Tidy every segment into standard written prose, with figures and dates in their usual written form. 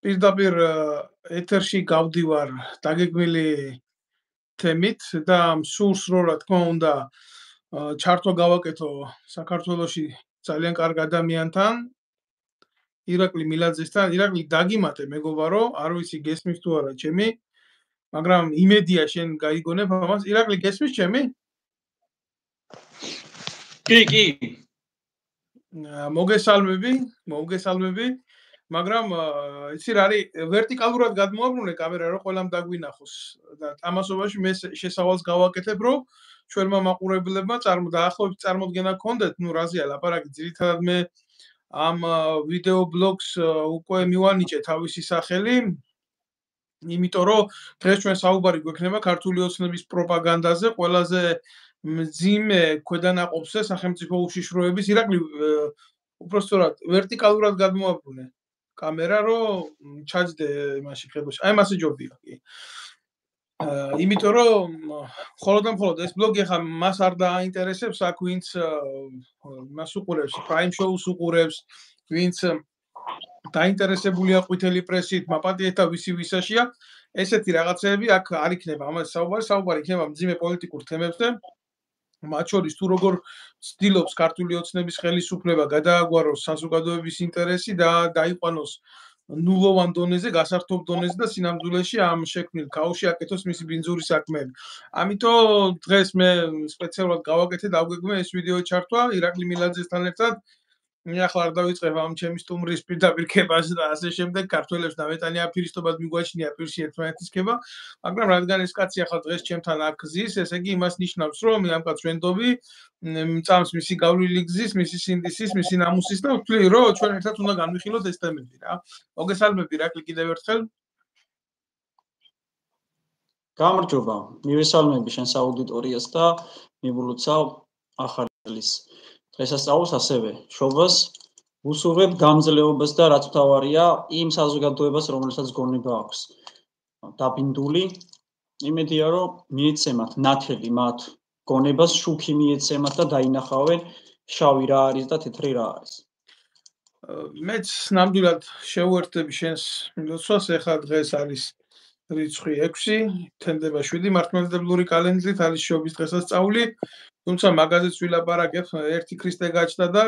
პირდაპირ ეთერში გავდივარ დაგეგმილი თემით და სურს რომ რა თქმა უნდა ჩართვა გავაკეთო საქართველოში ძალიან კარგ ადამიანთან ირაკლი მილაძესთან. ირაკლი დაგიმატე მეგობარო, არ ვიცი გესმის თუ არა ჩემი, მაგრამ იმედია შენ გაიგონებ ამას. ირაკლი გესმის ჩემი? კი. მოგესალმები, მაგრამ იცი რა არის, ვერტიკალურად გადმოაბრუნე კამერა რომ ყველამ დაგვინახოს და ამასობაში მე შესავალს გავაკეთებ რომ ჩვენმა მაყურებლებმა დაახლოებით წარმოდგენა გქონდეთ, რაზეა ლაპარაკი. ძირითადად მე ამ ვიდეო ბლოგს უკვე მივანიჭე თავისი სახელი, იმიტომ რომ დღეს ჩვენ საუბარი გვექნება ქართული ოცნების პროპაგანდაზე, ყველაზე მძიმე ქვედანაყოფზე სახელმწიფო უშიშროების. ირაკლი უпростоრად ვერტიკალურად გადმოაბრუნე კამერა რომ ჩაჯდე იმაში ხედვაში. აი მასე ჯობია კი. იმიტომ რომ მხოლოდ ეს ბლოგი ხა მას არ დააინტერესებს, აქ ვინც მას უყურებს, Prime Show-ს უყურებს, ვინც დაინტერესებულია ყვითელი პრესით, მაპატიეთა ვისი ვისაშია, ესეთი რაღაცები აქ არ იქნება ამაზე საუბარი იქნება მძიმე პოლიტიკურ თემებზე. მათ შორის თუ როგორ ცდილობს ქართული ოცნების ხელისუფლება გადააგვაროს საზოგადოების ინტერესი და დაიყვანოს ნულოვან დონეზე, გასართობ დონეზე და სინამდვილეში ამ შექმნილ ქაოსში აკეთოს მისი ბინძური საქმეები. ამიტომ დღეს მე სპეციალურად გავაკეთე დავგეგმე ეს ვიდეო ჩართვა ირაკლი მილაძესთან ერთად. ახლა არ დავიწყებ ამ ჩემი სტუმრის პირდაპირ ქებას და ასე შემდეგ, ქართველებს დამეტანი აფირისტობად მიგვაჩნია პირში ერთმანეთის ქება, მაგრამ რადგან ეს კაცი ახლა დღეს ჩემთან აქ გზის, ესე იგი იმას ნიშნავს, რომ ამ კაცს ვენდობი, მწამს მისი გავლილი გზის, მისი სინდისის, მისი ნამუსის და ვთვლი, რომ ჩვენ ერთად უნდა განვიხილოთ ეს თემები რა. მოგესალმები ირაკლი კიდევ ერთხელ. გამარჯობა, მივესალმები შენს აუდიტორიას და მივულოცავ ახალის დღესასწაულს ასევე შობას უსურვებ გამძლეობას და რაც მთავარია იმ საზოგადოებას, რომელსაც გონება აქვს დაბინდული, იმედია რომ მიეცემათ ნათელი მათ გონებას, შუქი მიეცემათ და დაინახავენ შავი რა არის და თეთრი რა არის. მეც ნამდვილად შევუერთდები შენს მილოცვას, ეხლა დღეს არის რიცხვი 6, თენდება 7 მართლმადიდებლური კალენდრით არის შობის დღესასწაული. თუმცა მაგაზეც ვილაპარაკებ, ერთი ქრისტე გაჩნდა და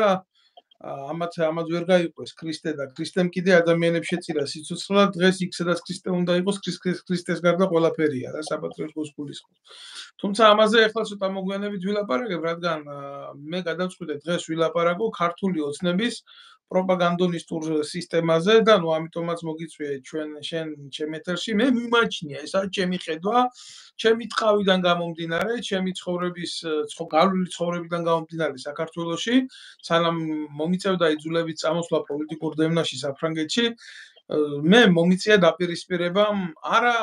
ამათ ვერ გაიყვეს ქრისტე და ქრისტემ კიდე ადამიანებს შეწირა სიცოცხლე, დღეს იქ სადაც ქრისტე უნდა იყოს, ქრისტეს გარდა ყველაფერია რა, საპატრიარქოს გულისხმობს. თუმცა ამაზე ახლა ცოტა მოგვიანებით ვილაპარაკებ, რადგან მე გადავწყვიტე დღეს ვილაპარაკო ქართული ოცნების პროპაგანდონისტურ სისტემაზე და ამიტომაც მოგიწვიე შენ ჩემ ეთერში. მე მიმაჩნია, ესაა ჩემი ხედვა, ჩემი ტყავიდან გამომდინარე, ჩემი გავლილი ცხოვრებიდან გამომდინარე საქართველოში, სანამ მომიწევდა იძულებით წამოსვლა პოლიტიკურ დევნაში საფრანგეთში, მე მომიწია დაპირისპირება არა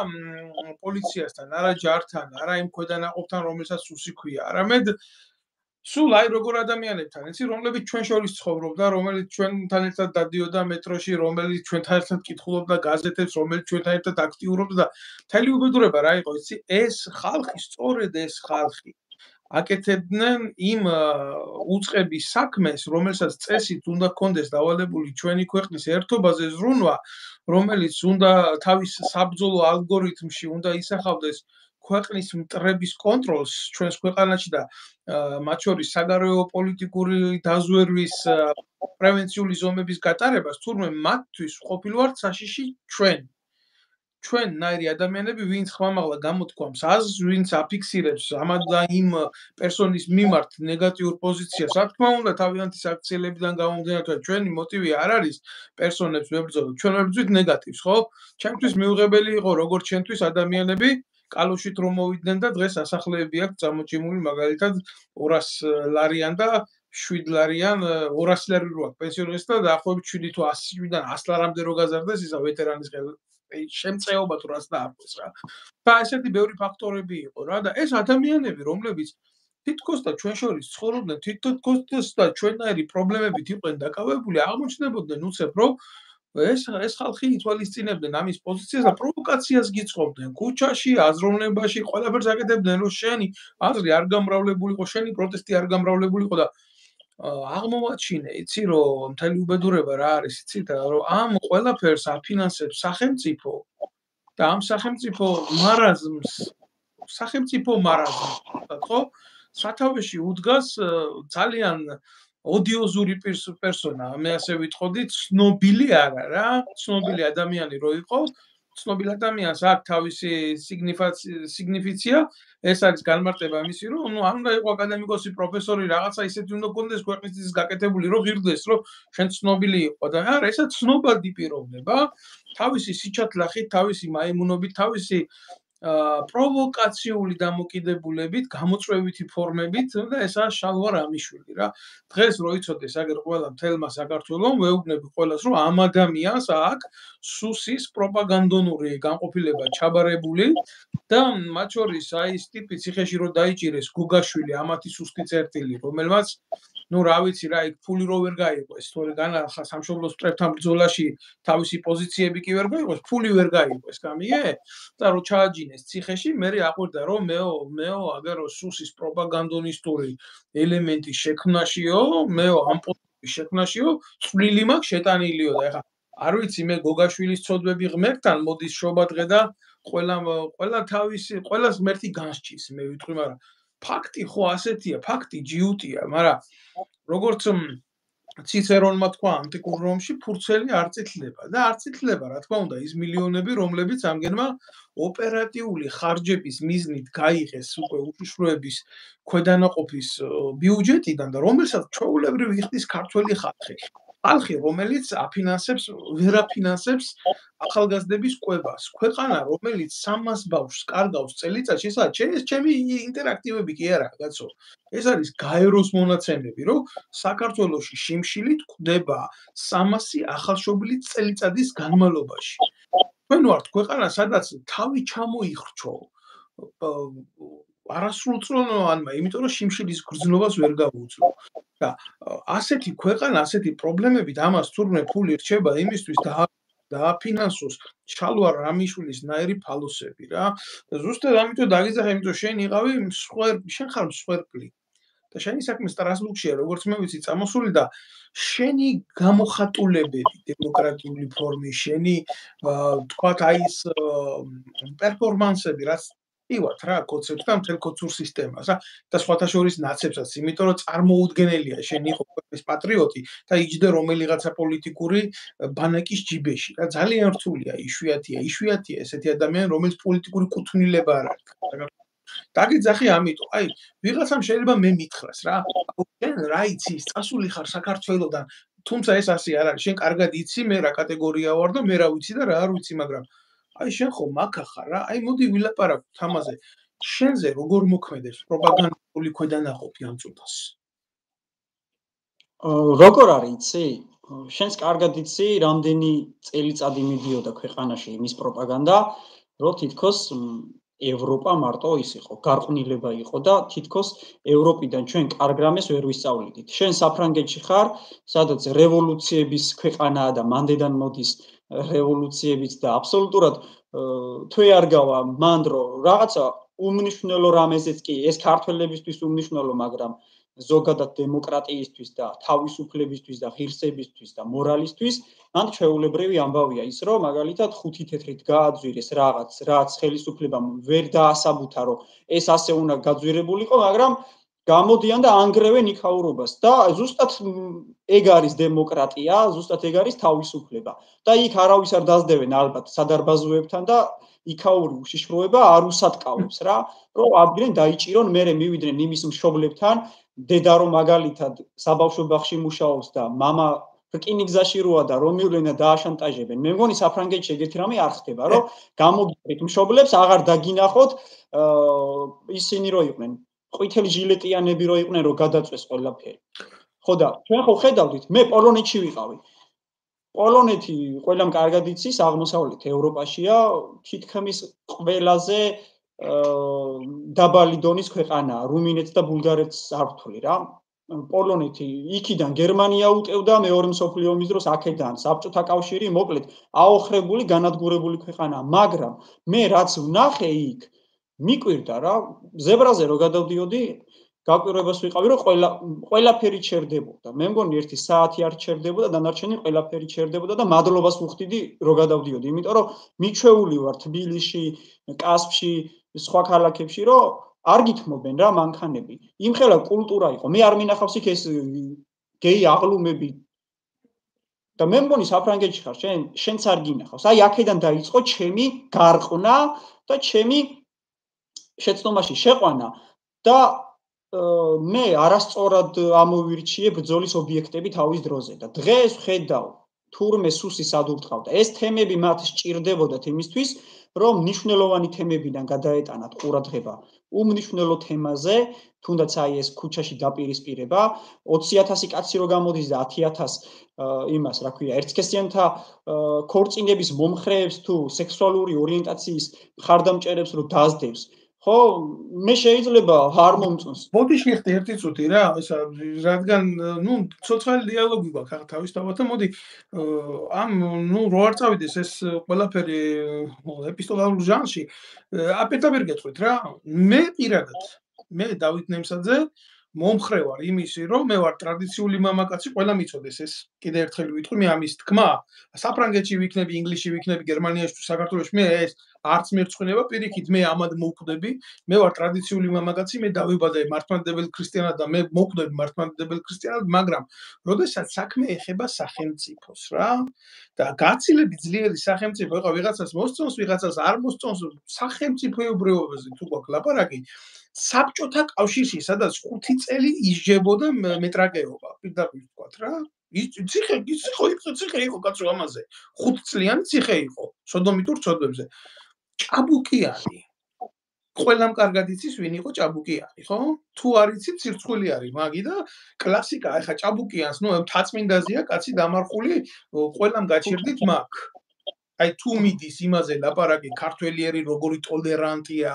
პოლიციასთან, არა ჯართან, არა იმ ქვედანაყოფთან, რომელსაც სუსი ქვია, არამედ სულ აი როგორ ადამიანებთან, იცი, რომლებიც ჩვენ შორის ცხოვრობდა, რომელიც ჩვენთან ერთად დადიოდა მეტროში, რომელიც ჩვენთან ერთად კითხულობდა გაზეთებს, რომელიც ჩვენთან ერთად აქტიურობდა და მთელი უბედურება რა იყო, იცი, ეს ხალხი, სწორედ ეს ხალხი აკეთებდნენ იმ უწყების საქმეს, რომელსაც წესით უნდა გქონდეს დავალებული ჩვენი ქვეყნის ერთობაზე ზრუნვა, რომელიც უნდა თავის საბრძოლო ალგორითმში უნდა ისახავდეს ქვეყნის მტრების კონტროლს ჩვენს ქვეყანაში და მათ შორის საგარეო პოლიტიკური დაზვერვის პრევენციული ზომების გატარებას, თურმე მათთვის ყოფილვართ საშიში ჩვენნაირი ადამიანები, ვინც ხმამაღლა გამოთქვამს აზრს, ვინც აფიქსირებს ამ და იმ პერსონის მიმართ ნეგატიურ პოზიციას. რა თქმა უნდა, თავიანთი საქციელებიდან გამომდინარე, ჩვენი მოტივი არ არის პერსონებს ვებრძოლოთ, ჩვენ ვებრძვით ნეგატივს, ხო? ჩემთვის მიუღებელი იყო როგორც ჩვენთვის ადამიანები კალოშით რომ მოვიდნენ და დღეს ასახლეები აქვს წამოჭიმული მაგალითად 200 ლარიან და 7 ლარიან 200 ლარი რო აქვს პენსიონერის და დაახლოებით 7 თუ 100-დან 100 ლარამდე რო გაზარდეს ისა ვეტერანის შემწეობა თუ რაც დაარქვეს რა. და ესეთი ბევრი ფაქტორები იყო რა და ეს ადამიანები რომლებიც თითქოს და ჩვენ შორის ცხოვრობდნენ, თითქოს და ჩვენნაირი პრობლემებით იყვნენ დაკავებული, აღმოჩნდებოდნენ უცებ რომ ეს ხალხი ითვალისწინებდნენ ამის პოზიციას და პროვოკაციას გიწყობდნენ ქუჩაში, აზროვნებაში, ყველაფერს აკეთებდნენ რომ შენი აზრი არ გამრავლებულიყო, შენი პროტესტი არ გამრავლებულიყო და აღმოვაჩინე, იცი რომ მთელი უბედურება რა არის, იცით რომ ამ ყველაფერს აფინანსებს სახელმწიფო და ამ სახელმწიფო მარაზმს, ხო? სათავეში უდგას ძალიან ოდიოზური პერსონა, მე ასე ვიტყოდი, ცნობილი არა რა, ცნობილი ადამიანი რო იყო, ცნობილ ადამიანს აქვს თავისი სიგნიფიცია, ეს არის განმარტება მისი, რომ ნუ არ უნდა იყო აკადემიკოსი, პროფესორი, რაღაცა ისეთი უნდა გქონდეს ქვეყნის გაკეთებული, რომ ღირდეს, რომ შენ ცნობილი იყო და არა, ესა ცნობადი პიროვნება, თავისი სიჩათლახით, თავისი მაიმუნობით, თავისი პროვოკაციული დამოკიდებულებით, გამოწვევითი ფორმებით და ესაა შალვა რამიშვილი რა. დღეს რო იცოდეს აგერ ყველა მთელმა საქართველომ, ვეუბნები ყველას, რომ ამ ადამიანს აქვს სუსის პროპაგანდონური განყოფილება ჩაბარებული და მათ შორის აი ეს ტიპი ციხეში რო დაიჭირეს გუგაშვილი, ამათი სუსტი წერტილი, რომელმაც ну, რა ვიცი რა, იქ ფული რო ვერ გაიყვეს, თორე განახა სამშობლოს მტრებთან ბრძოლაში თავისი პოზიციები კი ვერ გაიყვეს, ფული ვერ გაიყვეს, გამიგე? და რო ჩააჯინეს ციხეში, მე აყვირდა რომ მეო აგერო სუსის პროპაგანდონისტური ელემენტი შექმნაშიო, მეო ამ პოლიტიკის შექმნაშიო, წვლილი მაქვს შეტანილიო და ეხა არ ვიცი მე გოგაშვილის ცოდვები ღმერთთან მოდის შობადღე და ყველა თავისი ყველას ღმერთი განსჭის, მე ვიტყვი, მაგრამ ფაქტი ხო ასეთია, ფაქტი ჯიუტია, მაგრამ როგორც ციცერონმა თქვა ანტიკურ რომში, ფურცელი არ წითლება და არ წითლება, რა თქმა უნდა, ის მილიონები, რომლებიც ამგენმა ოპერატიული ხარჯების მიზნით გაიღეს უკვე უშიშროების ქვედანაყოფის ბიუჯეტიდან და რომელსაც ჩვეულებრივ იხდის ქართველი ხალხი, რომელიც ვერ აფინანსებს ახალგაზრდების კვებას. ქვეყანა, რომელიც 300 ბავშვს კარგავს წელიწადში, ეს ჩემი ინტერაქტივები კი არა, კაცო. ეს არის გაეროს მონაცემები, რომ საქართველოში შიმშილით გვდება 300 ახალშობილი წელიწადის განმავლობაში. ჩვენ ვართ ქვეყანა, სადაც თავი ჩამოიხრჩო არასრულწლოვანმა, იმიტომ რომ შიმშილის გრძნობას ვერ გავუძლო. და ასეთი ქვეყანა, ასეთი პრობლემებით ამას თურმე ფული რჩება იმისთვის დააფინანსოს შალვა რამიშვილის ნაირი ფალოსები რა. ზუსტად ამიტომ დაგიძახე, იმიტომ შენ იყავი შენ ხარ მსხვერპლი. და შენი საქმე სტრასბურგშია, როგორც მე ვიცი, წამოსული და შენი გამოხატულებები დემოკრატიული ფორმის, შენი თქვათ აი ეს პერფორმანსები, რაც ივათ რა, კოცებს და მთელ კოცურ სისტემას, და სხვათა შორის ნაცებსაც, იმიტომ რომ წარმოუდგენელია შენ იყო ქვეყნის პატრიოტი და იჯდე რომელიღაცა პოლიტიკური ბანაკის ჯიბეში. და ძალიან რთულია, იშვიათია ესეთი ადამიანი, რომელიც პოლიტიკური კუთვნილება არ აქვს. დაგიძახი ამიტომ, აი, ვიღაცამ შეიძლება მე მითხრას რა, შენ რა იცი, წასული ხარ საქართველოდან, თუმცა ეს ასე არ არის, შენ კარგად იცი, მე რა კატეგორია ვარ და მე რა ვიცი და რა არ ვიცი, მაგრამ აი შენ ხო მაქა ხარ რა, აი მოდი ვილაპარაკოთ ამაზე. შენზე როგორ მოქმედებს პროპაგანდული ქვედანაყოფი ამ წუთას? როგორ არის, იცი? შენს კარგად იცი, რამდენი წელიწადი მიდიოდა ქვეყანაში იმის პროპაგანდა, რომ თითქოს ევროპა მარტო ის იყო, გარყვნილება იყო და თითქოს ევროპიდან ჩვენ კარგ რამეს ვერ ვისწავლიდით. შენ საფრანგეთში ხარ, სადაც რევოლუციების ქვეყანაა და მანდედან მოდის რევოლუციებიც და აბსოლუტურად თვე არ გავა მანდ რომ რაღაცა უმნიშვნელო რამეზეც კი ეს ქართველებისთვის უმნიშვნელო, მაგრამ ზოგადად დემოკრატიისთვის და თავისუფლებისთვის და ღირსებისთვის და მორალისთვის, მან ჩვეულებრივი ამბავია ის, რომ მაგალითად 5 თეთრით გააძვირეს რაღაც, რაც ხელისუფლებამ ვერ დაასაბუთა, რომ ეს ასე უნდა გაძვირებულიყო, მაგრამ გამოდიან და ანგრევენ იქაურობას და ზუსტად ეგ არის დემოკრატია, ზუსტად ეგ არის თავისუფლება. და იქ არავის არ დაძდევენ ალბათ სადარბაზოებთან და იქაური უშიშროება არ უსატკავებს რა, რომ ადგილენ დაიჭირონ, მერე მივიდნენ იმის მშობლებთან, დედა რომ მაგალითად საბავშვო ბაღში მუშაობს და მამა რკინიგზაში როა და რომ მივლენ და დააშანტაჟებენ. მე მგონი საფრანგეთში ეგეთი რამე არ ხდება, რომ გამოგიყვეთ მშობლებს, აღარ დაგინახოთ ისინი რო იყვნენ ყვითელი ჟილეტიანები რო იყვნენ, რომ გადაწვეს ყველაფერი. ხო და ჩვენ ხო ხედავდით, მე პოლონეთში ვიყავი. პოლონეთი ყველამ კარგად იცის, აღმოსავლეთ ევროპაშია, თითქმის ყველაზე დაბალი დონის ქვეყანაა, რუმინეთს და ბულგარეთს არ ვთვლი რა. პოლონეთი იქიდან გერმანია უკევდა მეორე მსოფლიო ომის დროს აქედან საბჭოთა კავშირი მოკლედ აოხრებული, განადგურებული ქვეყანაა, მაგრამ მე რაც ვნახე იქ მიკვირდა რა, ზებრაზე რო გადავდიოდი, გაკვირვებას ვიყავი, რომ ყველაფერი ჩერდებოდა. მე მგონი ერთი საათი არ ჩერდებოდა, დანარჩენი ყველაფერი ჩერდებოდა და მადლობას ვუხდიდი, რომ გადავდიოდი, იმიტომ რომ მიჩვეული ვარ თბილისში, კასპში, სხვა ქალაქებში, რომ არ გითმობენ რა მანქანები. იმხელა კულტურა იყო. მე არ მინახავს იქ ეს გეი აღლუმები. და მე მგონი საფრანგეთში ხარ, შენც არ გინახავს. აი აქედან დაიწყო ჩემი გარყნა და ჩემი შეცდომაში შეყვანა და მე არასწორად ამოვირჩიე ბრძოლის ობიექტები თავის დროზე და დღეს ვხედავ თურმე სუსი სადურტყავდა. ეს თემები მათ სჭირდებოდათ იმისთვის, რომ მნიშვნელოვანი თემებიდან გადაეტანათ ყურადღება უმნიშვნელო თემაზე, თუნდაც აი ეს ქუჩაში დაპირისპირება, 20,000 კაცი რო გამოდის და 10,000 იმას, რა ქვია, ერთსქესიანთა ქორწინების მომხრეებს თუ სექსუალური ორიენტაციის მხარდამჭერებს რო დაძდებს, ხო, მე შეიძლება არ მომწონს. ბოდიში ხდი ერთი წუთი რა, ისა რადგან ნუ ცოცხალი დიალოგი გვაქვს ახლა თავისთავად და მოდი ამ ნუ რო არ წავიდეს ეს ყველაფერი ეპისტოლარულ ჟანრში, აპირდაპირ გეტყვით რა, მე პირადად, მე დავით ნემსაძე მომხრე ვარ იმისი, რომ მე ვარ ტრადიციული მამაკაცი, ყველა მიცოდეს ეს. კიდე ერთხელ ვიტყვი, მე ამის თქმა, საფრანგეთში ვიქნები, ინგლისში ვიქნები, გერმანიაში თუ საქართველოში, მე ეს არც მერწყვინება, პირიქით მე ამად მოვკვდები, მე ვარ ტრადიციული მამაკაცი, მე დავიბადე მართლმადიდებელ ქრისტიანად და მე მოვკვდები მართლმადიდებელ ქრისტიანად, მაგრამ როდესაც საქმე ეხება სახელმწიფოს რა და გაცილებით ძლიერი სახელმწიფო, ეხლა ვიღაცას მოსწონს, ვიღაცას არ მოსწონს, სახელმწიფოებრიობაზე თუ გვაქვს ლაპარაკი, საბჭოთა კავშირში, სადაც 5 წელი ისჯებოდა მეტრაკეობა, პირდაპირ ვთქვათ რა. ციხე იყო კაცო ამაზე. 5 წლიანი ციხე იყო, სოდომიტურ ცოდვებზე. ჭაბუკიანი. ყველამ კარგად იცის, ვინ იყო ჭაბუკიანი, ხო? თუ არ იცით, ცირცხვილი არის მაგი და კლასიკა, ეხა ჭაბუკიანს, ნუ თაწმინდაზია, კაცი დამარხული, ყველამ გაჩერდით მაგ. აი თუ მიდის იმაზე ლაპარაკი, ქართველიერი როგორი ტოლერანტია,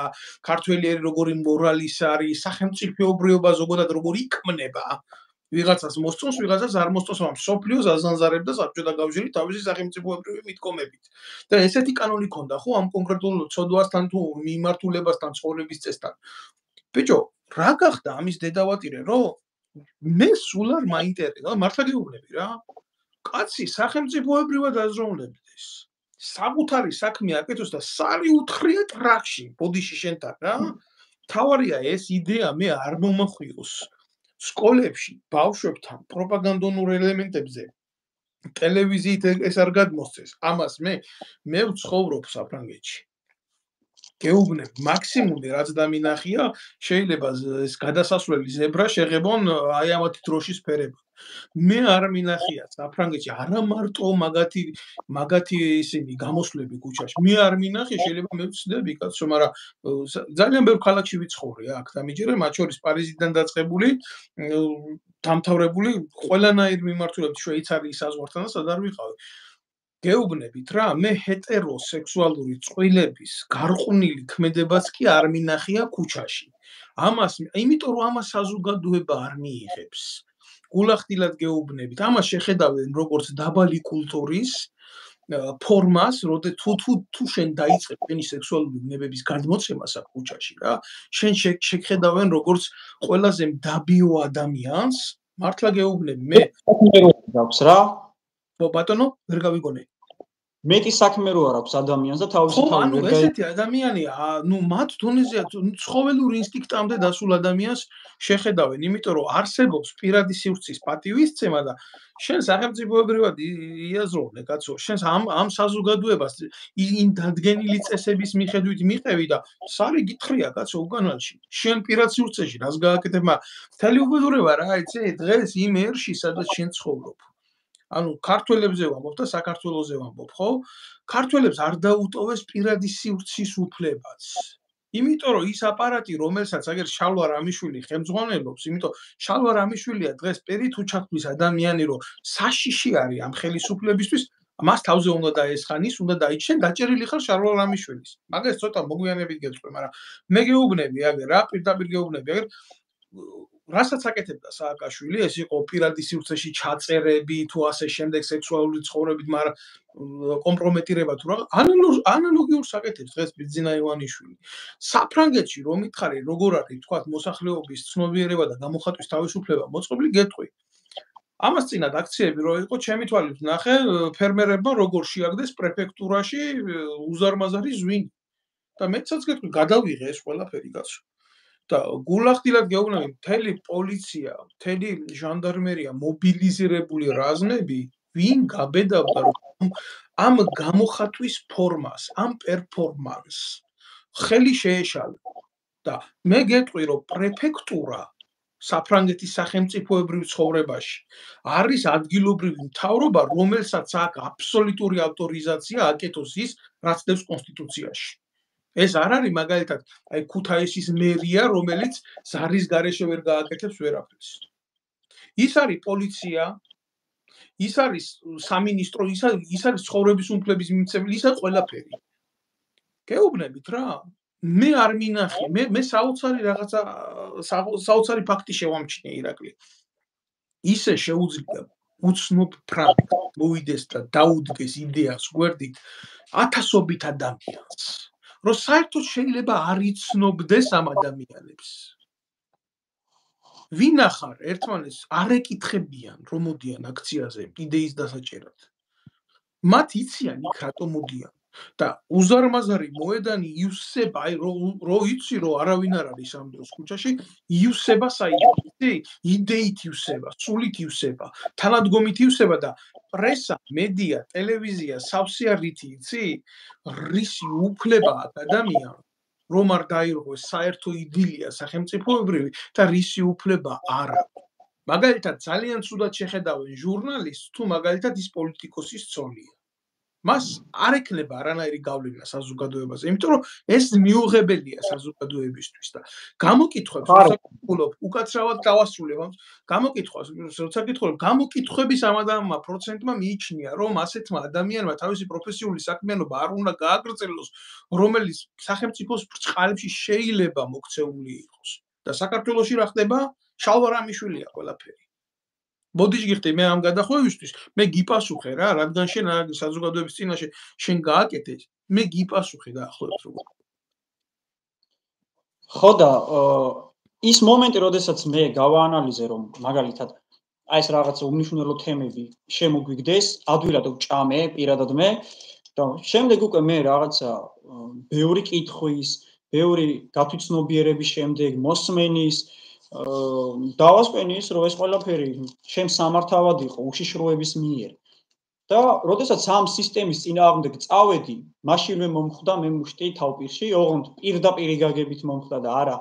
ქართველიერი როგორი მორალის არის, სახელმწიფოებრიობა ზოგადად როგორი იქმნება. ვიღაცას მოსწონს, ვიღაცას არ მოსწონს, მაგრამ სოფლიოს აზანზარებდა საბჭოთა კავშირი თავისი სახელმწიფოებრივი მიდგომებით. და ესეთი კანონი ქონდა ხო ამ კონკრეტულ ცოდვასთან თუ მიმართულებასთან, ცხოვრების წესთან. ბიჭო, რა გახდა ამის დედავატირე, რომ მე სულ არ მაინტერესა, მართლა გეუბნები რა. კაცი სახელმწიფოებრივად აზროვნებდეს. საკუთარი საქმე აკეთოს და სარი უთხრია ტრაქში, ბოდიში შენთან რა. თავარია ეს იდეა მე არ მომახვიოს. სკოლებში ბავშვებთან პროპაგანდონურ ელემენტებზე ტელევიზიით ეს არ გადმოსცეს. ამას მე ვცხოვრობ საფრანგეთში. გეუბნებ, მაქსიმუმი რაც დამინახია, შეიძლება ეს გადასასვლელი ზებრა შეღებონ აი ამათი დროშის ფერებად. მე არ მინახია საფრანგეთში არა მარტო მაგათი ისინი გამოსვლები ქუჩაში. მე არ მინახია, შეიძლება მე ვცდები კაცო, მაგრამ ძალიან ბევრ ქალაქში ვიცხოვრე აქ დამიჯერე, მათ შორის პარიზიდან დაწყებული, დამთავრებული ყველანაირ მიმართულებით შვეიცარიის საზღვართან და სად არ ვიყავი. გეუბნებით რა, მე ჰეტეროსექსუალური წყვილების გარყვნილი ქმედებაც კი არ მინახია ქუჩაში. იმიტომ რომ ამას საზოგადოება არ მიიღებს. გულახდილად გეუბნებით, ამას შეხედავენ როგორც დაბალი კულტურის ფორმას, თუ შენ დაიწყებ ტენი სექსუალური ბუნებების გადმოცემას აქ ქუჩაში რა, შენ შეხედავენ როგორც ყველაზე მდაბიო ადამიანს, მართლა გეუბნები, მე აქვს რა. ხო ბატონო, ვერ გავიგონე. მეტი საქმე რო არ აქვს ადამიანს და თავისი თავი ვერ გაიგე. ესეთი ადამიანია, ნუ მათ დონეზეა ცხოველური ინსტინქტამდე დასულ ადამიანს შეხედავენ, იმიტომ რომ არსებობს პირადი სივრცის პატივისცემა და შენ სახელმწიფოებრივად იაზროვნე, კაცო, შენ ამ საზოგადოებას იმ დადგენილი წესების მიხედვით მიყევი და სარი გითხრია, კაცო, უკანალში. შენ პირად სივრცეში რას გააკეთებ, მაგრამ მთელი უბედურება რა, იცი, დღეს იმ ერში, სადაც შენ ცხოვრობ. ანუ ქართველებზე ვამბობ და საქართველოზე ვამბობ, ხო? ქართველებს არ დაუტოვეს პირადი სივრცის უფლებაც. იმიტომ რომ ის აპარატი, რომელსაც აგერ შალვა რამიშვილი ხელმძღვანელობს, იმიტომ შალვა რამიშვილია დღეს პირით უჩათვლის ადამიანი, რომ საშიში არის ამ ხელისუფლებისთვის, მას თავზე უნდა დაესხანის, უნდა დაიჩენ, დაჭერილი ხარ შალვა რამიშვილის. მაგას ცოტა მოგვიანებით გეტყვი, მაგრამ მე გეუბნები აგერ რა, პირდაპირ გეუბნები, აგერ რასაც აკეთებდა სააკაშვილი, ეს იყო პირადი სივრცეში ჩაწერები თუ ასე შემდეგ სექსუალური ცხოვრებით, მაგრამ კომპრომეტირება თუ რა, ანალოგიურს აკეთებს დღეს ბიძინა ივანიშვილი. საფრანგეთში რომ მითხარი, როგორ არის, თქვა, მოსახლეობის ცნობიერება და გამოხატვის თავისუფლება მოწყობილი, გეტყვი. ამას წინათ აქციები რო იყო, ჩემი თვალით ნახე, ფერმერებმა როგორ შეაგდეს პრეფექტურაში უზარმაზარი ზვინი. და მეცაც გეტყვი, გადავიღე ეს ყველაფერი კაცო. და გულახდილად გეუბნები, მთელი პოლიცია, მთელი ჟანდარმერია, მობილიზირებული რაზმები, ვინ გაბედავდა ამ გამოხატვის ფორმას, ამ პერფორმანსს ხელი შეეშალა. და მე გეტყვი, რომ პრეფექტურა საფრანგეთის სახელმწიფოებრივ ცხოვრებაში არის ადგილობრივი მთავრობა, რომელსაც აქვს აბსოლუტური ავტორიზაცია აკეთოს ის, რაც დევს კონსტიტუციაში. ეს არ არის მაგალითად აი ქუთაისის მერია, რომელიც ზარის გარეშე ვერ გააკეთებს ვერაფერს. ის არის პოლიცია, ის არის სამინისტრო, ის არის ცხოვრების უმფლების მიმცემელი, ის არის ყველაფერი. გეუბნებით რა? მე არ მინახე, მე საოცარი რაღაცა საოცარი ფაქტი შევამჩნიე ირაკლი. ისე შეუძლია უცნობ ფრანგს მოვიდეს და დაუდგეს იდეას გვერდით ათასობით ადამიანს. რომ საერთოდ შეიძლება არ იცნობდეს ამ ადამიანებს. ვინ ახარ ერთმანეთს არ ეკითხებიან, რომ მოდიან აქციაზე იდეის დასაჭერად. მათ იციან იქ რატომ მოდიან. და უზარმაზარი მოედანი იუსება, აი რო იცი რომ არავინ არ არის ამ დროს ქუჩაში, იუსება საერთოდ, იდეით იუსება, სულით იუსება, თანადგომით იუსება და პრესა, მედია, ტელევიზია, სავსე რითი იცი, რისი უფლება აქვს ადამიანს, რომ არ დაირღვეს საერთო იდილია სახელმწიფოებრივი და რისი უფლება არ აქვს. მაგალითად, ძალიან ცუდად შეხედავენ ჟურნალისტს, თუ მაგალითად ის პოლიტიკოსის ცოლია. მას არ ექნება არანაირი გავლენა საზოგადოებაზე, იმიტომ რომ ეს მიუღებელია საზოგადოებისთვის და გამოკითხვებს როცა უკაცრავად დავასრულებ, გამოკითხვას როცა გითხულობ, გამოკითხვების ამ ადამიანმა პროცენტმა მიიჩნია, რომ ასეთმა ადამიანმა თავისი პროფესიული საქმიანობა არ უნდა გააგრძელოს, რომელიც სახელმწიფოს ბრწყალებში შეიძლება მოქცეული იყოს. და საქართველოში რა ხდება? შალვარამიშვილია ყველაფერი. ბოდიშ გიხდი მე ამ გადახვევისთვის, მე გიპასუხე რა, რადგან შენ საზოგადოების წინაშე შენ გააკეთე, მე გიპასუხე დაახლოებით როგორ. ხო და ის მომენტი, როდესაც მე გავაანალიზე, რომ მაგალითად აი ეს რაღაც უმნიშვნელო თემები შემოგვიგდეს, ადვილად ვჭამე პირადად მე და შემდეგ უკვე მე რაღაცა ბევრი კითხვის, ბევრი გათვითცნობიერების შემდეგ მოსმენის დავასკვენის, რომ ეს ყველაფერი ჩემ სამართავად იყო უშიშროების მიერ. და როდესაც ამ სისტემის წინააღმდეგ წავედი, მაშინვე მომხვდა მე მუშტი თავპირში, ოღონდ პირდაპირი გაგებით მომხვდა და არა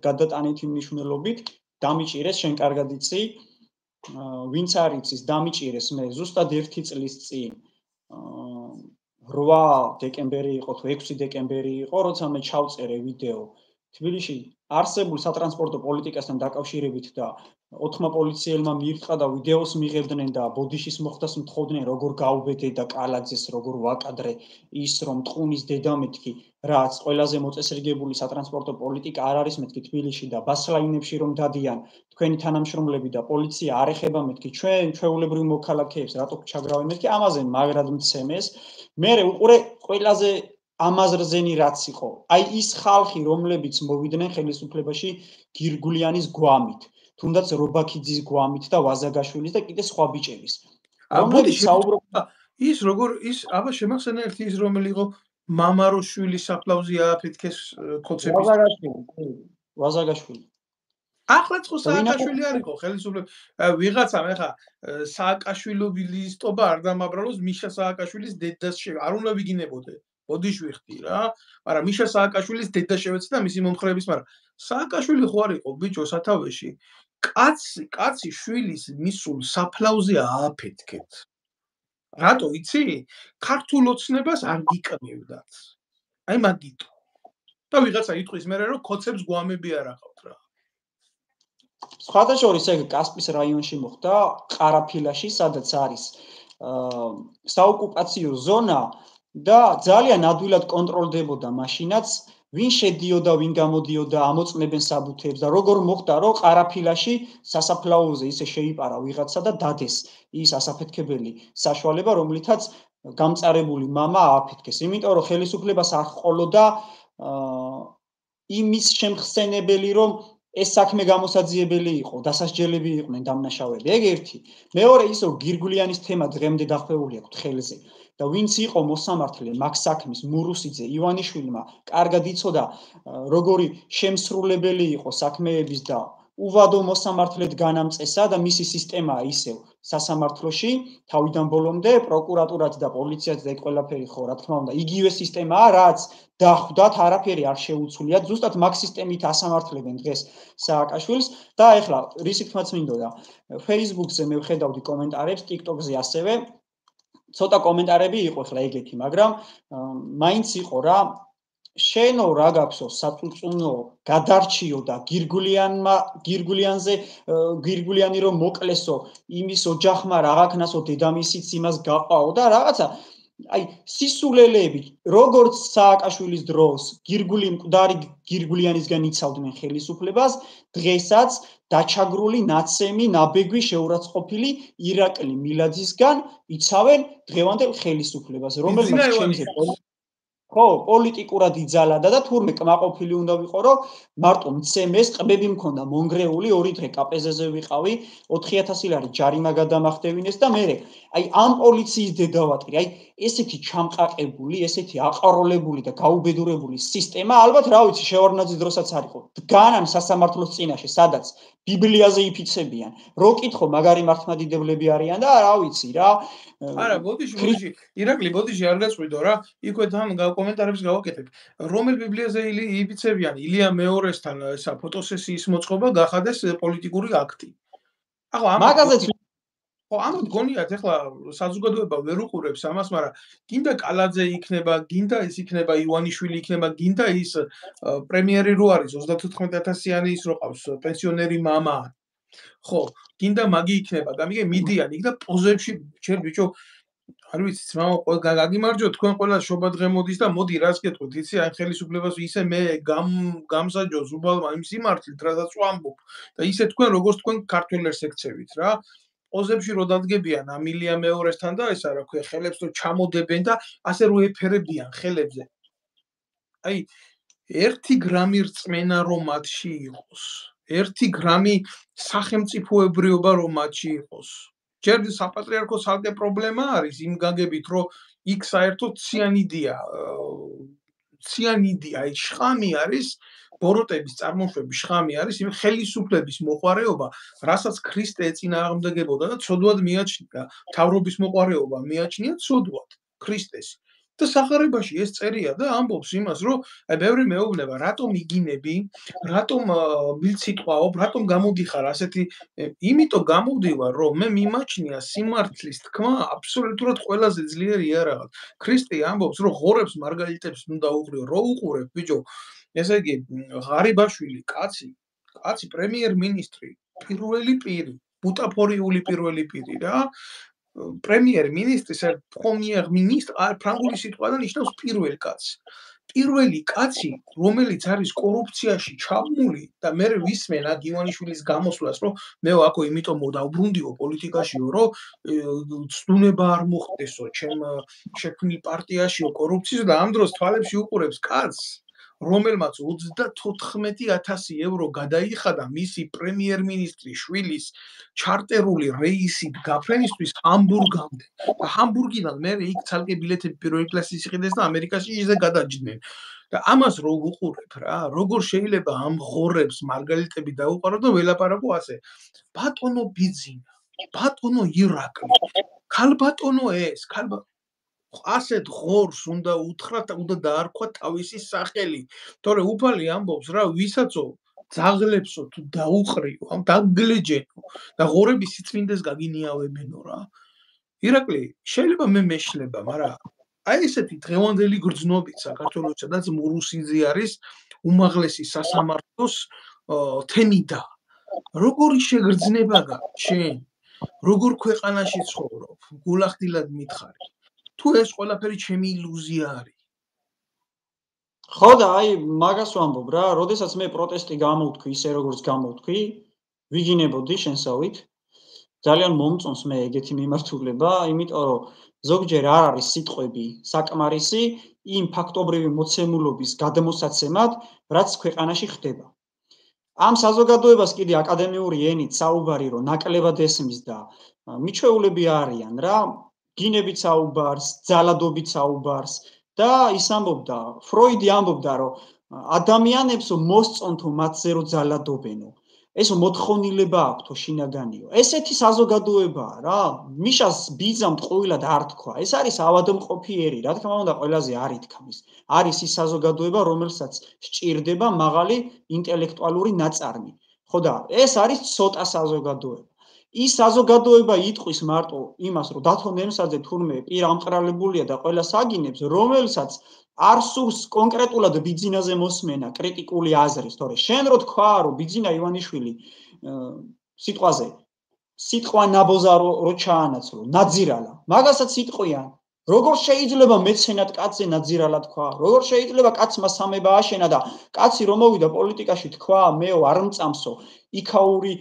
გადატანითი მნიშვნელობით, დამიჭირეს შენ კარგად იცი, ვინც არ იცის, დამიჭირეს მე ზუსტად 1 წლის წინ 8 დეკემბერი იყო თუ 6 დეკემბერი იყო, როცა მე ჩავწერე ვიდეო თბილისში არსებულ სატრანსპორტო პოლიტიკასთან დაკავშირებით და 4 პოლიციელმა მიირთყა და ვიდეოს მიღებდნენ და ბოდიშის მოხდას მთხოვდნენ, როგორ გაუბედე და კალაძეს როგორ ვაკადრე ის რომ ტყუნის დედა მეთქი, რაც ყველაზე მოწესრიგებული სატრანსპორტო პოლიტიკა არ არის მეთქი თბილისში და ბასლაინებში რომ დადიან თქვენი თანამშრომლები და პოლიცია არ ეხება მეთქი ჩვენ ჩვეულებრივ მოქალაქეებს რატო ჩაგრავენ მეთქი ამაზე მაგრად მცემეს მე უყურე ყველაზე ამაზრზენი რაც იყო აი ის ხალხი რომლებიც მოვიდნენ ხელისუფლებაში გირგულიანის გვამით თუნდაც რობაქიძის გვამით და ვაზაგაშვილის და კიდე სხვა ბიჭების რომლებიც საუბრობდა ის როგორ ის აბა შემახსენე ერთი ის რომელი იყო მამაროშვილის საფლავზე ააფეთქეს კოცების ვაზაგაშვილი ახლა ხო სააკაშვილი არ იყო ხელისუფლება ვიღაცამ ეხა სააკაშვილობილისტობა არ დამაბრალოს მიშა სააკაშვილის დედას არ უნდა ვიგინებოდე ბოდიში ვიხდი რა მაგრამ მიშა სააკაშვილის დედა შევეცი და მისი მომხრეების მაგრამ სააკაშვილი ხო არ იყო ბიჭო სათავეში კაცი შვილის მისულ საფლავზე ააფეთქეთ რატო იცი ქართულ ოცნებას არ გიკნევდათ აი მაგიტო და ვიღაცა იტყვის მე რომ კოცებს გვამები არ აყავთ რა სხვადასხვა ეს კასპის რაიონში მოხდა ყარაფილაში სადაც არის საოკუპაციო ზონა და ძალიან ადვილად კონტროლდებოდა მაშინაც ვინ შედიოდა, ვინ გამოდიოდა, ამოწმებენ საბუთებს და როგორ მოხდა, რომ ყარაფილაში სასაფლაოზე ისე შეიპარა ვიღაცა და დადეს ის ასაფეთქებელი საშუალება, რომლითაც გამწარებული მამა ააფეთქეს. იმიტომ რომ ხელისუფლებას არ ჰყოლოდა იმის შემხსენებელი, რომ ეს საქმე გამოსაძიებელი იყო, დასასჯელები იყვნენ დამნაშავეები. ეგ ერთი. მეორე ის რომ გირგულიანის თემა დღემდე დახვეული აქვს ხელზე და ვინც იყო მოსამართლე მაგ საქმის მურუსიძე ივანიშვილმა კარგად იცოდა როგორი შემსრულებელი იყო საქმეების და უვადო მოსამართლედ განამწესა და მისი სისტემაა ისევ სასამართლოში თავიდან ბოლომდე პროკურატურაც და პოლიციაც და ეგ ყველაფერი ხო რა თქმა უნდა იგივე სისტემაა რაც დახვდათ არაფერი არ შეუცვლიათ ზუსტად მაგ სისტემით ასამართლებენ დღეს სააკაშვილს და ეხლა რის თქმაც მინდოდა Facebook-ზე მე ვხედავდი კომენტარებს TikTok-ზე ასევე ცოტა კომენტარები იყო ახლა ეგეთი, მაგრამ მაინც იყო რა შენო რა გაქვსო საწუწუნო გადარჩიო და გირგულიანზე გირგულიანი რომ მოკლესო იმის ოჯახმა რაღაცნასო დედამისიც იმას გაყავო და რაღაცა აი სისულელეები როგორც სააკაშვილის დროს მკვდარი გირგულიანისგან იცავდნენ ხელისუფლებას დღესაც დაჩაგრული ნაცემი ნაბეგვი შეურაცხყოფილი ირაკლი მილაძისგან იცავენ დღევანდელ ხელისუფლებას რომელმაც ჩემზე ხო პოლიტიკურად იძალადა და თურმე კმაყოფილი უნდა ვიყო რომ მარტო მცემეს ყბები მქონდა მონგრეული 2 დღე კაპეზეზე ვიყავი 4000 ლარი ჯარიმა გადამახდევინეს და მე აი ამ პოლიციის დედავატი აი ესეთი ჩამყაყებული ესეთი აყაროლებული და გაუბედურებული სისტემა ალბათ რა ვიცი შევარდნაძის დროსაც არისო დგანან სასამართლოს წინაშე სადაც ბიბლიაზე იფიცებიან რო კითხო მაგარი მართლმადიდებლები არიან და რა ვიცი რა არა ბოდიში ირაკლი ბოდიში არ გაწყვიდო რა იქვე თან კომენტარებს გავაკეთებ რომელ ბიბლიაზე იფიცებიან ილია მეორესთან ესა ფოტოსესიის მოწყობა გახადეს პოლიტიკური აქტი ახლა მაგაზეც ხო ამით გონიათ ახლა საზოგადოება ვერ უყურებს ამას მაგრამ გინდა კალაძე იქნება გინდა ის იქნება ივანიშვილი იქნება გინდა ის პრემიერი რო არის 34000-იანი ის რო ყავს პენსიონერი მამა ხო გინდა მაგი იქნება გამიგე მიდიან იქ და პოზებში შენ ბიჭო არ ვიცი ძმაო გაგიმარჯო თქვენ ყველა შობა დღე მოდის და მოდი რას გეტყვით იცი აი ხელისუფლებას ისე მე გამსაჯო ზუბალმა იმ სიმართლით რასაც ვამბობ და ისე თქვენ როგორც თქვენ ქართველებს ეკცევით რა პოზებში რო დადგებიან ამილია მეორესთან და ესა რა ქვია ხელებს რო ჩამოდებენ და ასე რო ეფერებიან ხელებზე აი 1 გრამი რწმენა რომ მათში იყოს 1 გრამი სახელმწიფოებრიობა რომ მათში იყოს ჯერ საპატრიარქოს ალგე პრობლემა არის იმ გაგებით რომ იქ საერთოდ ციანიდია აი შხამი არის ბოროტების წარმოშვების შხამი არის იმ ხელისუფლების მოყარეობა რასაც ქრისტე ეწინააღმდეგებოდა და ცოდვად მიაჩნია თავრობის მოყარეობა მიაჩნია ცოდვად ქრისტეს და სახარებაში ეს წერია და ამბობს იმას რომ აი ბევრი მეუბნება რატომ იგინები რატომ მილციტყვაობ რატომ გამოდიხარ ასეთი იმიტომ გამოვდივარ რომ მე მიმაჩნია სიმართლის თქმა აბსოლუტურად ყველაზე ძლიერი იარაღად ქრისტე ამბობს რომ ღორებს მარგალიტებს უნდა უყრიო რო უყურებ ბიჭო ესე იგი ღარიბაშვილი კაცი პრემიერ-მინისტრი პირველი პირი ბუტაფორიული პირველი პირი რა პრემიერ-მინისტრის პრემიერ-მინისტრ ფრანგული სიტყვიდან ნიშნავს პირველი კაცი რომელიც არის კორუფციაში ჩაბმული და მე ვისმენ აქ ივანიშვილის გამოსვლას რომ მე აქო იმიტომ მოდავბრუნდიო პოლიტიკაშიო რომ ცდუნება არ მოხდესო ჩემ შექმნილ პარტიაშიო კორუფციას და ამ დროს თვალებში უყურებს კაცს რომელმაც 34000 ევრო გადაიხადა მისი პრემიერ-მინისტრის შვილის ჩარტერული რეისით გაფრენისთვის ჰამბურგამდე და ჰამბურგიდან მე იქ ცალკე ბილეთები პირველი კლასის იყიდეს და ამერიკაში ისე გადაჯდნენ და ამას რო უყურებ რა როგორ შეიძლება ამ ღორებს მარგალიტები დაუყარო და ველაპარაკო ასე ბატონო ბიძინა ბატონო ირაკლი ქალბატონო ეს ასეთ ღორს უნდა უთხრათ უნდა დაარქვა თავისი სახელი თორე უფალი ამბობს რა ვისაცო ძაღლებსო თუ დაუყრიო ამ დაგლეჯენო და ღორების სიწმინდეს გაგინიავებენო რა ირაკლი შეიძლება მე მეშლება მაგრამ აი ესეთი დღევანდელი გრძნობით საქართველოს სადაც მურუსიძე არის უმაღლესი სასამართლოს თემიდა როგორი შეგრძნება შენ როგორ ქვეყანაში ცხოვრობ გულახდილად მითხარი თუ ეს ყველაფერი ჩემი ილუზია არის ხო და აი მაგას ვამბობ რა, როდესაც მე პროტესტი გამოვთქვი ისე როგორც გამოვთქვი, ვიგინებოდი შენსავით. ძალიან მომწონს მე ეგეთი მიმართულება, იმიტომ რომ ზოგჯერ არ არის სიტყვები საკმარისი იმ ფაქტობრივი მოცემულობის გადმოსაცემად, რაც ქვეყანაში ხდება. ამ საზოგადოებას კიდე აკადემიური ენით საუბარი რომ ნაკლებად ესმის და მიჩვეულები არიან რა, გინებით საუბარს, ძალადობით საუბარს და ის ამბობდა, ფროიდი ამბობდა რომ ადამიანებს მოსწონთო მათზე რომ ძალადობენო. ეს მოთხოვნილება აქვთო შინაგანიო. ესეთი საზოგადოებაა რა. მიშას ბიძამ ტყუილად არ თქვა. ეს არის ავადმყოფიერი, რა თქმა უნდა, ყველაზე არ ითქმის. არის ის საზოგადოება, რომელსაც სჭირდება მაღალი ინტელექტუალური ნაწარმი. ხო და ეს არის ცოტა საზოგადოება. ის საზოგადოება იტყვის მარტო იმას, რომ დათო ნემსაძე თურმე პირ ამყრალებულია და ყველა საგინებს, რომელსაც არ სურს კონკრეტულად ბიძინაზე მოსმენა, კრიტიკული აზრის, თორე შენ რო თქვა, რომ ბიძინა ივანიშვილი სიტყვაზე სიტყვა ნაბოზა რო ჩაანაცვლო, ნაძირალა, მაგასაც იტყვიან. როგორ შეიძლება მეცენად კაცზე ნაძირალა თქვა? როგორ შეიძლება კაცმა სამება აშენა და კაცი რომ მოვიდა პოლიტიკაში თქვა, მეო არ მწამსო, იქაური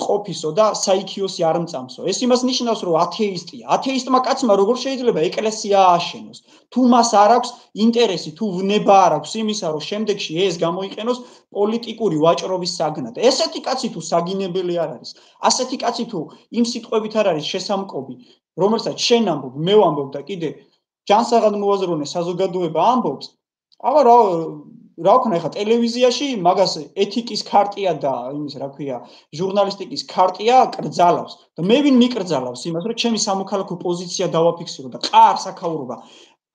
ყოფისო და საიქიოსი არ მწამსო. ეს იმას ნიშნავს, რომ ათეისტია. ათეისტმა კაცმა როგორ შეიძლება ეკლესია ააშენოს? თუ მას არ აქვს ინტერესი, თუ ვნება არ აქვს იმისა, რომ შემდეგში ეს გამოიყენოს პოლიტიკური ვაჭრობის საგნად. ესეთი კაცი თუ საგინებელი არ არის, ასეთი კაცი თუ იმ სიტყვებით არ არის შესამკობი, რომელსაც შენ ამბობ, მე ვამბობ და კიდე ჯანსაღად მოაზროვნე საზოგადოება ამბობს, აბა რა ვქნა ეხლა ტელევიზიაში მაგას ეთიკის ქარტია და იმის რა ქვია ჟურნალისტიკის ქარტია კრძალავს და მე ვინ მიკრძალავს იმას რომ ჩემი სამოქალაქო პოზიცია დავაფიქსირო და ყარ საქაურობა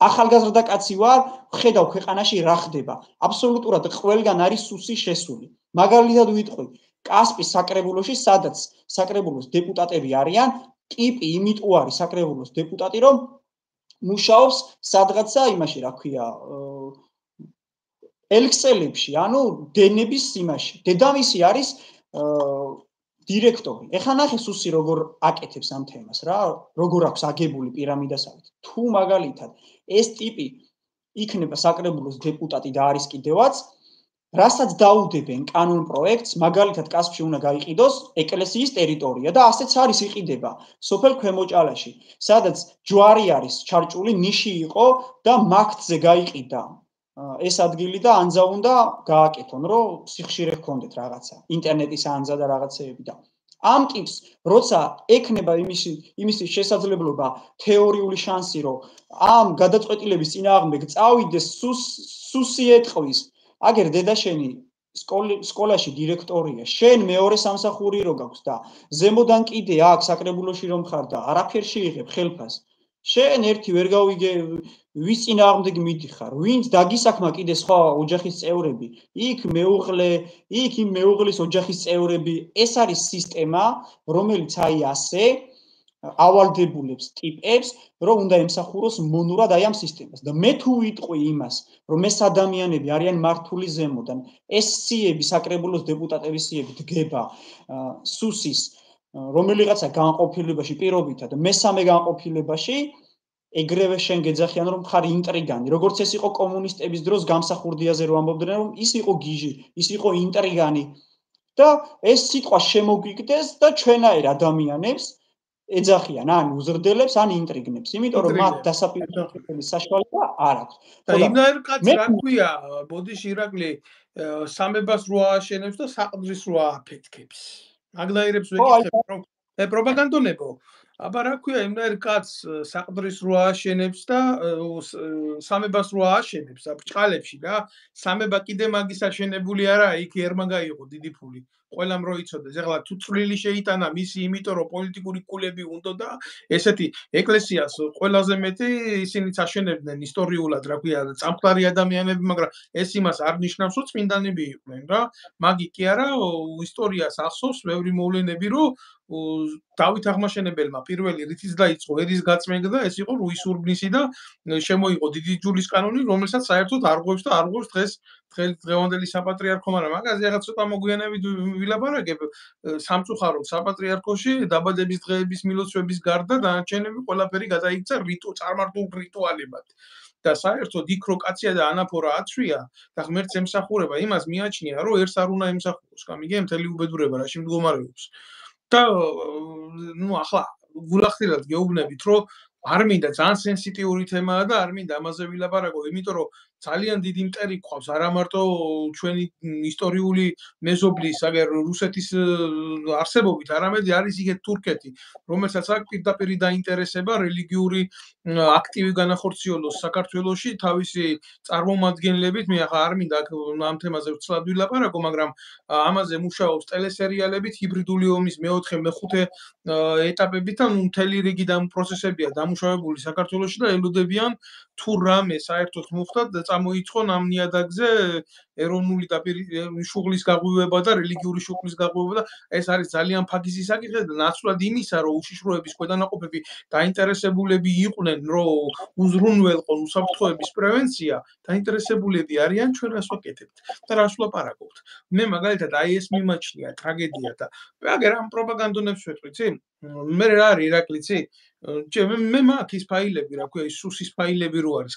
ახალგაზრდა კაცი ვარ, ხედავ ქვეყანაში რა ხდება. აბსოლუტურად ყველგან არის სუსი შესული. მაგალითად ვიტყვი, კასპის საკრებულოში, სადაც საკრებულოს დეპუტატები არიან, ტიპი იმიტომ არის საკრებულოს დეპუტატი, რომ მუშაობს სადღაცა იმაში, რა ქვია, ელქსელებში, ანუ დენების იმაში. დედამისი არის დირექტორი. ეხლა ნახე სუსი როგორ აკეთებს ამ თემას რა, როგორ აქვს აგებული პირამიდასავით. თუ მაგალითად ეს ტიპი იქნება საკრებულოს დეპუტატი და არის კიდევაც, რასაც დაუდებენ კანონ პროექტს, მაგალითად კასპში უნდა გაიყიდოს ეკლესიის ტერიტორია და ასეც არის იყიდება სოფელ ქვემოჭალაში, სადაც ჯვარი არის ჩარჭული, ნიში იყო და მაგთზე გაიყიდა ეს ადგილი და ანძა უნდა გააკეთონ, რომ სიხშირე ჰქონდეთ რაღაცა, ინტერნეტის ანძა და რაღაცეები და ამ ტიპს, როცა ექნება იმის შესაძლებლობა თეორიული შანსი, რომ ამ გადაწყვეტილების წინააღმდეგ წავიდეს, სუსი ეტყვის, აგერ დედა შენი სკოლაში დირექტორია, შენ მეორე სამსახური რო გაქვს და ზემოდან კიდე აქ საკრებულოში რომ ხარ და არაფერ შეიღებ ხელფას. შენ ერთი ვერ გავიგე ვის წინააღმდეგ მიდიხარ, ვინც დაგისაქმა კიდე სხვა ოჯახის წევრები, იქ მეუღლე, იქ იმ მეუღლის ოჯახის წევრები, ეს არის სისტემა, რომელიც აი ასე ავალდებულებს ტიპებს, რომ უნდა ემსახუროს მონურად აი ამ სისტემას. და მე თუ ვიტყვი იმას, რომ ეს ადამიანები არიან მართული ზემოდან, ეს სიები, საკრებულოს დეპუტატების სიები დგება სუსის რომელიღაცა განყოფილებაში პირობითად მესამე განყოფილებაში ეგრევე შენ გეძახიან რომ ხარ ინტრიგანი, როგორც ეს იყო კომუნისტების დროს გამსახურდიაზე რომ ამბობდნენ რომ ის იყო გიჟი, ის იყო ინტრიგანი და ეს სიტყვა შემოგვიგდეს და ჩვენაერ ადამიანებს ეძახიან ან უზრდელებს ან ინტრიგნებს, იმიტომ რომ მათ დასაპირისპირების საშუალება არ აქვს. და იმნაირ კაცს რა ქვია, ბოდიში ირაკლი სამებას რო ააშენებს და საყდრის რო ააფეთქებს. მაგნაირებს ვეკითხებ რომ პროპაგანდონებო. აბა რა ქვია, იმნაირ კაცს საყდრის რო ააშენებს და სამებას რო ააშენებს ბრჭყალებში რა. სამება კიდე მაგის აშენებული არა, იქ ერმა გაიყო დიდი ფული. ყველამ რო იცოდეს, ეხლა თუ წვლილი შეიტანა მისი, იმიტომ რომ პოლიტიკური კულები უნდა და ესეთი ეკლესიას ყველაზე მეტი ისინიც აშენებდნენ ისტორიულად, რა ქვია, წამხლარი ადამიანები, მაგრამ ეს იმას არ ნიშნავს, რომ წმინდანები იყვნენ რა. მაგი კი არა, ისტორიას ახსოვს ბევრი მოვლენები, რომ დავით აღმაშენებელმა პირველი რითიც დაიწყო ერის გაწმენდა და ეს იყო რუისურბნისი და შემოიღო დიდი ჯულის კანონი, რომელსაც საერთოდ არღვევს და არღვევს დღევანდელი საპატრიარქო, მაგრამ მაგაზე რაღაც ცოტა მოგვიანებით ვილაპარაკებ. სამწუხაროდ საპატრიარქოში დაბადების დღეების მილოცვების გარდა დანარჩენები ყველაფერი გადაიქცა წარმართულ რიტუალებად. და საერთოდ იქ რო კაცია და ანაფორა აცვია და ღმერთს ემსახურება, იმას მიაჩნია, რომ ერთს არ უნდა ემსახუროს. გამიგე მთელი უბედურება რაში მდგომარეობს. და ნუ ახლა გულახდილად გეუბნებით, რომ არ მინდა ძალიან სენსიტიური თემაა და არ მინდა ამაზე ვილაპარაკო, იმიტომ რომ ძალიან დიდი მტერი გვყავს არა მარტო ჩვენი ისტორიული მეზობლის, აგერ რუსეთის არსებობით, არამედ არის იქეთ თურქეთი, რომელსაც აქვს პირდაპირ დაინტერესება რელიგიური აქტივი განახორციელოს საქართველოში თავისი წარმომადგენლებით. მე ახლა არ მინდა ამ თემაზე ვცლად ვილაპარაკო, მაგრამ ამაზე მუშაობს ტელესერიალებით, ჰიბრიდული ომის მეოთხე, მეხუთე ეტაპებით და მთელი რიგი პროცესებია დამუშავებული საქართველოში და ელოდებიან თუ რამე საერთოდ მოხდა და წამოიწყონ ამ ნიადაგზე ეროვნული შუღლის გაღვივება და რელიგიური შუღლის გაღვივება და ეს არის ძალიან ფაქიზი საკითხი და ნაცვლად იმისა, რომ უშიშროების ქვედანაყოფები დაინტერესებულები იყვნენ, რომ უზრუნველყონ უსაფრთხოების პრევენცია, დაინტერესებულები არიან ჩვენ რას ვაკეთებთ და რას ვლაპარაკობთ. მე მაგალითად აი ეს მიმაჩნია ტრაგედია და აგერ ამ პროპაგანდონებს ვეთქვი, ცი? მე რა არის ირაკლიცი? მე მაქვს ის ფაილები, რა ქვია, ის სუსის ფაილები რო არის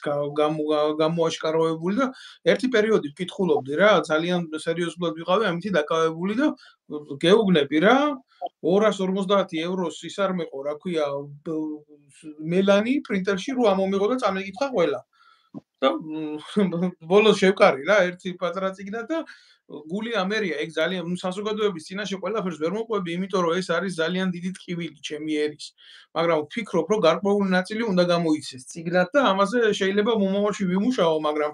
გამოაშკარავებული და ერთი პერიოდი ვკითხულობდი რა, ძალიან სერიოზულად ვიყავი ამითი დაკავებული და გეუბნები რა 250 ევროს ის არ მეყო, რა ქვია, მელანი პრინტერში რო ამომიღო და წამეკითხა ყველა. და ბოლოს შევკარი რა ერთი პატარა წიგნა და გული ამერია, ეგ ძალიან საზოგადოების წინაშე ყველაფერს ვერ მოყვები, იმიტომ რომ ეს არის ძალიან დიდი ტკივილი ჩემი ერის. მაგრამ ვფიქრობ, რომ გარკვეული ნაწილი უნდა გამოიცეს წიგნად და ამაზე შეიძლება მომავალში ვიმუშაო, მაგრამ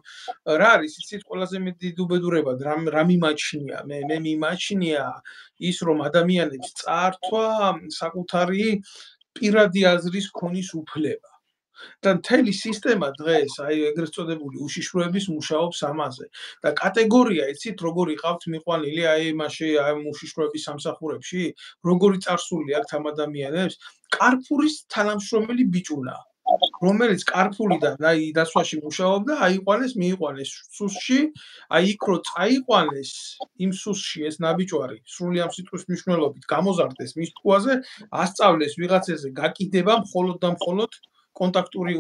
რა არის იცით ყველაზე მეტი დიდი უბედურება, რა მიმაჩნია? მე მიმაჩნია ის, რომ ადამიანებს წაართვა საკუთარი პირადი აზრის ქონის უფლება. და მთელი სისტემა დღეს აი ეგრეთ წოდებული უშიშროების მუშაობს ამაზე და კატეგორია იცით როგორი ყავთ მიყვანილი აი მასში აი უშიშროების სამსახურებში როგორი წარსული აქვს ამ ადამიანებს კარფურის თანამშრომელი ბიჭუნა რომელიც კარფულიდან აი დასვაში მუშაობდა აიყვანეს მიიყვანეს სუსში აი იქ რო წაიყვანეს იმ სუსში ეს ნაბიჯვარი სრული ამ სიტყვის მნიშვნელობით გამოზარდეს მის თქუაზე ასწავლეს ვიღაცაზე გაკიდება მხოლოდ და მხოლოდ კონტაქტური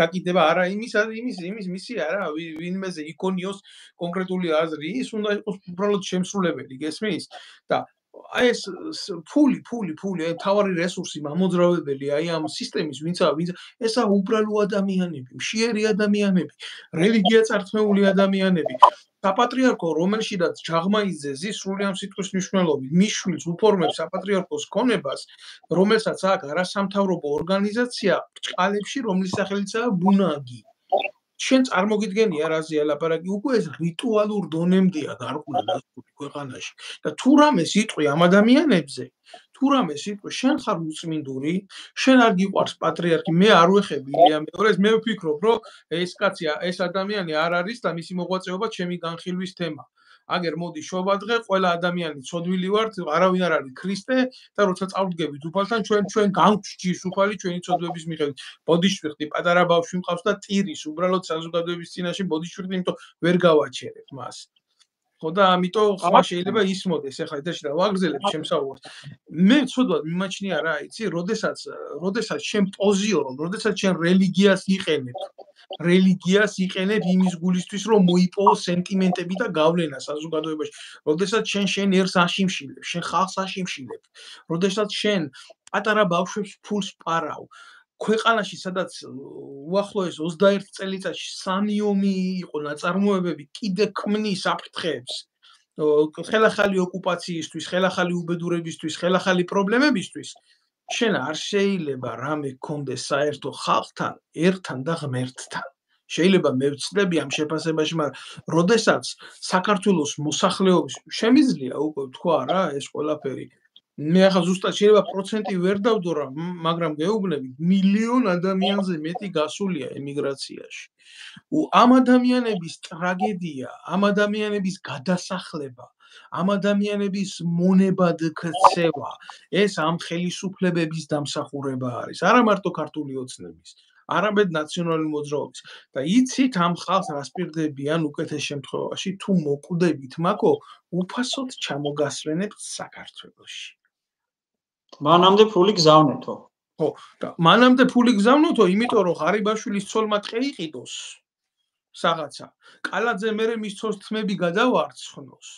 გაკიდება არა იმის მისი არა ვინმეზე იქონიოს კონკრეტული აზრი ის უნდა იყოს უბრალოდ შემსრულებელი გესმის და აი ეს ფული აი თავარი რესურსი მამოძრავებელი აი ამ სისტემის ვინცა ესა უბრალო ადამიანები მშიერი ადამიანები რელიგია წართმეული ადამიანები საპატრიარქო რომელშიდაც ჯაღმაიძე ზის სრული ამ სიტყვის მნიშვნელობით მის შვილს უფორმებს საპატრიარქოს ქონებას რომელსაც აქვს არასამთავრობო ორგანიზაცია ბრჭყალებში რომლის სახელიცაა ბუნაგი შენ წარმოგიდგენია რაზეა ლაპარაკი უკვე ეს რიტუალურ დონემდეა გარკვეულ დასკვნით ქვეყანაში და თუ რამე სიტყვი ამ ადამიანებზე თუ რამე სიტყვი შენ ხარ უწმინდური შენ არ გიყვარს პატრიარქი მე არ ვეხები ილია მეორეს მე ვფიქრობ რომ ეს კაცი ეს ადამიანი არ არის და მისი მოღვაწეობა ჩემი განხილვის თემა აგერ მოდი შობადღე ყველა ადამიანი ცოდვილი ვართ არავინ არ არის ქრისტე და როცა წავდგებით უფალთან ჩვენ განგვჭირს უფალი ჩვენი ცოდვების მიხედვით ბოდიშვიხტი პატარა ბავშვი მყავს და ტირის უბრალოდ საზოგადოების წინაშე ბოდიშვიხტი იმიტომ ვერ გავაჩერებ მას ხო და ამიტომ ხმა შეიძლება ისმოდეს ეხლა ეთერში და ვაგრძელებ შემსაუბრს მე ცოდვად მიმაჩნია რა იცი როდესაც შენ პოზიორობ როდესაც შენ რელიგიას იყენებ იმის გულისთვის რომ მოიპოვო სენტიმენტები და გავლენა საზოგადოებაში როდესაც შენ ერს აშიმშილებ შენ ხალხს აშიმშილებ როდესაც შენ პატარა ბავშვებს ფულს პარავ ქვეყანაში სადაც უახლოეს 21 წელიწადში 3 ომი იყო ნაწარმოებები კიდე ქმნის აფრთხეებს ხელახალი ოკუპაციისთვის ხელახალი უბედურებისთვის ხელახალი პრობლემებისთვის შენ არ შეიძლება რამე გქონდეს საერთო ხალხთან ერთან და ღმერთთან შეიძლება მე ვცდები ამ შეფასებაში მაგრამ როდესაც საქართველოს მოსახლეობის შემიძლია უკვე თქვა რა ეს ყველაფერი მე ახლა ზუსტად შეიძლება პროცენტი ვერ დავდო რა მაგრამ გეუბნებით მილიონ ადამიანზე მეტი გასულია ემიგრაციაში ამ ადამიანების ტრაგედია ამ ადამიანების გადასახლება ამ ადამიანების მონებად ქცევა ეს ამ ხელისუფლებების დამსახურება არის არა მარტო ქართული ოცნების არამედ ნაციონალური მოძრაობის და იცით ამ ხალხს რას პირდებიან უკეთეს შემთხვევაში თუ მოკვდებით მაკო უფასოდ ჩამოგასვენებთ საქართველოში მანამდე ფული გზავნეთო ხო, და მანამდე ფული გზავნოთო, იმიტომ რომ ღარიბაშვილის ცოლმა ტყე იყიდოს რაღაცა. კალაძე მერე მის ცოლს თმები გადავარცხნოს.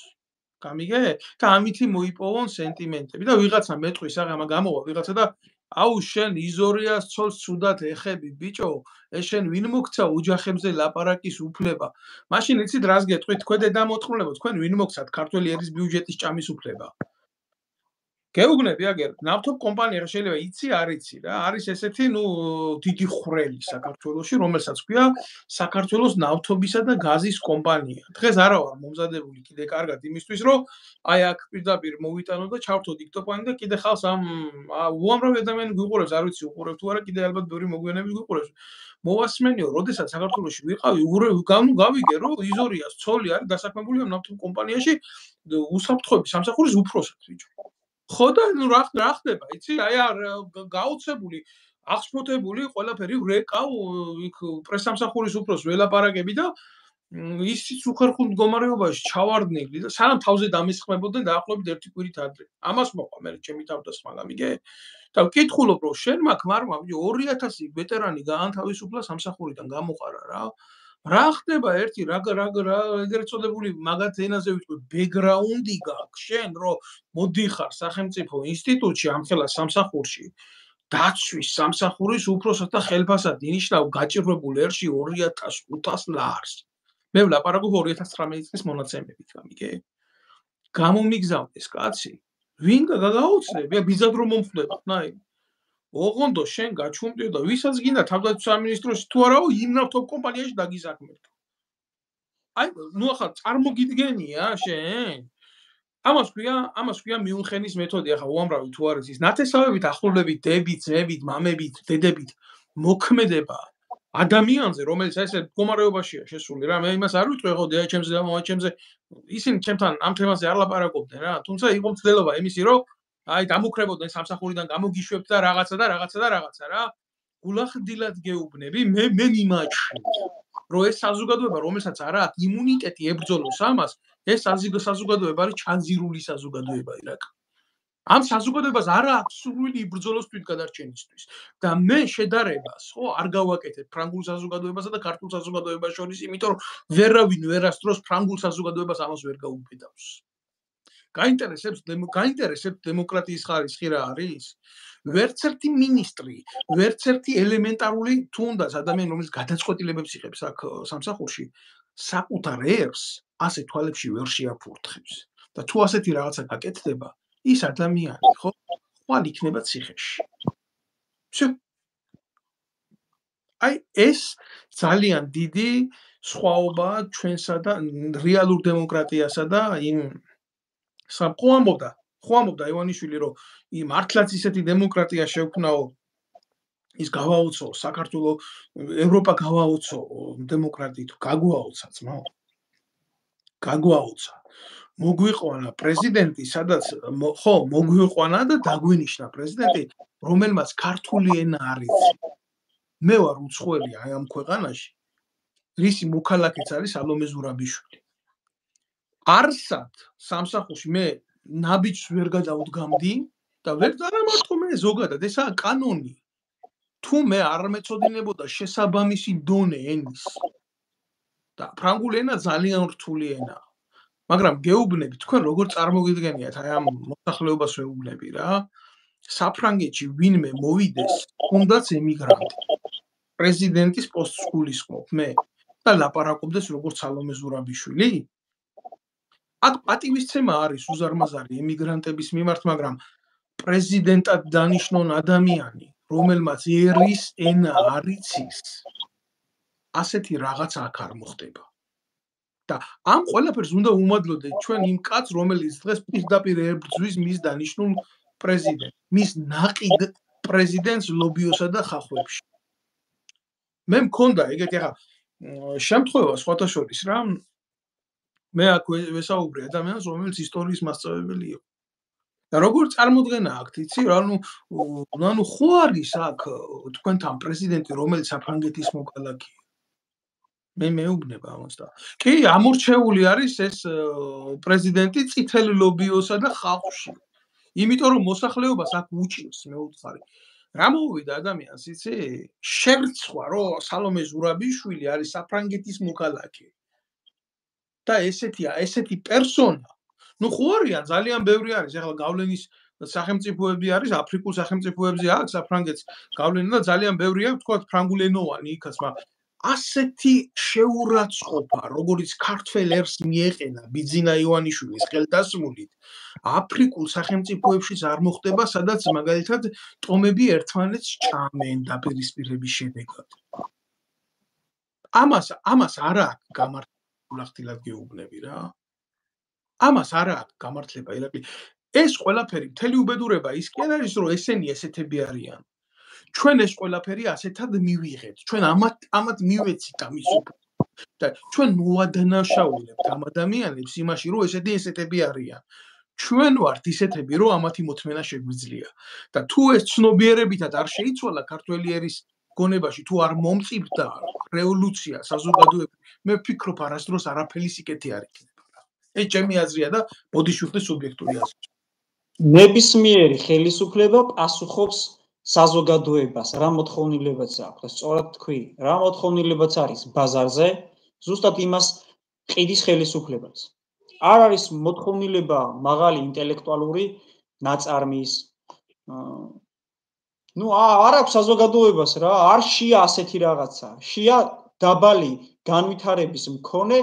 გამიგე? და ამითი მოიპოვონ სენტიმენტები და ვიღაცა მეტყვის აღამა გამოვა ვიღაცა და აუ შენ იზორიას ცოლს ცუდად ეხები ბიჭო, ეს შენ ვინ მოგცა ოჯახებზე ლაპარაკის უფლება? მაშინ იცით რას გეტყვით თქვენ დედამოწყრულებო, თქვენ ვინ მოგცათ ქართული ერის ბიუჯეტის ჭამის უფლება? გეუბნები აგერ, ნავთობ კომპანია რა შეიძლება იცი, არ იცი რა, არის ესეთი, დიდი ხვრელი საქართველოში, რომელსაც ქვია საქართველოს ნავთობისა და გაზის კომპანია. დღეს არა ვარ მომზადებული კიდე კარგად იმისთვის, რომ აი აქ პირდაპირ მოვიტანო და ჩავთო დიქტოფონი და კიდე ხალხს ამ უამრავი ადამიანი გვიყურებს, არ ვიცი უყურებ თუ არა, კიდე ალბათ ბევრი მოგვიანები გვიყურებს. მოვასმენიო, როდესაც საქართველოში ვიყავი, გავიგე, რომ იზორიას ცოლი არის დასაქმებული ამ ნავთობ კომპანიაში უსაფრთხოების სამსახურის უფროსად ბიჭო. ხო და რა ხდება, იცი? აი გაოცებული, აღშფოთებული ყველაფერი ვრეკავ იქ პრესამსახურის უფროს ველაპარაკები და ისიც უხერხულ მდგომარეობაში ჩავარდნილი და სანამ თავზე დამისხმებოდნენ დაახლოებით 1 კვირით ადრე. ამას მოყვა მე ჩემი თავდასხმა, გამიგე? და ვკითხულობ, რომ შენ მაგ მარმა 2000 ვეტერანი გაანთავისუფლა სამსახურიდან გამოყარა რა. რა ხდება ერთი ეგრეთ წოდებული მაგათ ენაზე ვიტყვი ბექგრაუნდი გაქვს შენ რომ მოდიხარ სახელმწიფო ინსტიტუტში ამხელა სამსახურში დაცვის სამსახურის უფროსად და ხელფასად ინიშნავ გაჭირვებულ ერში 2500 ლარს მე ვლაპარაკობ 2019 წლის მონაცემებით გამიგე გამომიგზავდეს კაცი ვინ გაგაოცნები ბიზად რომ მომხდება ნაი ოღონდ შენ გაჩუმდიო და ვისაც გინდა თავდაცვის სამინისტროში თუ არაო იმ ნავთობ კომპანიაში დაგიზაქმებდო. აი, ახლა წარმოგიდგენია შენ? ამას ქვია მიუნხენის მეთოდი, ახლა უამრავი თუ არის ის ნათესავებით ახლობლებით დებით, ძმებით, მამებით, დედებით მოქმედება ადამიანზე, რომელიც ესე მდგომარეობაშია შესული რა, მე იმას არ ვიტყვი, ხო, ჩემზე და მომაჩემზე ისინი ჩემთან ამ თემაზე არ ლაპარაკობდნენ რა, თუმცა იყო მცდელობა იმისი, რომ აი დამუქრებოდნენ სამსახურიდან გამოგიშვებთ და რაღაცა რა. გულახდილად გეუბნები, მე მიმაჩნია, რომ ეს საზოგადოება, რომელსაც არ აქვს იმუნიტეტი ებრძოლოს ამას, ეს საზოგადოება არის ჩანძირული საზოგადოება ირაკ. ამ საზოგადოებას არ აქვს სურვილი იბრძოლოს თვითგადარჩენისთვის და მე შედარებას, ხო, არ გავაკეთებ ფრანგულ საზოგადოებასა და ქართულ საზოგადოებას შორის, იმიტომ რომ ვერავინ ვერასდროს ფრანგულ საზოგადოებას ამას ვერ გაუბედავს. გაინტერესებს დემოკრატიის ხარისხი რა არის? ვერც ერთი მინისტრი, ვერც ერთი ელემენტარული თუნდაც ადამიანი, რომელიც გადაწყვეტილებებს იღებს აქ სამსახურში, საკუთარ ერს ასე თვალებში ვერ შეაფურთხებს. და თუ ასეთი რაღაცა გაკეთდება, ის ადამიანი, ხო, ხვალ იქნება ციხეში. აი ეს ძალიან დიდი სხვაობაა ჩვენსა და რეალურ დემოკრატიასა და იმ ხო ამბობდა ივანიშვილი რომ მართლაც ისეთი დემოკრატია შევქმნაო ის გავაოცო საქართველოს ევროპა გავაოცო დემოკრატიით გაგვაოცა ძმაო გაგვაოცა მოგვიყვანა პრეზიდენტი სადაც ხო მოგვიყვანა და დაგვინიშნა პრეზიდენტი რომელმაც ქართული ენა არ იცი მე ვარ უცხოელი აი ამ ქვეყანაში რისი მოქალაქეც არის სალომე ზურაბიშვილი არსად სამსახურში მე ნაბიჯს ვერ გადავდგამდი და ვერ დამარტო მე ზოგადად ესაა კანონი თუ მე არ მეწოდინებოდა შესაბამისი დონე ენის და ფრანგული ენა ძალიან რთული ენაა მაგრამ გეუბნები თქვენ როგორ წარმოგიდგენიათ აი ამ მოსახლეობას ვეუბნები რა საფრანგეთში ვინმე მოვიდეს თუნდაც ემიგრანტი პრეზიდენტის პოსტს გულისხმობ მე და ლაპარაკობდეს როგორც სალომე ზურაბიშვილი აქ პატივისცემა არის უზარმაზარი ემიგრანტების მიმართ, მაგრამ პრეზიდენტად დანიშნონ ადამიანი, რომელმაც ერის ენა არ იცის, ასეთი რაღაცა აქ არ მოხდება. და ამ ყველაფერს უნდა უმადლოდეთ ჩვენ იმ კაცს, რომელიც დღეს პირდაპირ ებრძვის მის დანიშნულ პრეზიდენტს, მის ნაყიდ პრეზიდენტს ლობიოსა და ხახვებში. მე მქონდა ეგეთი ახლა შემთხვევა სხვათა შორის რა მე აქ ვესაუბრე ადამიანს, რომელიც ისტორიის მასწავლებელი იყო. და როგორ წარმოდგენა აქვთ, იცი, ანუ ხო არის აქ თქვენთან პრეზიდენტი, რომელიც საფრანგეთის მოქალაქეა. მე მეუბნება ამას და კი, ამორჩეული არის ეს პრეზიდენტი წითელ ლობიოსა და ხალხში. იმიტომ რომ მოსახლეობას აქ უჭირს, მე ვუთხარი. რა მოვიდა ადამიანს, იცი? შერცხვა, რომ სალომე ზურაბიშვილი არის საფრანგეთის მოქალაქე. და ესეთი პერსონა, ნუ ხო არიან, ძალიან ბევრი არის. ეხლა გავლენის სახელმწიფოები არის, აფრიკულ სახელმწიფოებზე აქვს საფრანგეთს გავლენა და ძალიან ბევრი აქვს, თქვათ, ფრანგულენოვანი იქაც, მაგრამ ასეთი შეურაცხყოფა, როგორც ქართველ ერს მიეყენა ბიძინა ივანიშვილის ხელდასმულით, აფრიკულ სახელმწიფოებშიც არ მოხდება, სადაც მაგალითად ტომები ერთმანეთს ჭამენ დაპირისპირების შედეგად. ამას არ აქვს გამართლება ხtildeად გეუბნები რა. ამას არ აქვს გამართლება ირაკლი. ეს ყველაფერი მთელი უბედურება ის კი არ არის, რომ ესენი ესეთები არიან. ჩვენ ეს ყველაფერი ასეთად მივიღეთ. ჩვენ ამათ მივეცით ამის უფლება. და ჩვენ მოადანაშაულებთ ამ ადამიანებს იმაში, რომ ესეთები არიან. ჩვენ ვართ ისეთები, რომ ამათი მოთმენა შეგვიძლია. და თუ ეს ცნობიერებითად არ შეიცვალა ქართველი ერის გონებაში, თუ არ მომწიფდა რევოლუცია საზოგადოებრივ, მე ვფიქრობ არასდროს არაფერი სიკეთე არ იქნება. ეს ჩემი აზრია და ბოდიშვილის სუბიექტური აზრი. ნებისმიერი ხელისუფლება პასუხობს საზოგადოებას, რა მოთხოვნილებაც აქვს. სწორად თქვი, რა მოთხოვნილებაც არის ბაზარზე, ზუსტად იმას ყიდის ხელისუფლებას. არ არის მოთხოვნილება მაღალი ინტელექტუალური ნაწარმის. ნუ არ აქვს საზოგადოებას რა, არ შეა ასეთი რაღაცა. შეა დაბალი განვითარების მქონე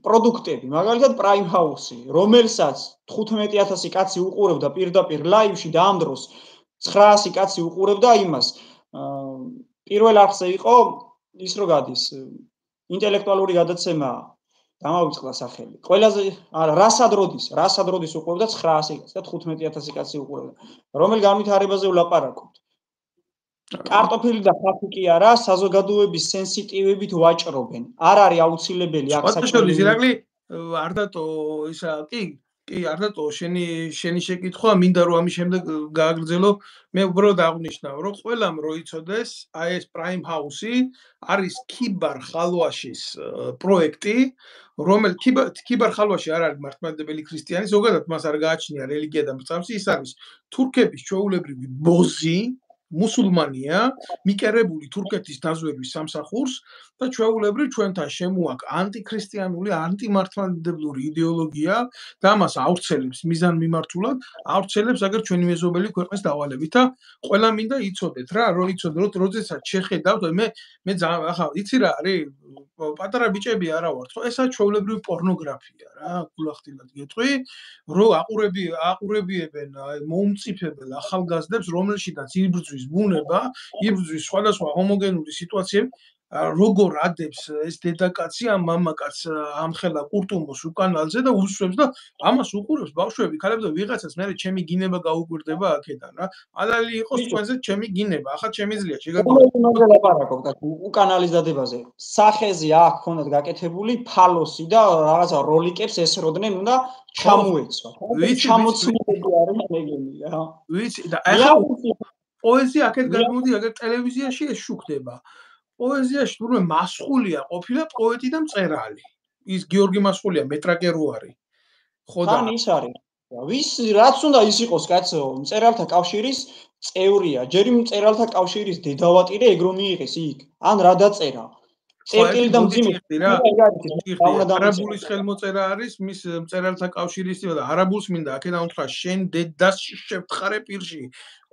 პროდუქტები, მაგალითად Prime House-ი, რომელსაც 15000 კაცი უყურებდა პირდაპირ ლაივში და ამ დროს 900 კაცი უყურებდა იმას. პირველ არხზე იყო ის რო გადის ინტელექტუალური გადაცემა დამავიწყდა სახელი. ყველაზე რასად როდის უყურებდა 900 კაცი და 15000 კაცი უყურებდა. რომელ განვითარებაზე ვლაპარაკობთ? კარტოფილი და ხალხი კი არა, საზოგადოების სენსიტივებით ვაჭრობენ. არ არის აუცილებელი აქ საჭირო ირაკლი არ დატო ისა კი არ დატო შენი შეკითხვა მინდა რომ ამის შემდეგ გააგრძელო მე უბრალოდ აღნიშნავ რომ ყველამ რო იცოდეს აი ეს Prime House-ი არის ქიბარ ხალვაშის პროექტი რომელიც ქიბარ ხალვაში არ არის მართლმადიდებელი ქრისტიანი ზოგადად მას არ გააჩნია რელიგია და მრწამსი ის არის თურქების ჩვეულებრივი ბოზი მუსულმანია მიკერებული თურქეთის დაზვერვის სამსახურს და ჩვეულებრივ ჩვენთან შემოაქვს ანტიქრისტიანული ანტიმართლმადიდებლური იდეოლოგია და ამას ავრცელებს მიზანმიმართულად ავრცელებს აგერ ჩვენი მეზობელი ქვეყნის დავალებით და ყველა მინდა იცოდეთ რა რომ იცოდეთ როდესაც შეხედავთ მე ახლა იცი რა არის პატარა ბიჭები არა ვართ ხო ესა ჩვეულებრივი პორნოგრაფია რა გულახდილად გეტყვი რომ აყურებიებენ მოუმწიფებელ ახალგაზრდებს რომელშიდაც იბრძვის ბუნება იბრძვის სხვადასხვა ჰომოგენური სიტუაციები როგორ ადებს ეს დედაკაცი ამ მამაკაც ამხელა კურტუმოს უკანალზე და უსვებს და ამას უყურებს ბავშვები ქალები და ვიღაცას მე ჩემი გინება გაუკვირდება აქედან რა ალალი იყოს თქვენზე ჩემი გინება ახლა შემიძლია შეგაგონოთ ლაპარაკობ და უკანალის დადებაზე სახეზე აქ ქონდათ გაკეთებული ფალოსი და რაღაცა როლიკებს ესროდნენ უნდა ჩამოეცვა ჩამოცნილი არის მეგენი რა ვიცი და ახლა პოეზია აქეთ გადმოდი აგერ ტელევიზიაში ეს შუქდება პოეზიაში თურმე მასხულია ყოფილა პოეტი და მწერალი. ის გიორგი მასხულია მეტრაკე რო არის. ხო და ის არის. ვის რაც უნდა ის იყოს კაცო, მწერალთა კავშირის წევრია. ჯერი მწერალთა კავშირის დედავატირე ეგრო მიიღეს იქ. ან რა დაწერა? წერტილი და მძიმე რა. არაბულის ხელმოწერა არის მის მწერალთა კავშირის და არაბულს მინდა აქედან უთხრა შენ დედას შევთხარე პირში.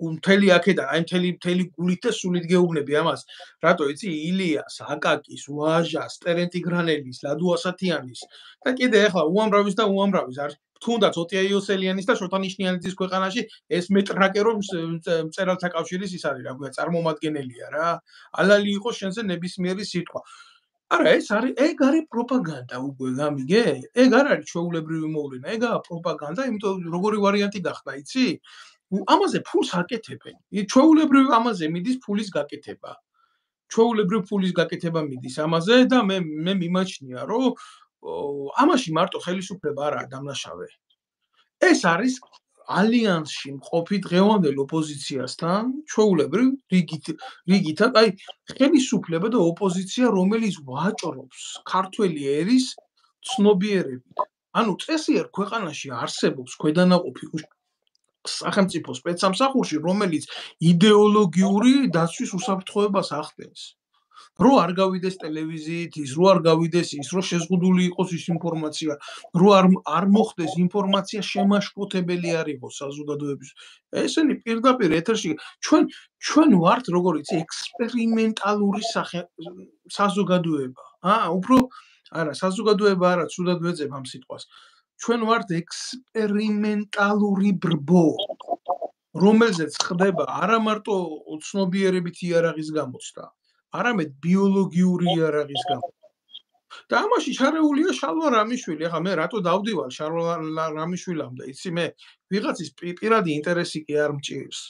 მთელი აქედან აი მთელი გულით და სულით გეუბნები ამას რატო იცი ილიას აკაკის ვაჟას ტერენტი გრანელის ლადო ასათიანის და კიდე ახლა უამრავის და უამრავის არ თუნდაც ოტია იოსელიანის და შოთა ნიშნიანიძის ქვეყანაში ეს მეტრაკე რომ მწერალთა კავშირის ის არის რა ქვია წარმომადგენელია რა ალალი იყოს შენზე ნებისმიერი სიტყვა არა ეს არის ეგ არის პროპაგანდა უკვე გამიგე ეგ არ არის ჩვეულებრივი მოვლენა ეგაა პროპაგანდა იმიტომ როგორი ვარიანტი გახდა იცი ამაზე ფულს აკეთებენ. ჩვეულებრივ ამაზე მიდის ფულის გაკეთება. ჩვეულებრივ ფულის გაკეთება მიდის ამაზე და მე მიმაჩნია, რომ ამაში მარტო ხელისუფლება არაა დამნაშავე. ეს არის ალიანსში მყოფი დღევანდელ ოპოზიციასთან, ჩვეულებრივ რიგითად, აი ხელისუფლება და ოპოზიცია, რომელიც ვაჭრობს ქართველი ერის ცნობიერებით. ანუ წესიერ ქვეყანაში არსებობს ქვედანაყოფი სახელმწიფო სპეცსამსახურში, რომელიც იდეოლოგიური დაცვის უსაფრთხოებას ახდენს. რო არ გავიდეს ტელევიზიით ის, რო არ გავიდეს ის, რო შეზღუდული იყოს ის ინფორმაცია, რო არ მოხდეს ინფორმაცია შემაშფოთებელი არ იყოს საზოგადოების. ესენი პირდაპირ ეთერში ჩვენ ვართ, როგორ იცი, ექსპერიმენტალური საზოგადოება. უფრო არა, საზოგადოება არა, ცუდად ვეძებ ამ სიტყვას. ჩვენ ვართ ექსპერიმენტალური ბრბო, რომელზეც ხდება არა მარტო ცნობიერებით იარაღის გამოცდა, არამედ ბიოლოგიური იარაღის გამოცდა. და ამაში ჩარეულია შალვა რამიშვილი. ახლა მე რატო დავდივალ შალვა რამიშვილამდე, იცი მე ვიღაცის პირადი ინტერესი კი არ მჭირს.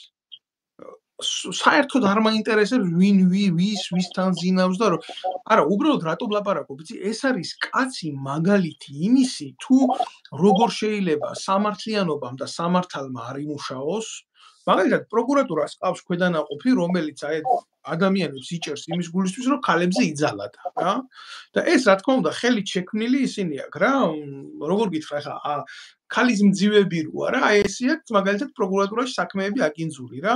საერთოდ არ მაინტერესებს ვინ ვისთან ზინავს და არა, უბრალოდ რატო ვლაპარაკობ, იცი, ეს არის კაცი მაგალითი იმისი, თუ როგორ შეიძლება სამართლიანობამ და სამართალმა არ იმუშაოს. მაგალითად, პროკურატურას ყავს ქვედანაყოფი, რომელიც ადამიანებს იჭერს იმის გულისთვის, რომ ქალებზე იძალადა, რა. და ეს რა თქმა უნდა, ხელით შექმნილი ისინი აქვს, რა. როგორ გითხრა, ხა ქალის მძივები როა რა, ესე აქვს მაგალითად პროკურატურაში საქმეები აკინძული რა.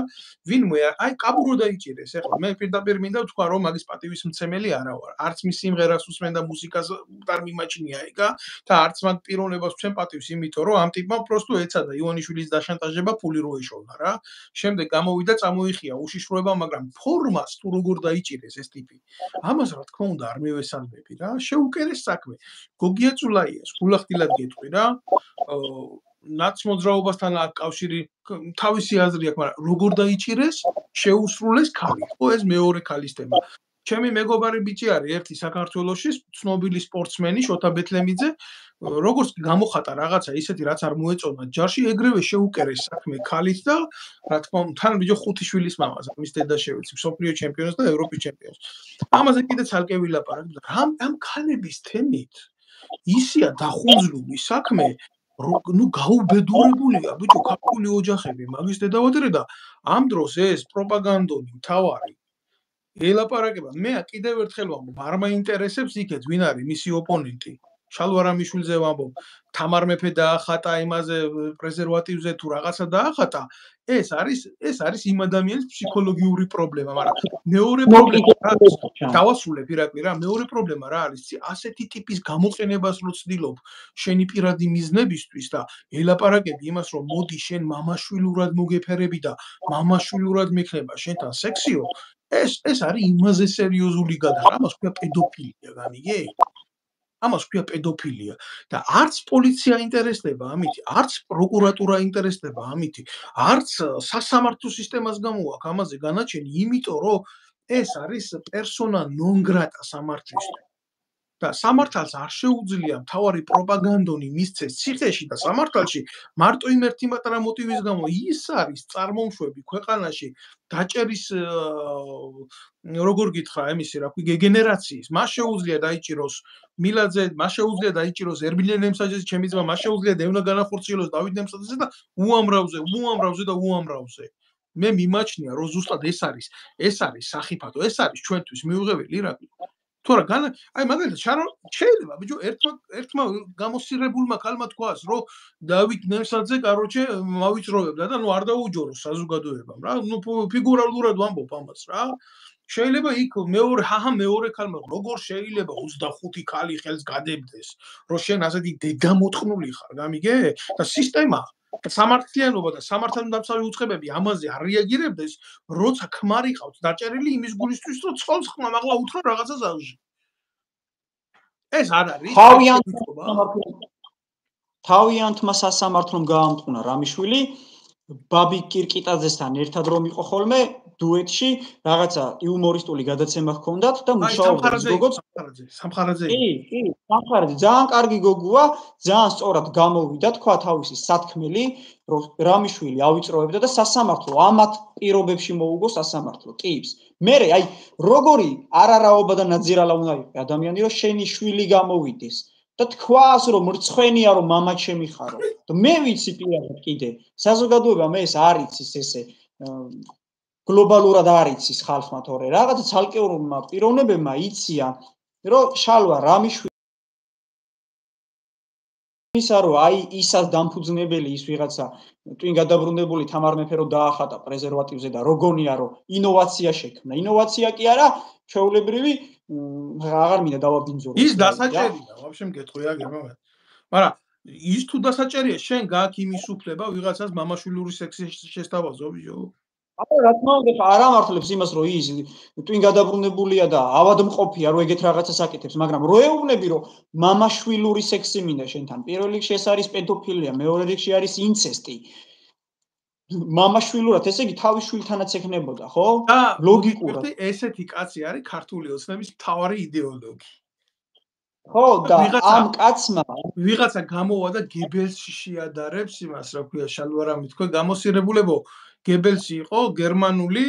ვინმე აი კაბურო დაიჭირეს, ეხლა მე პირდაპირ მინდა ვთქვა, რომ მაგის პატივისმცემელი არა ვარ. არც მის სიმღერას უსმენ და მუსიკას არ მიმაჩნია ეკა და არც მაგ პიროვნებას ვცემ პატივს, იმიტომ რომ ამ ტიპმა პროსტო ეცადა ივანიშვილის დაშანტაჟება ფული რო ეშოვნა რა. შემდეგ გამოვიდა წამოიხია უშიშროება, მაგრამ ფორმას თუ როგორ დაიჭირეს ეს ტიპი. ამას რა თქმა უნდა არ მივესალმები რა. შეუკერეს საქმე. გოგია წულაიას გულახდილად გეტყვი რა. ნაცმოძრაობასთან აქვს კავშირი, თავისი აზრი აქვს, მაგრამ როგორ დაიჭირეს, შეუსრულეს ქალი. ხო, ეს მეორე ქალის თემა. ჩემი მეგობარი ბიჭი არის ერთი საქართველოში, ცნობილი სპორტსმენი შოთა ბეთლემიძე, როგორც გამოხატა რაღაცა ისეთი, რაც არ მოეწონა ჯარში, ეგრევე შეუკერეს საქმე ქალით და რა თქმა უნდა, თან ბიჭო 5 შვილის მამას, მის დედა შევეცი, მსოფლიო ჩემპიონს და ევროპის ჩემპიონს. ამაზე კიდე ცალკე ვილაპარაკებ და ამ ქალების თემით ისია დახუნძლული საქმე, ნუ გაუბედურებულია ბიჭო ქართული ოჯახები მაგის დედავადრე და ამ დროს ეს პროპაგანდონი მთავარი ელაპარაკება. მე კიდევ ერთხელ ვამბობ, არ მაინტერესებს იქეთ ვინ არის მისი ოპონენტი. შალვა რამიშვილზე ვამბობ, თამარ მეფე დაახატა იმაზე პრეზერვატივზე თუ რაღაცა დაახატა, ეს არის იმ ადამიანის ფსიქოლოგიური პრობლემა, მაგრამ მეორე პრობლემა რა არის? დავასრულებ ირაკლი რა, მეორე პრობლემა რა არის? ასეთი ტიპის გამოყენებას რო ცდილობ შენი პირადი მიზნებისთვის და ელაპარაკები იმას, რომ მოდი შენ მამაშვილურად მოგეფერები და მამაშვილურად მექნება შენთან სექსიო, ეს არის იმაზე სერიოზული გადაღება, ამას ქვია პედოფილია, გამიგე? ამას ქვია პედოფილია და არც პოლიცია ინტერესდება ამით, არც პროკურატურა ინტერესდება ამით, არც სასამართლო სისტემას გამოაქვს ამაზე განაჩენი, იმიტომ რომ ეს არის პერსონა ნონ გრატა სამართლისთვის. და სამართალს არ შეუძლია მთავარი პროპაგანდონი მისცეს ციხეში და სამართალში მარტო იმ ერთი მატარა მოტივის გამო ის არის წარმომშვები ქვეყანაში დაჭერის როგორ გითხრა ემისი რა ქვია გენერაციის მას შეუძლია დაიჭიროს მილაძე მას შეუძლია დაიჭიროს ერბილე ნემსაჯეს ჩემი ძმა მას შეუძლია დევნა განახორციელოს დავით ნემსაძეზე და უამრავზე მე მიმაჩნია რომ ზუსტად ეს არის სახიფათო ეს არის ჩვენთვის მიუღებელი ირაკლი თორე აი მაგალითად შეიძლება ბიჭო ერთმა გამოსირებულმა ქალმა თქვას რომ დავით ნემსაძე კაროჩე მავიწროვებდა და ნუ არ დაუჯოროს საზოგადოებამ რა ნუ ფიგურალურად ვამბობ ამას რა შეიძლება იქ მეორე ქალმა როგორ შეიძლება 25 ქალი ხელს გადებდეს რომ შენ ასეთი დედამოთხნული ხარ გამიგე და სისტემა სამართლიანობა და სამართალდამცავი უწყებები ამაზე არ რეაგირებდეს, როცა ქმარი ყავთ დაჭერილი იმის გულისთვის, რომ ცოლს ხმა მაღლა უთრო რაღაცა ზავში. ეს არ არის. თავიანთმა სასამართლომ გაამტყუნა რამიშვილი, ბაბი კირკიტაძესთან ერთად რომ იყო ხოლმე დუეტში, რაღაცა იუმორისტული გადაცემა ჰქონდათ და მუშაობდა როგორც სამხარაძე. კი, სამხარაძე ძალიან კარგი გოგოა, ძალიან სწორად გამოვიდა, თქვა თავისი სათქმელი, რომ რამიშვილი ავიწროებდა და სასამართლო ამათ პირობებში მოუგო სასამართლო ტიპს. მე აი როგორი არარაობა და ნაძირალა უნდა იყოს ადამიანი, რომ შენი შვილი გამოვიდეს და თქვას რომ მრცხვენია რომ მამა ჩემი ხარო. და მე ვიცი პირადად კიდე საზოგადოება მე ეს არ იცის ესე გლობალურად არ იცის ხალხმა თორე რაღაცა ცალკეულმა პიროვნებებმა იციან რომ შალვა რამიშვილი ისა რომ აი ისაც დამფუძნებელი ის ვიღაცა twin გადაბრუნებული თამარ მეფე რო დაახატა პრეზერვატივზე და როგორია რომ ინოვაცია შექმნა. ინოვაცია კი არა, ჩვეულებრივი აღარ მინდა დავაბინძურო. ის დასაჭერია, ვაფშე მგეთხვია გემო. მაგრამ ის თუ დასაჭერია, შენ გააქვს იმის უფლება ვიღაცას მამაშვილური სექსი შესთავაზო, ბიჭო. რა თქმა უნდა, არ ამართლებს იმას, რომ ის twin გადაბრუნებულია და ავადმყოფია, რომ ეგეთ რაღაცას აკეთებს, მაგრამ რო ეუბნები, რომ მამაშვილური სექსი მინდა შენთან, პირველ რიგში ეს არის პედოფილია, მეორე რიგში არის ინცესტი. მამაშვილურად, ესე იგი თავის შვილთანაც ეკნებოდა, ხო? ლოგიკურად. ესეთი კაცი არის ქართული ოცნების მთავარი იდეოლოგი. ხო, და ამ კაცმა ვიღაცა გამოვა და გებელსში შეადარებს იმას, რა ქვია, შალვარამი თქვა, გამოსირებულებო გებელსი იყო გერმანული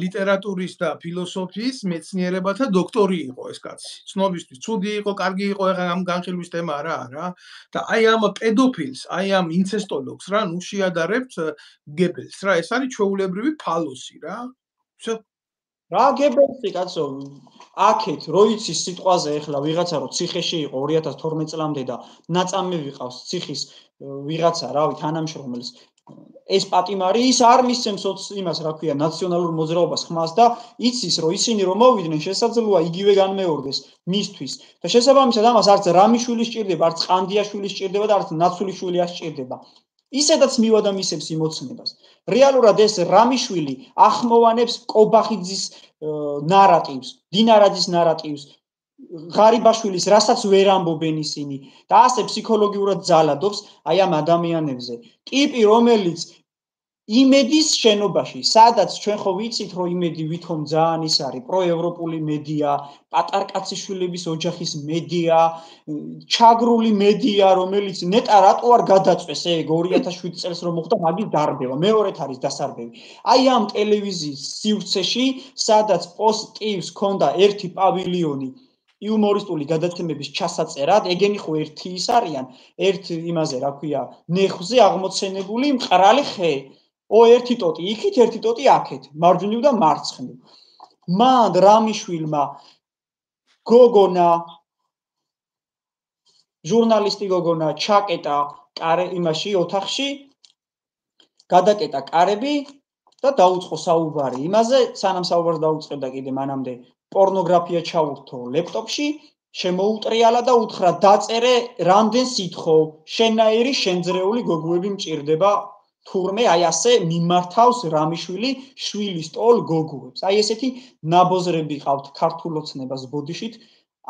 ლიტერატურის და ფილოსოფიის მეცნიერებათა დოქტორი იყო ეს კაცი. ცნობისთვის ცუდი იყო, კარგი იყო, ეხლა ამ განხილვის თემა არა. და აი ამ პედოფილს, აი ამ ინცესტოლოგს რა, ნუ შეადარებთ გებელს რა, ეს არის ჩვეულებრივი ფალოსი რა. всё. რა გებელსი კაცო, აქეთ რო იცის სიტყვაზე ეხლა ვიღაცა რო ციხეში იყო 2012 წლამდე და ნაწამი ვიყავს ციხის ვიღაცა, რავი, თანამშრომელს ეს პატიმარი ის არ მისცემს იმას, რა ქვია, ნაციონალურ მოძრაობას ხმას და იცის, რომ ისინი რომ მოვიდნენ, შესაძლოა იგივე განმეორდეს მისთვის. და შესაბამისად ამას არც რამიშვილი სჭირდება, არც ყანდიაშვილი სჭირდება და არც ნაცულიშვილი არ სჭირდება. ისედაც მივა და მისცემს იმოცნებას. რეალურად ეს რამიშვილი ახმოვანებს კობახიძის ნარატივს, დინარაძის ნარატივს, ღარიბაშვილის, რასაც ვერ ამბობენ ისინი და ასე ფსიქოლოგიურად ძალადობს აი ამ ადამიანებზე. ტიპი, რომელიც იმედის შენობაში, სადაც ჩვენ ხო ვიცით, რომ იმედი ვითომ ძალიან ის არის პროევროპული მედია, პატარკაციშვილების ოჯახის მედია, ჩაგრული მედია, რომელიც ნეტა რატო არ გადაწვეს ეგ 2007 წელს რომ მოხდა მაგის დარბევა, მეორეთ არის დასარბევი. აი ამ ტელევიზიის სივრცეში, სადაც პოსტივს ჰქონდა ერთი პავილიონი იუმორისტული გადაცემების ჩასაწერად, ეგენი ხო ერთი ის არიან, ერთ იმაზე, რა ქვია, ნეხვზე აღმოცენებული მყრალი ხე. ერთი ტოტი იქით, ერთი ტოტი აქეთ, მარჯვნივ და მარცხნივ. მან რამიშვილმა გოგონა ჟურნალისტი გოგონა ჩაკეტა იმაში ოთახში, გადაკეტა კარები და დაუწყო საუბარი იმაზე, სანამ საუბარს დაუწყებდა კიდე მანამდე პორნოგრაფია ჩაურთო ლეპტოპში, შემოუტრიალა და უთხრა დაწერე რამდენ სითხო, შენაირი შენძრეული გოგოები მჭირდება თურმე აი ასე მიმართავს რამიშვილი შვილის ტოლ გოგოებს. აი ესეთი ნაბოზრები ყავთ ქართულ ოცნებას ბოდიშით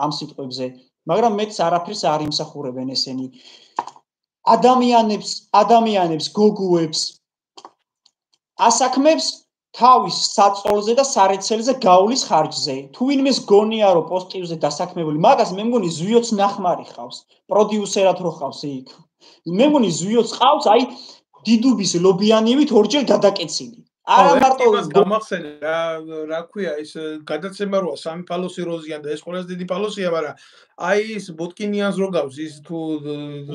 ამ სიტყვებზე, მაგრამ მეც არაფერს არ იმსახურებენ ესენი. ადამიანებს გოგოებს ასაქმებს თავის საწოლზე და სარეცელზე გავლის ხარჯზე. თუ ვინმეს გონია რომ პოსტივზე დასაქმებული, მაგას მე მგონი ზვიოც ნახმარი ხავს, პროდიუსერად რო ხავს იქ. მე მგონი ზვიოც ყავს, აი დიდუბის ლობიანივით ორჯერ გადაკეცილი. არა მარტო გამახსენე რა ქვია ის გადაცემა როა სამი ფალოსი როზიან და ეს ყველაზე დიდი ფალოსია, მაგრამ აი ის ბოტკინიანს რო გავს ის თუ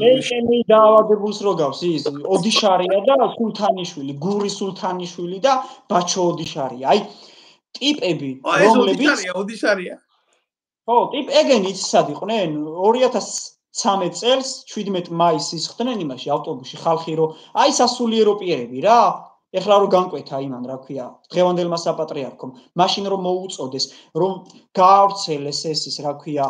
ლეშენი დაავადებულს რო გავს ის ოდიშარია და სულთანიშვილი, გური სულთანიშვილი და ბაჩო ოდიშარია. აი ტიპები რომლებიც ოდიშარია. ხო, ეგენი იცისად იყვნენ 2013 წელს 17 მაისს ხდნენ იმაში ავტობუსში ხალხი რო აი სასულიერო პირები რა ეხლა რო განკვეთა იმან რა ქვია დღევანდელმა საპატრიარქომ მაშინ რომ მოუწოდეს რომ გაავრცელეს ეს რა ქვია